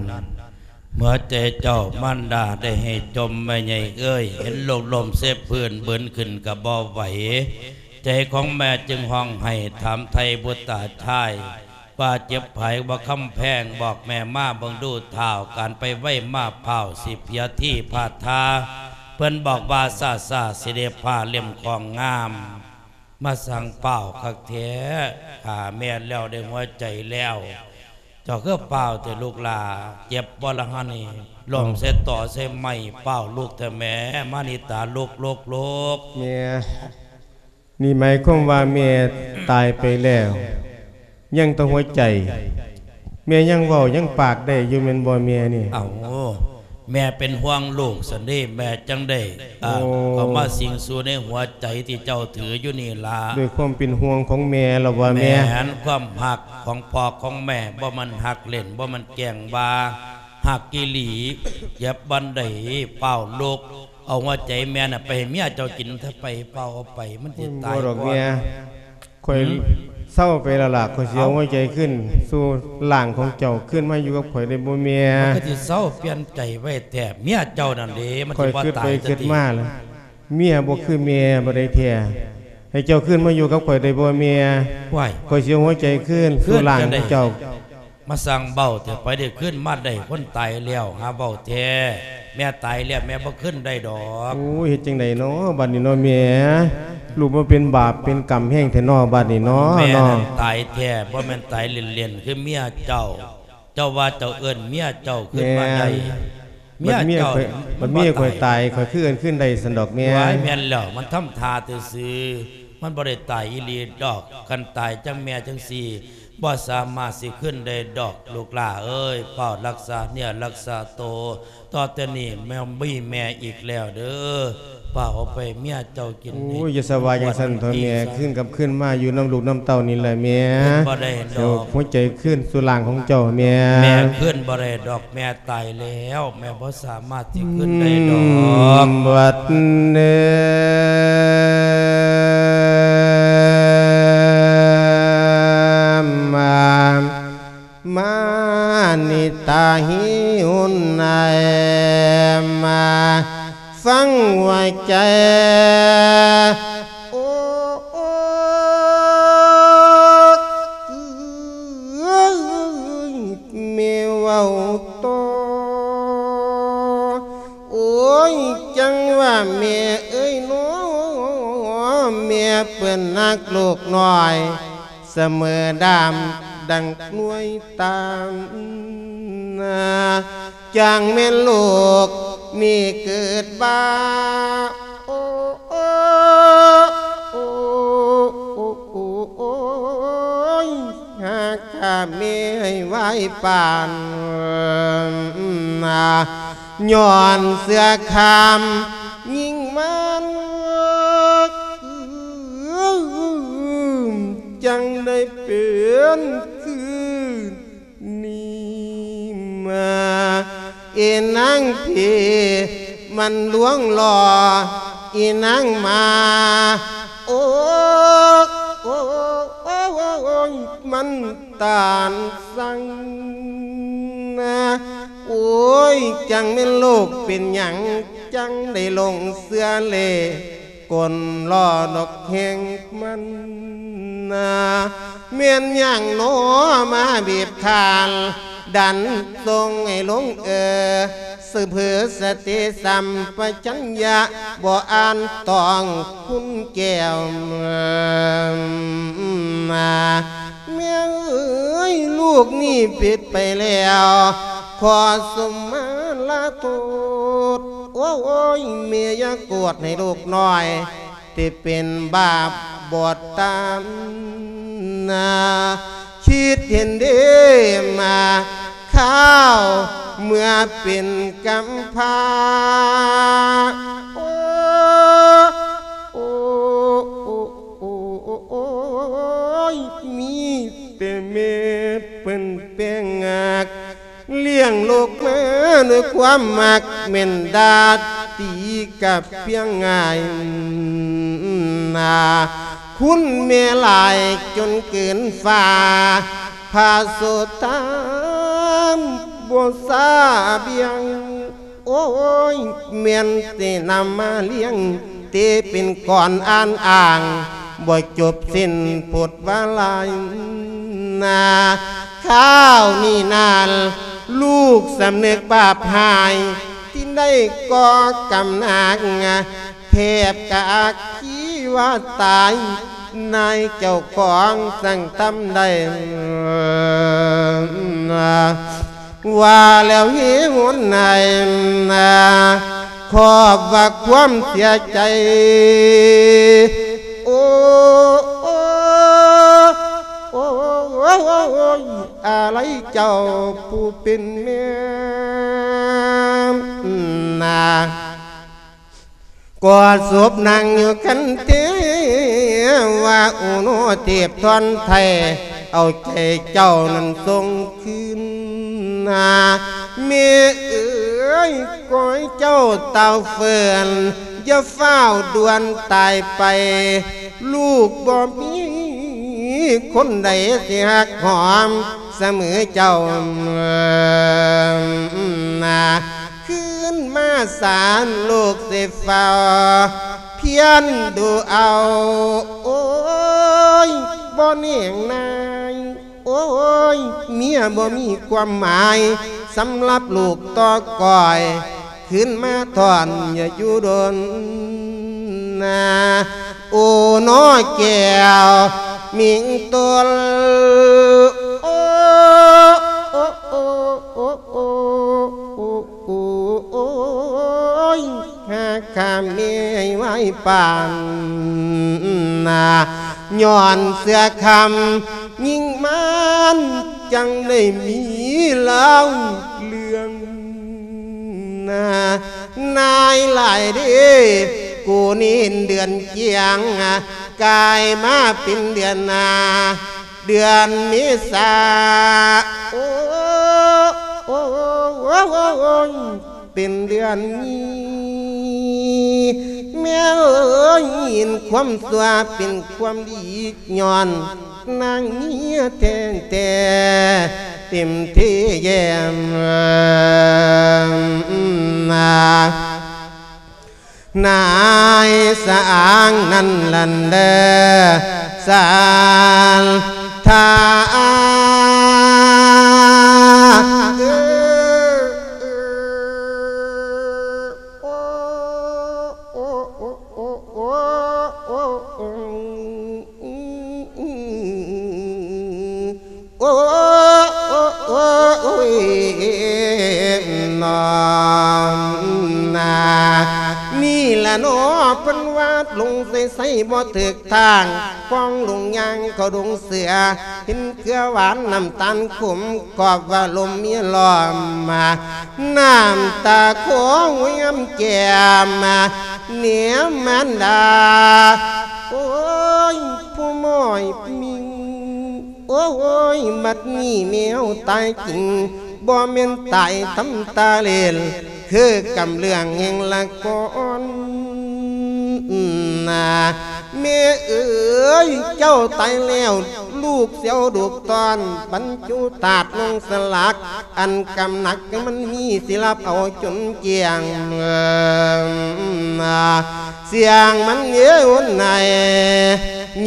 ຫົວໃຈເຈົ້າມານດາໄດ້ໃຫ້ຈົມ ແມ່ໃຫຍ່ເອີຍ, ເຫັນລູກລົ້ມເສບພື້ນບືນຂຶ້ນກໍບໍ່ໄຫວ. ໃຈຂອງແມ່ຈຶ່ງຮ້ອງໄຫ້ຖາມໄຖ່ບຸດຕາຊາຍ ວ່າເຈັບໃຜບໍ່ຄຳແພງ ບອກແມ່ມາເບິ່ງດູທ້າວ ການໄປໄວມາພ້າວ ຊິເພຍທີພາທາ. ເພິ່ນບອກວ່າຊ້າໆ ຊິໄດ້ຜ້າເຫຼັ້ມຂອງງາມ ມາສັ່ງພ້າວຄັກແທ້ ຂ້າແມ່ແລ້ວໄດ້ຫົວໃຈແລ້ວ ເຈົ້າຄືພ້າວແທ້ລູກຫຼ້າ ເຈັບບໍ່ລະຫັ້ນນີ້ ລົ້ມໃສ່ຕໍໃສ່ໄມ້ ພ້າວລຸກແທ້ແມ່ ມະນິຕາລຸກໆໆ. ແມ່ ນີ້ໝາຍຄວາມວ່າແມ່ຕາຍໄປແລ້ວ ຍັງແຕ່ຫົວໃຈ ແມ່ຍັງເວົ້າຍັງປາກໄດ້ຢູ່ແມ່ນບໍ່ແມ່ນີ້? ເອົ້າ ແມ່ເປັນຫ່ວງລູກຊັ້ນເດ້ ແມ່ຈັ່ງໄດ້ ອ່າ ໂອ້ ເຂົ້າມາສິງສູ່ໃນຫົວໃຈທີ່ເຈົ້າຖືຢູ່ນີ້ລະ. ດ້ວຍຄວາມເປັນຫ່ວງຂອງແມ່ລະວ່າແມ່ ແມ່ນຄວາມຮັກຂອງພໍ່ຂອງແມ່ ບໍ່ແມ່ນຮັກເລ່ນ ບໍ່ແມ່ນແກ້ງວ່າ ຮັກອີ່ຫຼີ. ເຈັບບ່ອນໃດ ຟ້າວລຸກ ເອົາຫົວໃຈແມ່ນະໄປໃຫ້ເມຍເຈົ້າກິນເຖາະ ໄປ ຟ້າວເອົາໄປ ມັນຊິຕາຍກ່ອນ. ໂອ້ຍ ບໍ່ດອກແມ່ ຂ້ອຍ ຫືມ ເຊົາໄປແລ້ວລະ ຂ້ອຍຊິເອົາ ເອົ້າ ຫົວໃຈຄືນສູ່ຮ່າງຂອງເຈົ້າ ຄືນມາຢູ່ກັບຂ້ອຍໄດ້ບໍ່ແມ່? ມັນກໍຊິເຊົາປ່ຽນໃຈໄວແທ້ ເມຍເຈົ້ານັ້ນເດ້ ມັນຊິບໍ່ຕາຍ ຂ້ອຍຄິດໄປຄິດມາລະ ເມຍບໍ່ຄືແມ່ບໍ່ໄດ້ແທ້ ໃຫ້ເຈົ້າຄືນມາຢູ່ກັບຂ້ອຍໄດ້ບໍ່ແມ່? ວ້າຍ ຂ້ອຍຊິເອົາຫົວໃຈຄືນສູ່ຮ່າງຂອງເຈົ້າ. ມາສ້າງເວົ້າແທ້ ໃຜໄດ້ຄືນມາໄດ້ຄົນຕາຍແລ້ວ ຫາເວົ້າແທ້ ແມ່ຕາຍແລ້ວແມ່ບໍ່ຄືນໄດ້ດອກ. ໂອ້ຍ ເຮັດຈັ່ງໃດນໍບັດນີ້ນໍແມ່ ລູກມາເປັນບາບເປັນກຳແຮງແທ້ນໍບັດນີ້ນໍ. ແມ່ນັ້ນຕາຍແທ້ ບໍ່ແມ່ນຕາຍເລ່ນໆ ຄືເມຍເຈົ້າ ເຈົ້າວ່າເຈົ້າເອີ້ນເມຍເຈົ້າຄືນມາໄດ້ ເມຍເຈົ້າ ບັດເມຍຂ້ອຍ ບັດເມຍຂ້ອຍຕາຍ ຂ້ອຍຄືເອີ້ນຄືນໄດ້ຊັ້ນດອກແມ່. ວ້າຍ ແມ່ນແລ້ວ ມັນທຳທ່າຊື່ໆ ມັນບໍ່ໄດ້ຕາຍອີ່ຫຼີດອກ ຄັນຕາຍຈັ່ງແມ່ຈັ່ງຊີ້ ບໍ່ສາມາດຊິຄືນໄດ້ດອກ ລູກຫຼ້າເອີຍ ຟ້າວຮັກສາເນື້ອຮັກສາໂຕ ຕໍ່ແຕ່ນີ້ແມ່ບໍ່ມີແມ່ອີກແລ້ວເດີ ຟ້າວເອົາໄປເມຍເຈົ້າກິນ. ໂອ້ຍ ຢ່າສະວ່າຈັ່ງຊັ້ນເຖາະແມ່ ຄືນກັບຄືນມາຢູ່ນຳລູກນຳເຕົ້ານີ້ແຫຼະແມ່ ຄືນບໍ່ໄດ້ດອກ ເອົາຫົວໃຈຄືນສູ່ຮ່າງຂອງເຈົ້າແມ່. ແມ່ຄືນບໍ່ໄດ້ດອກ ແມ່ຕາຍແລ້ວ ແມ່ບໍ່ສາມາດຊິຄືນໄດ້ດອກ. ອືມ ບັດນີ້ ມາ ມານິຕາຫິຮຸນນາຍ ມາຟັງວ່າໃຈ ໂອ້ ແມ່ເວົ້າຕໍ່ ໂອ້ຍ ຈັ່ງວ່າແມ່ເອີຍນໍ ແມ່ເປັນຮັກລູກນ້ອຍ ສະເໝີດາມດັ່ງໜ່ວຍຕານ ຈັ່ງແມ່ນລູກນີ້ເກີດມາ ໂອ້ ໂອ້ ໂອ້ ໂອ້ ໂອ້ຍ ຫາຂ້າແມ່ໃຫ້ໄວປານ ຍ້ອນເສືອຄາມຍິງມັນ ຈັ່ງໄດ້ເປັນຄືນີ້ມາ ອີນາງຜີມັນລວງຫຼໍ່ ອີນາງໝາ ໂອ້ ໂອ້ ໂອ້ ໂອ້ ໂອ້ຍ ມັນຕານສັງນາ ໂອ້ຍ ຈັ່ງແມ່ນລູກເປັນຫຍັງ ຈັ່ງໄດ້ຫຼົງເຊື່ອເລ ກົນລໍ້ນອກແຮງມັນນາ ແມ່ນຫຍັງນໍມາບີບຄັນ ດັນສົ່ງໃຫ້ຫຼົງເອີ ສະເພີສະຕິສຳປະຊັນຍະ ບໍ່ອ່ານຕ້ອງຄຸນແກ້ວມາ ແມ່ເອີຍ ລູກນີ້ຜິດໄປແລ້ວ ຂໍສົມມາລາໂທດ ໂອ້ຍ ແມ່ຢ່າໂກດໃຫ້ລູກນ້ອຍ ທີ່ເປັນບາບບອດຕານາ ຄິດເຫັນເດ້ມາ ຄາວເມື່ອເປັນກຳພາ ໂອ້ ໂອ້ ໂອ້ ໂອ້ ໂອ້ຍ ມີແຕ່ແມ່ ເພິ່ນແປງຮັກ ລ້ຽງລູກມາດ້ວຍຄວາມມັກ ແມ່ນດາຕີກັບພຽງງ່າຍນາ ຄຸນແມ່ຫຼາຍຈົນເກີນຟ້າ ພະໂສດທາມບໍ່ສາບຽງ ໂອ້ຍ ແມ່ນຊິນຳມາລ້ຽງ ເຕເປັນກ່ອນອ່ານອ້າງ ບໍ່ຈົບສິ້ນໂພດວາລາຍນາ ຄາວນີ້ນານ ລູກສຳນຶກບາບຮ້າຍ ທີ່ໄດ້ກໍ່ກຳໜັກ ແທບກະອັກຄີວ່າຕາຍ ນາຍເຈົ້າຂອງສັ່ງທຳໄດ້ ວ່າແລ້ວເຫວໜ້າ ຂອບວ່າຄວາມເສຍໃຈ ໂອ້ ໂອ້ ໂອ້ ອາໄລເຈົ້າຜູ້ເປັນແມ່ນາ ກອດສົບນັ່ງຢູ່ຄັນເທວາ ໂອໂນເທບທອນໄທ ເອົາໃຈເຈົ້ານັ້ນສົ່ງຄືນນາ ແມ່ເອີຍ ຂໍໃຫ້ເຈົ້າເຕົ້າເຟີນ ຢ່າຟ້າວດ່ວນຕາຍໄປ ລູກບໍ່ມີຄົນໃດຊິຮັກຫອມສະເໝີເຈົ້ານາ ຄືນມາສານລູກຊິເຝົ້າພຽນດູເອົາ ໂອ້ຍ ບໍ່ແນງນາຍ ໂອ້ຍ ເມຍບໍ່ມີຄວາມໝາຍ ສຳລັບລູກຕໍ່ກ້ອຍ ຄືນມາທ່ອນຢ່າຢູ່ດົນນາ ໂອນໍແກ້ວມິງຕົນ ໂອ້ ໂອ້ ໂອ້ ໂອ້ ໂອ້ ໂອ້ຍ ຫາຂ້າແມ່ໄວ້ປານນາ ຍ້ອນເສືອຄຳຍິງມານ ຈັ່ງໄດ້ມີລາວເລື່ອງນາ ນາຍຫຼາຍເດ້ ກູເນນເດືອນກຽງ ກາຍມາເປັນເດືອນນາ ເດືອນເມສາ ໂອ້ ໂອ້ ໂອ້ ໂອ້ ເປັນເດືອນນີ້ ແມ່ເອີຍ ເຫັນຄວາມຊົ່ວເປັນຄວາມດີ ຍ້ອນນາງເມຍແທ້ໆ ເຕັມເທແຍ້ມນາ ນາຍສະອາງນັ້ນຫັ້ນເດີ ສານທາ ໂອ້ ໂອ້ ໂອ້ ໂອ້ ໂອ້ຍ ນ້ອງນາ ນີ້ລະເນາະ ເພິ່ນວ່າຫຼົງໃສໆບໍ່ຖືກທາງ ຄອງຫຼົງຍ່າງເຂົ້າດົງເສືອ ເຫັນເກືອຫວານນ້ຳຕານຂົມ ກອບວ່າລົມເມຍລ້ອມ ນ້ຳຕາຄອງແຫວມແກ້ມ ແນມມານດາ ໂອ້ຍ ຜູ້ໝ້ອຍມິງ ໂອ້ຍ ບັດນີ້ແມວຕາຍຈິງ ບໍ່ແມ່ນຕາຍທຳຕາເລ່ນ ຄືກຳເລື່ອງແຫ່ງລະຄອນນາ ແມ່ເອີຍ ເຈົ້າຕາຍແລ້ວ ລູກສຽວລູກຕ້ອນ ບັນຈຸທາດລົງສະຫຼັກ ອັນກຳໜັກມັນມີ ຊິລັບເອົາຈົນກ້ຽງ ສຽງມັນເອີນໄຫ້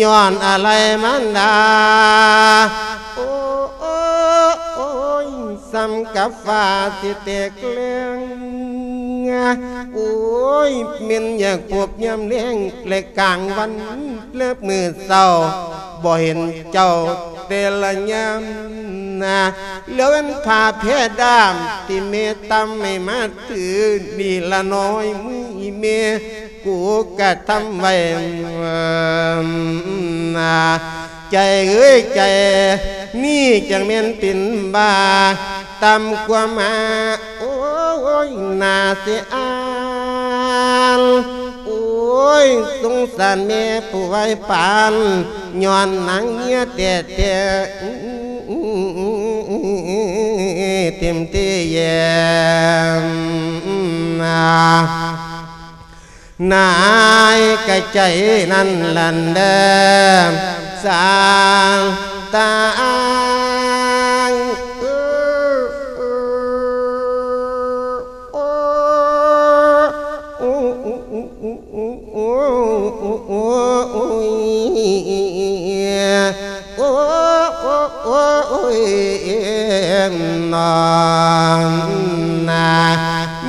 ຍ້ອນອາໄລມານດາ ໂອ້ ໂອ້ ໂອ້ຍ ສ່ຳກັບຟ້າຊິແຕກແລງ ໂອ້ຍ ແມ່ນຢາກພົບຍາມແລງ ແລະກາງວັນ ແລະມື້ເຊົ້າ ບໍ່ເຫັນເຈົ້າແຕ່ລະຍາມນາ ແລ້ວອັນຜ້າແພດາມ ທີ່ແມ່ຕຳໃຫ້ມາຖື ນີ້ລະນ້ອຍມືອີ່ແມ່ ກູກະທຳໄວ້ນາ ໃຈເອີຍໃຈ ນີ້ຈັ່ງແມ່ນເປັນບ້າ ຕຳກວ່າມາ ໂອ້ຍ ໜ້າເສຍອາຍ ໂອ້ຍ ສົງສານແມ່ຜູ້ໄວປານ ຍ້ອນນາງເມຍແທ້ໆ ເຕັມທີ່ແຍມນາ ນາຍກະໃຈນັ້ນຫັ້ນເດີ ສາງຕາງ ໂອ້ ໂອ້ ໂອ້ ໂອ້ ໂອ້ ໂອ້ຍ ໂອ້ ໂອ້ ໂອ້ ໂອ້ຍ ນອນນາ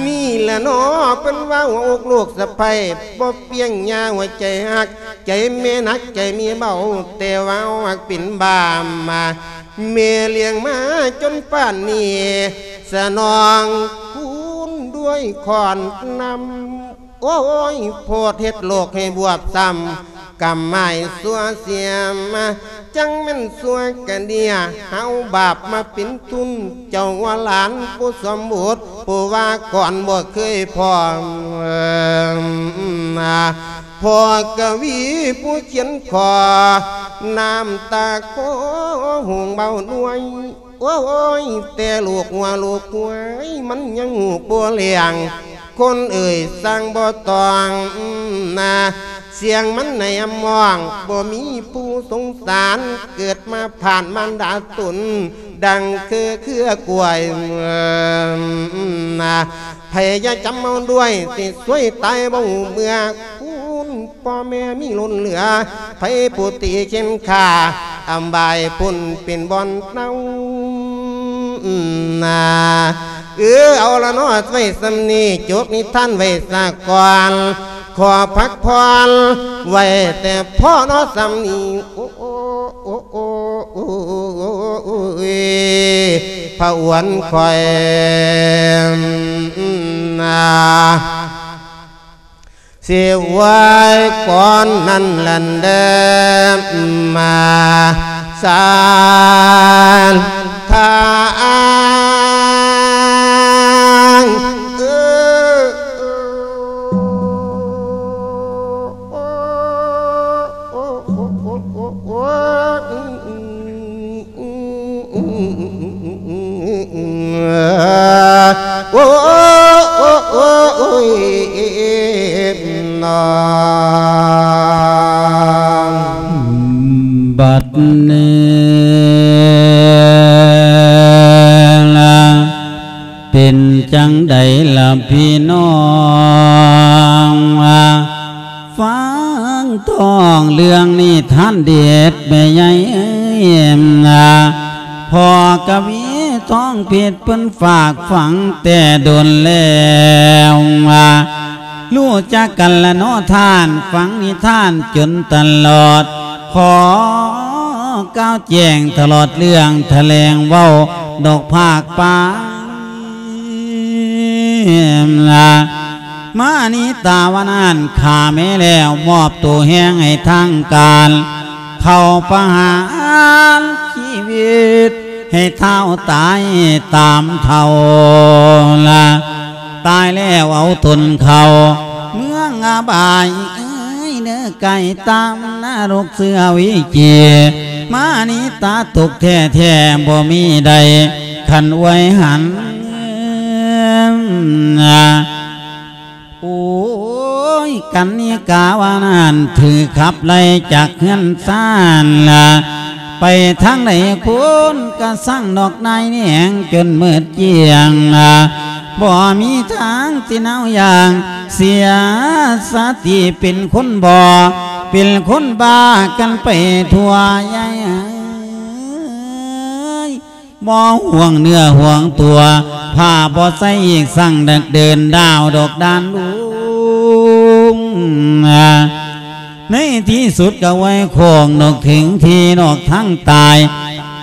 ນີ້ລະເນາະ ເພິ່ນວ່າຫົວອົກລູກສະໃພ້ ບໍ່ປ່ຽງຍາຫົວໃຈຮັກ ໃຈແມ່ໜັກໃຈເມເບົາ ແຕ່ວ່າເຮົາຮັກເປັນບ້າມາ ແມ່ລ້ຽງມາຈົນປານນີ້ ສະໜອງຄູນດ້ວຍຂອນນຳ ໂອ້ຍ ໂພດເຮັດໂລກໃຫ້ບວບຊ້ຳ ກຳໝາຍຊົ່ວເສຍມາ ຈັ່ງແມ່ນຊົ່ວກະເດຍ ເຮົາບາບມາເປັນທຶນ ເຈົ້າວ່າຫຼານຜູ້ສົມບູດ ຜູ້ວ່າກ່ອນບໍ່ເຄີຍພ້ອມ ພໍ່ກະວີຜູ້ຂຽນຂໍ ນ້ຳຕາຄໍຫົງເບົາໜ່ວຍ ໂອ້ຍ ແຕ່ລູກຫົວລູກຫວຍ ມັນຍັງຮູ້ບໍ່ແລ້ງ ຄົນເອີຍ ຊ່າງບໍ່ຕ້ອງນາ ສຽງມັນໃນອຳມອງ ບໍ່ມີຜູ້ສົງສານ ເກີດມາຜ່ານມານດາຕົນ ດັ່ງຄືເຄືອກ້ວຍນາ ໃຜຢ່າຈຳເອົາດ້ວຍ ຊິຊວຍຕາຍບໍ່ຮູ້ເມື່ອ ຄຸນພໍ່ແມ່ມີລົ້ນເຫຼືອ ໃຜຜູ້ຕີເຂັນຂ້າ ອຳບາຍພຸ້ນເປັນບ່ອນເນົານາ ເອີ ເອົາລະເນາະ ໄວ້ສ່ຳນີ້ ຈົບນິທານໄວ້ສາກ່ອນ ຂໍພັກຜ່ອນໄວ້ແຕ່ພໍເນາະສ່ຳນີ້ ໂອ້ ໂອ້ ໂອ້ ໂອ້ ໂອ້ ໂອ້ ພະອວນຂ້ອຍນາ ຊິໄຫວ້ກ່ອນນັ້ນແລະເດີ ມາສາທາງ ເອີ ໂອ້ ໂອ້ ໂອ້ ໂອ້ ໂອ້ ໂອ້ ໂອ້ ໂອ້ ໂອ້ ໂອ້ຍ ນອນ ບັດນີ້ລະ ເປັນຈັ່ງໃດລະພີ່ນ້ອງ ຟັງທ້ອງເລື່ອງນິທານເດັດແມ່ໃຫຍ່ເອີຍ ພໍ່ກະວີທອງເພັດເພິ່ນຝາກຝັງແຕ່ດົນແລ້ວ ຮູ້ຈັກກັນລະເນາະທ່ານ ຟັງນິທານຈົນຕະຫຼອດ ຂໍກ່າວແຈ້ງຕະຫຼອດເລື່ອງ ຖະແຫຼງເວົ້າດອກພາກປາຍ ມານິຕາວ່ານັ້ນຂ້າແມ່ແລ້ວ ມອບໂຕແຮງໃຫ້ທາງການ ເຂົ້າປະຫານຊີວິດ ໃຫ້ທ້າວຕາຍຕາມເຖົ້າລະ ຕາຍແລ້ວເອົາຕົນເຂົ້າເມືອງອະບາຍ ເອີຍເດີ ໄກຕາມນະລົກເສືອວິຈີ ມານິຕາຕົກແທ້ໆ ບໍ່ມີໃດ ຄັນອວຍຫັນ ໂອ້ຍ ກັນນິກາວ່ານັ້ນ ຖືກຂັບໄລ່ຈາກເຮືອນຊານລະ ໄປທາງໃດຄົນກະຊັງ ນອກນາຍແນງຈົນໝົດກ້ຽງລະ ບໍ່ມີທາງຊິເນົາຢ່າງ ເສຍສະຕິເປັນຄົນບໍ່ ເປັນຄົນບ້າກັນໄປທົ່ວ ຍາຍເອີຍ ບໍ່ຫ່ວງເນື້ອຫ່ວງຕົວ ຜ້າບໍ່ໃສ່ອີກ ຊ່າງດັກເດີນດາວດອກດານລຸງ ໃນທີ່ສຸດກະໄຫວ້ໂຄ້ງ ນອກເຖິງທີ່ນອກທາງຕາຍ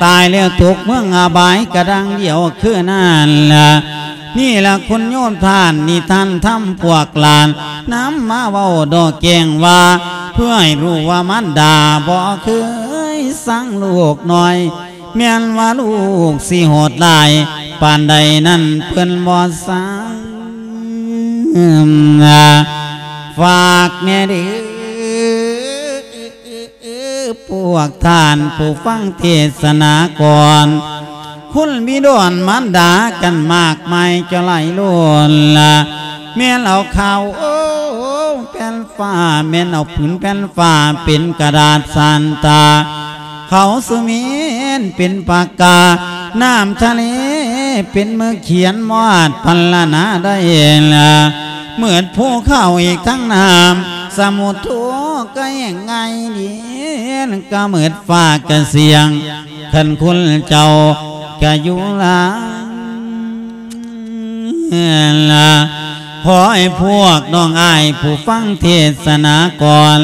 ຕາຍແລ້ວຕົກເມືອງອະບາຍ ກະດັ່ງດຽວຄືນັ້ນລະ ນີ້ລະຄຸນໂຍມທ່ານ ນິທານທຳພວກຫຼານ ນຳມາເວົ້າດອກແຈ້ງວ່າ ເພື່ອໃຫ້ຮູ້ວ່າມານດາບໍ່ເຄີຍຊັງລູກນ້ອຍ ແມ່ນວ່າລູກຊິໂຫດຮ້າຍປານໃດນັ້ນ ເພິ່ນບໍ່ຊັງນາ ຝາກແດ່ເດີ ພວກທ່ານຜູ້ຟັງເທດສະໜາກ່ອນ ຄຸນບິດອນມານດາກັນມາກມາຍເຈົ້າຫຼາຍລ້ນລະ ແມ່ນເອົາຂາວ ໂອ້ ແຜ່ນຟ້າ ແມ່ນເອົາຜືນແຜ່ນຟ້າເປັນກະດາດສານຕາ ເຂົາສຸເມນເປັນປາກກາ ນ້ຳທະເລເປັນມືຂຽນ ບໍ່ອາດພັນລະນາໄດ້ລະ ເໝິດພູເຂົາອີກທັງນ້ຳ ສະໝຸດທຸກກະແຫ້ງງ່າຍດີ ກະເໝິດຟ້າກະສຽງ ຄັນຄຸນເຈົ້າກະຢູ່ລາ ຂໍໃຫ້ພວກນ້ອງອ້າຍຜູ້ຟັງເທດສະນາກ່ອນ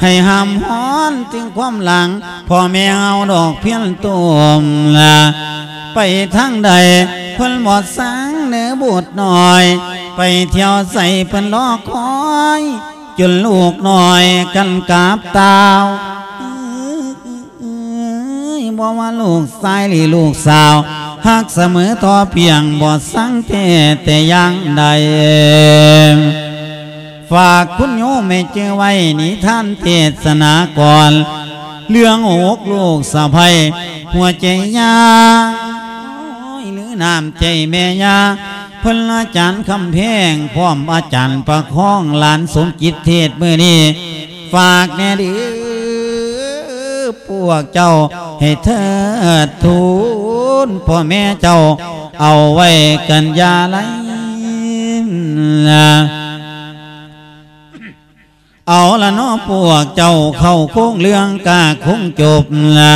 ໃຫ້ຫ້າມຮ້ອນເຖິງຄວາມຫຼັງ ພໍ່ແມ່ເຮົາດອກພຽນໂຕມລະ ໄປທາງໃດເພິ່ນບໍ່ສັງເໜີບຸດນ້ອຍ ໄປທ່ຽວໃສເພິ່ນລໍຄອຍ ຈົນລູກນ້ອຍກັນກາບຕ່າວ ເອີຍ ບໍ່ວ່າລູກຊາຍຫຼືລູກສາວ ຮັກສະເໝີທໍ່ພຽງ ບໍ່ສັງແທ້ແຕ່ຢ່າງໃດ. ຝາກຄຸນໂຍມໃຫ້ຈື່ໄວ້ ນິທານເທດສະນາກ່ອນ ເລື່ອງຫົກລູກສະໃພ້ ຫົວໃຈຍາ ໂອ້ຍ ຫຼືນ້ຳໃຈແມ່ຍາ ເພິ່ນອາຈານຄຳແພງ ພ້ອມອາຈານປະຄອງ ຫຼານສົມຈິດເທດມື້ນີ້ ຝາກແດ່ເດີພວກເຈົ້າ ໃຫ້ເທີດທູນພໍ່ແມ່ເຈົ້າ ເອົາໄວ້ກັນຢ່າໄລ ເອົາລະເນາະພວກເຈົ້າ ເຂົ້າໂຄງເລື່ອງກະຄົງຈົບລະ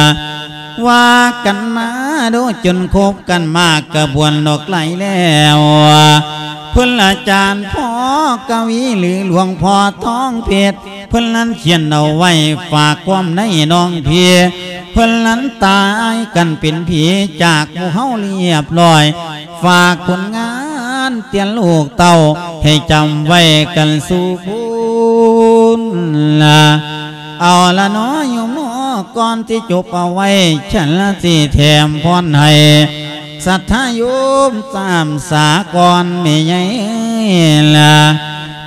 ວ່າກັນມາໂດຍຈົນຄົບກັນມາກະບວນດອກໄຫຼແລ້ວ ເພິ່ນອາຈານພໍ່ກະວີ ຫຼືຫຼວງພໍ່ທອງເພັດ ເພິ່ນນັ້ນຂຽນເອົາໄວ້ ຝາກຄວາມໃນນ້ອງພີ່ ເພິ່ນນັ້ນຕາຍກັນເປັນຜີ ຈາກໝູ່ເຮົາລຽບລ້ອຍ ຝາກຜົນງານເຕືອນລູກເຕົ້າ ໃຫ້ຈຳໄວ້ກັນສູ່ຄົນລະ ເອົາລະເນາະໂຍມເນາະ ກ່ອນທີ່ຈົບເອົາໄວ້ ສັນລະຊິແຖມພອນໃຫ້ ສັດທາໂຍມຕາມສາກ່ອນແມ່ໃຫຍ່ເອີຍລະ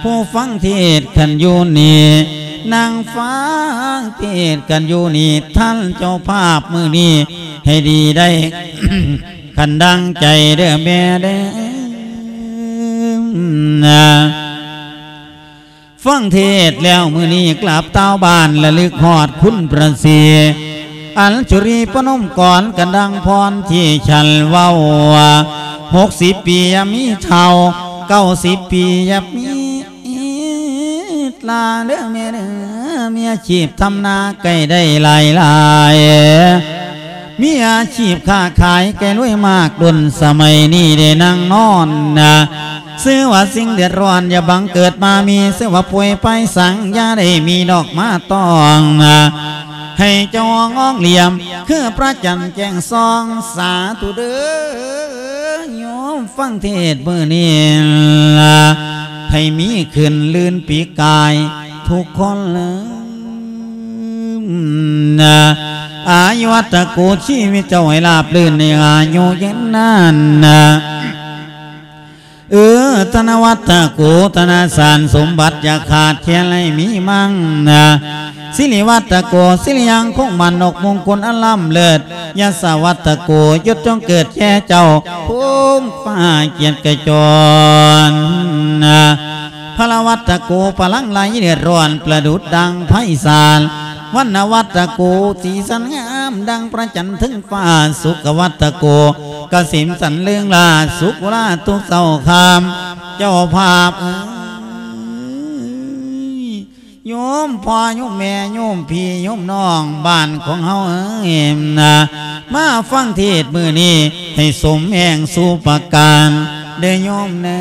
ຜູ້ຟັງເທດກັນຢູ່ນີ້ ນັ່ງຟັງເທດກັນຢູ່ນີ້ ທ່ານເຈົ້າພາບມື້ນີ້ ໃຫ້ດີໄດ້ ຄັນດັ່ງໃຈເດີແມ່ເດີ ຟັງເທດແລ້ວມື້ນີ້ ກັບຕ່າວບ້ານລະລຶກຮອດຄຸນພະສີ ອັນຈຸລີປະນົມກອນກັນດັ່ງພອນທີ່ສັນເວົ້າວ່າ ຫົກສິບປີຢ່າມີເຖົ້າ ເກົ້າສິບປີຢ່າມີຫຼ້າເດີແມ່ເດີ ມີອາຊີບທຳນາໃກ້ໄດ້ຫຼາຍໆ ມີອາຊີບຄ້າຂາຍໃກ້ລວຍມາກດົນ ສະໄໝນີ້ໄດ້ນັ່ງນອນນະ ຊື່ວ່າສິ່ງເດືອດຮ້ອນຢ່າບັງເກີດມາມີ ຊື່ວ່າປ່ວຍໄພສັງຢ່າໄດ້ມີດອກມາຕ້ອງນະ ໃຫ້ເຈົ້າອອງອ້ອງຫຼຽມ ຄືພະຈັນແຈ້ງສ່ອງ ສາທຸເດີໂຍມຟັງເທດມື້ນີ້ລະ ໃຫ້ມີຂຶ້ນລື່ນປີກາຍທຸກຄົນເລີຍ ອາຍຸວັດຕະໂກ ຊີວິດເຈົ້າໃຫ້ລາບລື່ນ ໃຫ້ອາຍຸຍືນນານນະ ເອີ ທະນະວັດຕະໂກ ທະນະສານສົມບັດ ຢ່າຂາດແຄນໃຫ້ມີມັງນະ ສິລິວັດຕະໂກ ສິລິຍັງຄົງໝັ້ນ ອອກມຸງຄຸນອັນລ້ຳເລີດ ຍະສະວັດຕະໂກ ຍົດຈົ່ງເກີດແກ່ເຈົ້າ ພູມຟ້າກຽດກະຈອນນະ ພະລະວັດຕະໂກ ພະລັງໄຫຼເດືອດຮ້ອນ ປະດຸດດັ່ງໄພສານ ວັນນະວັດຕະໂກ ສີສັນງາມດັ່ງພະຈັນເທິງຟ້າ ສຸຂະວັດຕະໂກ ກະສິມສັນເລີງລາ ສຸກໂອລາທຸກເຊົ້າຄ່ຳ ເຈົ້າພາບເອີຍ ໂຍມພໍ່ໂຍມແມ່ ໂຍມພີ່ໂຍມນ້ອງບ້ານຂອງເຮົາເອີຍນະ ມາຟັງເທດມື້ນີ້ ໃຫ້ສົມແຮງສູ່ປະການເດີໂຍມເດີ.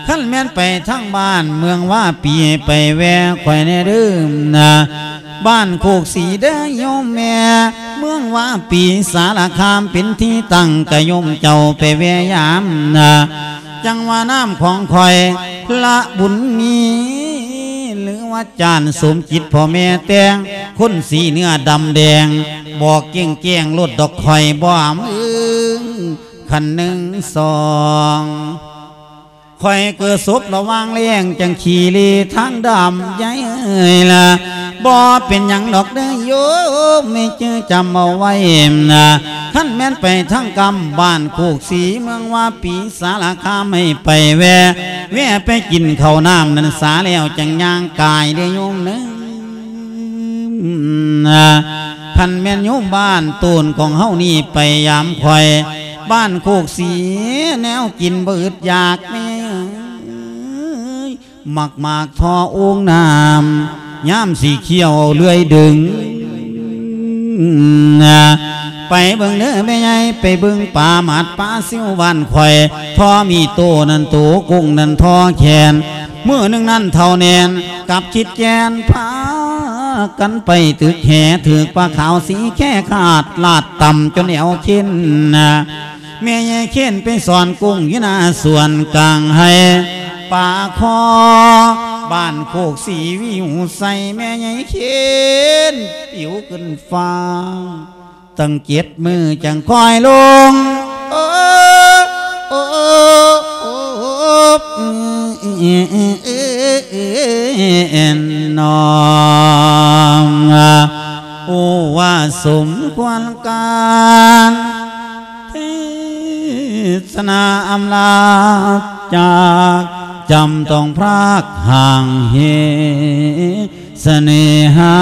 ຄັນແມ່ນໄປທາງບ້ານເມືອງວາປີ ໄປແວ່ຂ້ອຍແດ່ເດີນະ ບ້ານໂຄກສີເດີໂຍມແມ່ ເມືອງວາປີສາລະຄາມເປັນທີ່ຕັ້ງ ກະໂຍມເຈົ້າໄປແວ່ຍາມນະ ຈັ່ງວ່ານາມຂອງຂ້ອຍ ພະບຸນມີ ຫຼືວ່າຈານສົມຈິດ ພໍ່ແມ່ແຕ່ງ ຄົນສີເນື້ອດຳແດງ ບອກແຈ້ງໆໂລດດອກ ຂ້ອຍບໍ່ອຳເອີງ ຄັນໜຶ່ງສອງ ຂ້ອຍເກີດສົບລະຫວ່າງແລງ ຈັ່ງຂີ້ເລທາງດຳໃຫຍ່ເອີຍລະ ບໍ່ເປັນຫຍັງດອກເດີໂຍມ ໃຫ້ຈື່ຈຳເອົາໄວ້ນະ ຄັນແມ່ນໄປທາງກຳບ້ານໂຄກສີ ເມືອງວາປີ ສາລະຄາມ ໃຫ້ໄປແວ່ ແວ່ໄປກິນເຂົ້ານ້ຳນັ້ນສາ ແລ້ວຈັ່ງຍ່າງກາຍເດີໂຍມເດີ. ຄັນແມ່ນໂຍມບ້ານໂຕນຂອງເຮົານີ້ໄປຢາມຂ້ອຍ ບ້ານໂຄກສີ ແນວກິນບໍ່ອຶດຢາກແມ່ເອີຍ ໝາກໝາກທໍ່ໂອ່ງນ້ຳ ຍາມຊິຄ້ຽວເລື່ອຍດຶງ. ໄປເບິ່ງເດີແມ່ໃຫຍ່ ໄປເບິ່ງປາໝາດປາຊິວບ້ານຂ້ອຍ ທໍ່ມີໂຕນັ້ນໂຕ ກຸ້ງນັ້ນທໍ່ແຂນ. ມື້ໜຶ່ງນັ້ນເຖົ້າແໜ້ນກັບຄິດແກ່ນ ພາກັນໄປຕຶກແຫ ຖືກປາຂາວສີແຄຂາດ ລາດຕ່ຳຈົນແອວເຄັນ. ແມ່ໃຫຍ່ເຄັນໄປສອນກຸ້ງຢູ່ໜ້າສວນກາງໄຮ່ ປາຄໍ ບ້ານໂຄກສີວິວໃສ ແມ່ໃຫຍ່ເຄັນປິວຂຶ້ນຟ້າ ຕັ້ງເຈັດມື້ຈັ່ງຄ່ອຍລົງ ໂອ້ ໂອ້ ໂອ້ ນອງ ໂອ້ ວ່າສົມຄວນການ ເທສະນາອຳລາຈາກ ຈຳຕ້ອງພຣາກຫ່າງເຫສະເນຫາ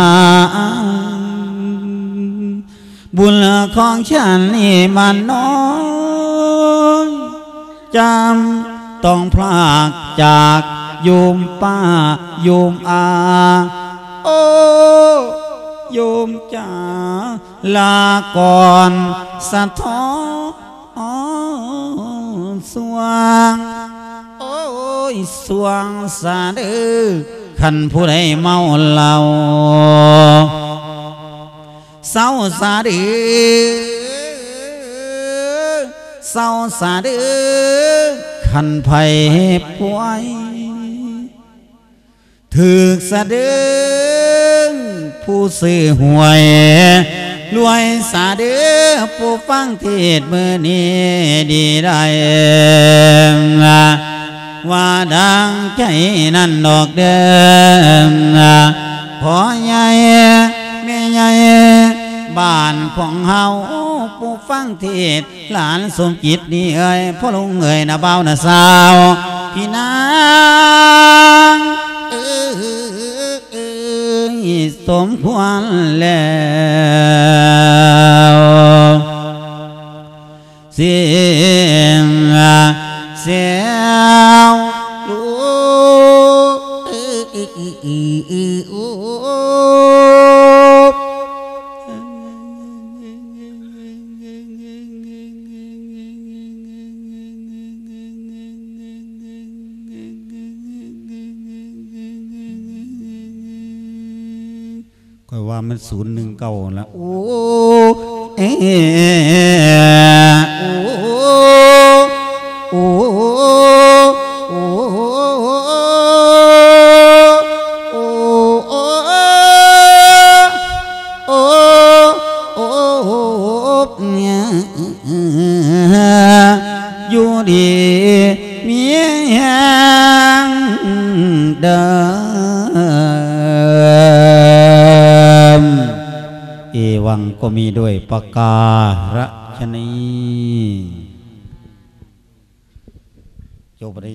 ບຸນຂອງສັນນີ້ມັນນ້ອຍ ຈຳຕ້ອງພຣາກຈາກໂຍມປ້າໂຍມອາ ໂອ້ ໂຍມຈາ ລາກ່ອນສະທ້ອນສວ່າງ ໂອ້ຍ ສວ່າງສາເດີ ຄັນຜູ້ໃດເມົາເຫຼົ້າ ເຊົາສາເດີ ເຊົາສາເດີ ຄັນໃຜປ່ວຍ ຖືກສະເດີງຜູ້ຊື້ຫວຍ ລວຍສາເດີຜູ້ຟັງເທດມື້ນີ້ດີໄດ້ ວ່າດັ່ງໃຈນັ້ນດອກເດີ ພໍ່ໃຫຍ່ແມ່ໃຫຍ່ບ້ານຂອງເຮົາ ຜູ້ຟັງເທດ ຫຼານສົມຈິດນີ້ເອີຍ ພໍ່ລຸງເອີຍ ນ້າບ່າວນ້າສາວ ພີ່ນາງເອີຍ ສົມຄວນແລ້ວ ສຽງແຊວລູກ ຂ້ອຍວ່າມັນສູນໜຶ່ງເກົ້າລະ ໂອ້ ເອ ໂອ້ ໂອ້ ໂອ້ ໂອ້ ໂອ້ ໂອ້ ຢູ່ດີມີແຮງເດີມ. ເອວັງ ກໍມີດ້ວຍປະກາລະຊະນີ້ ຈົບໄດ້.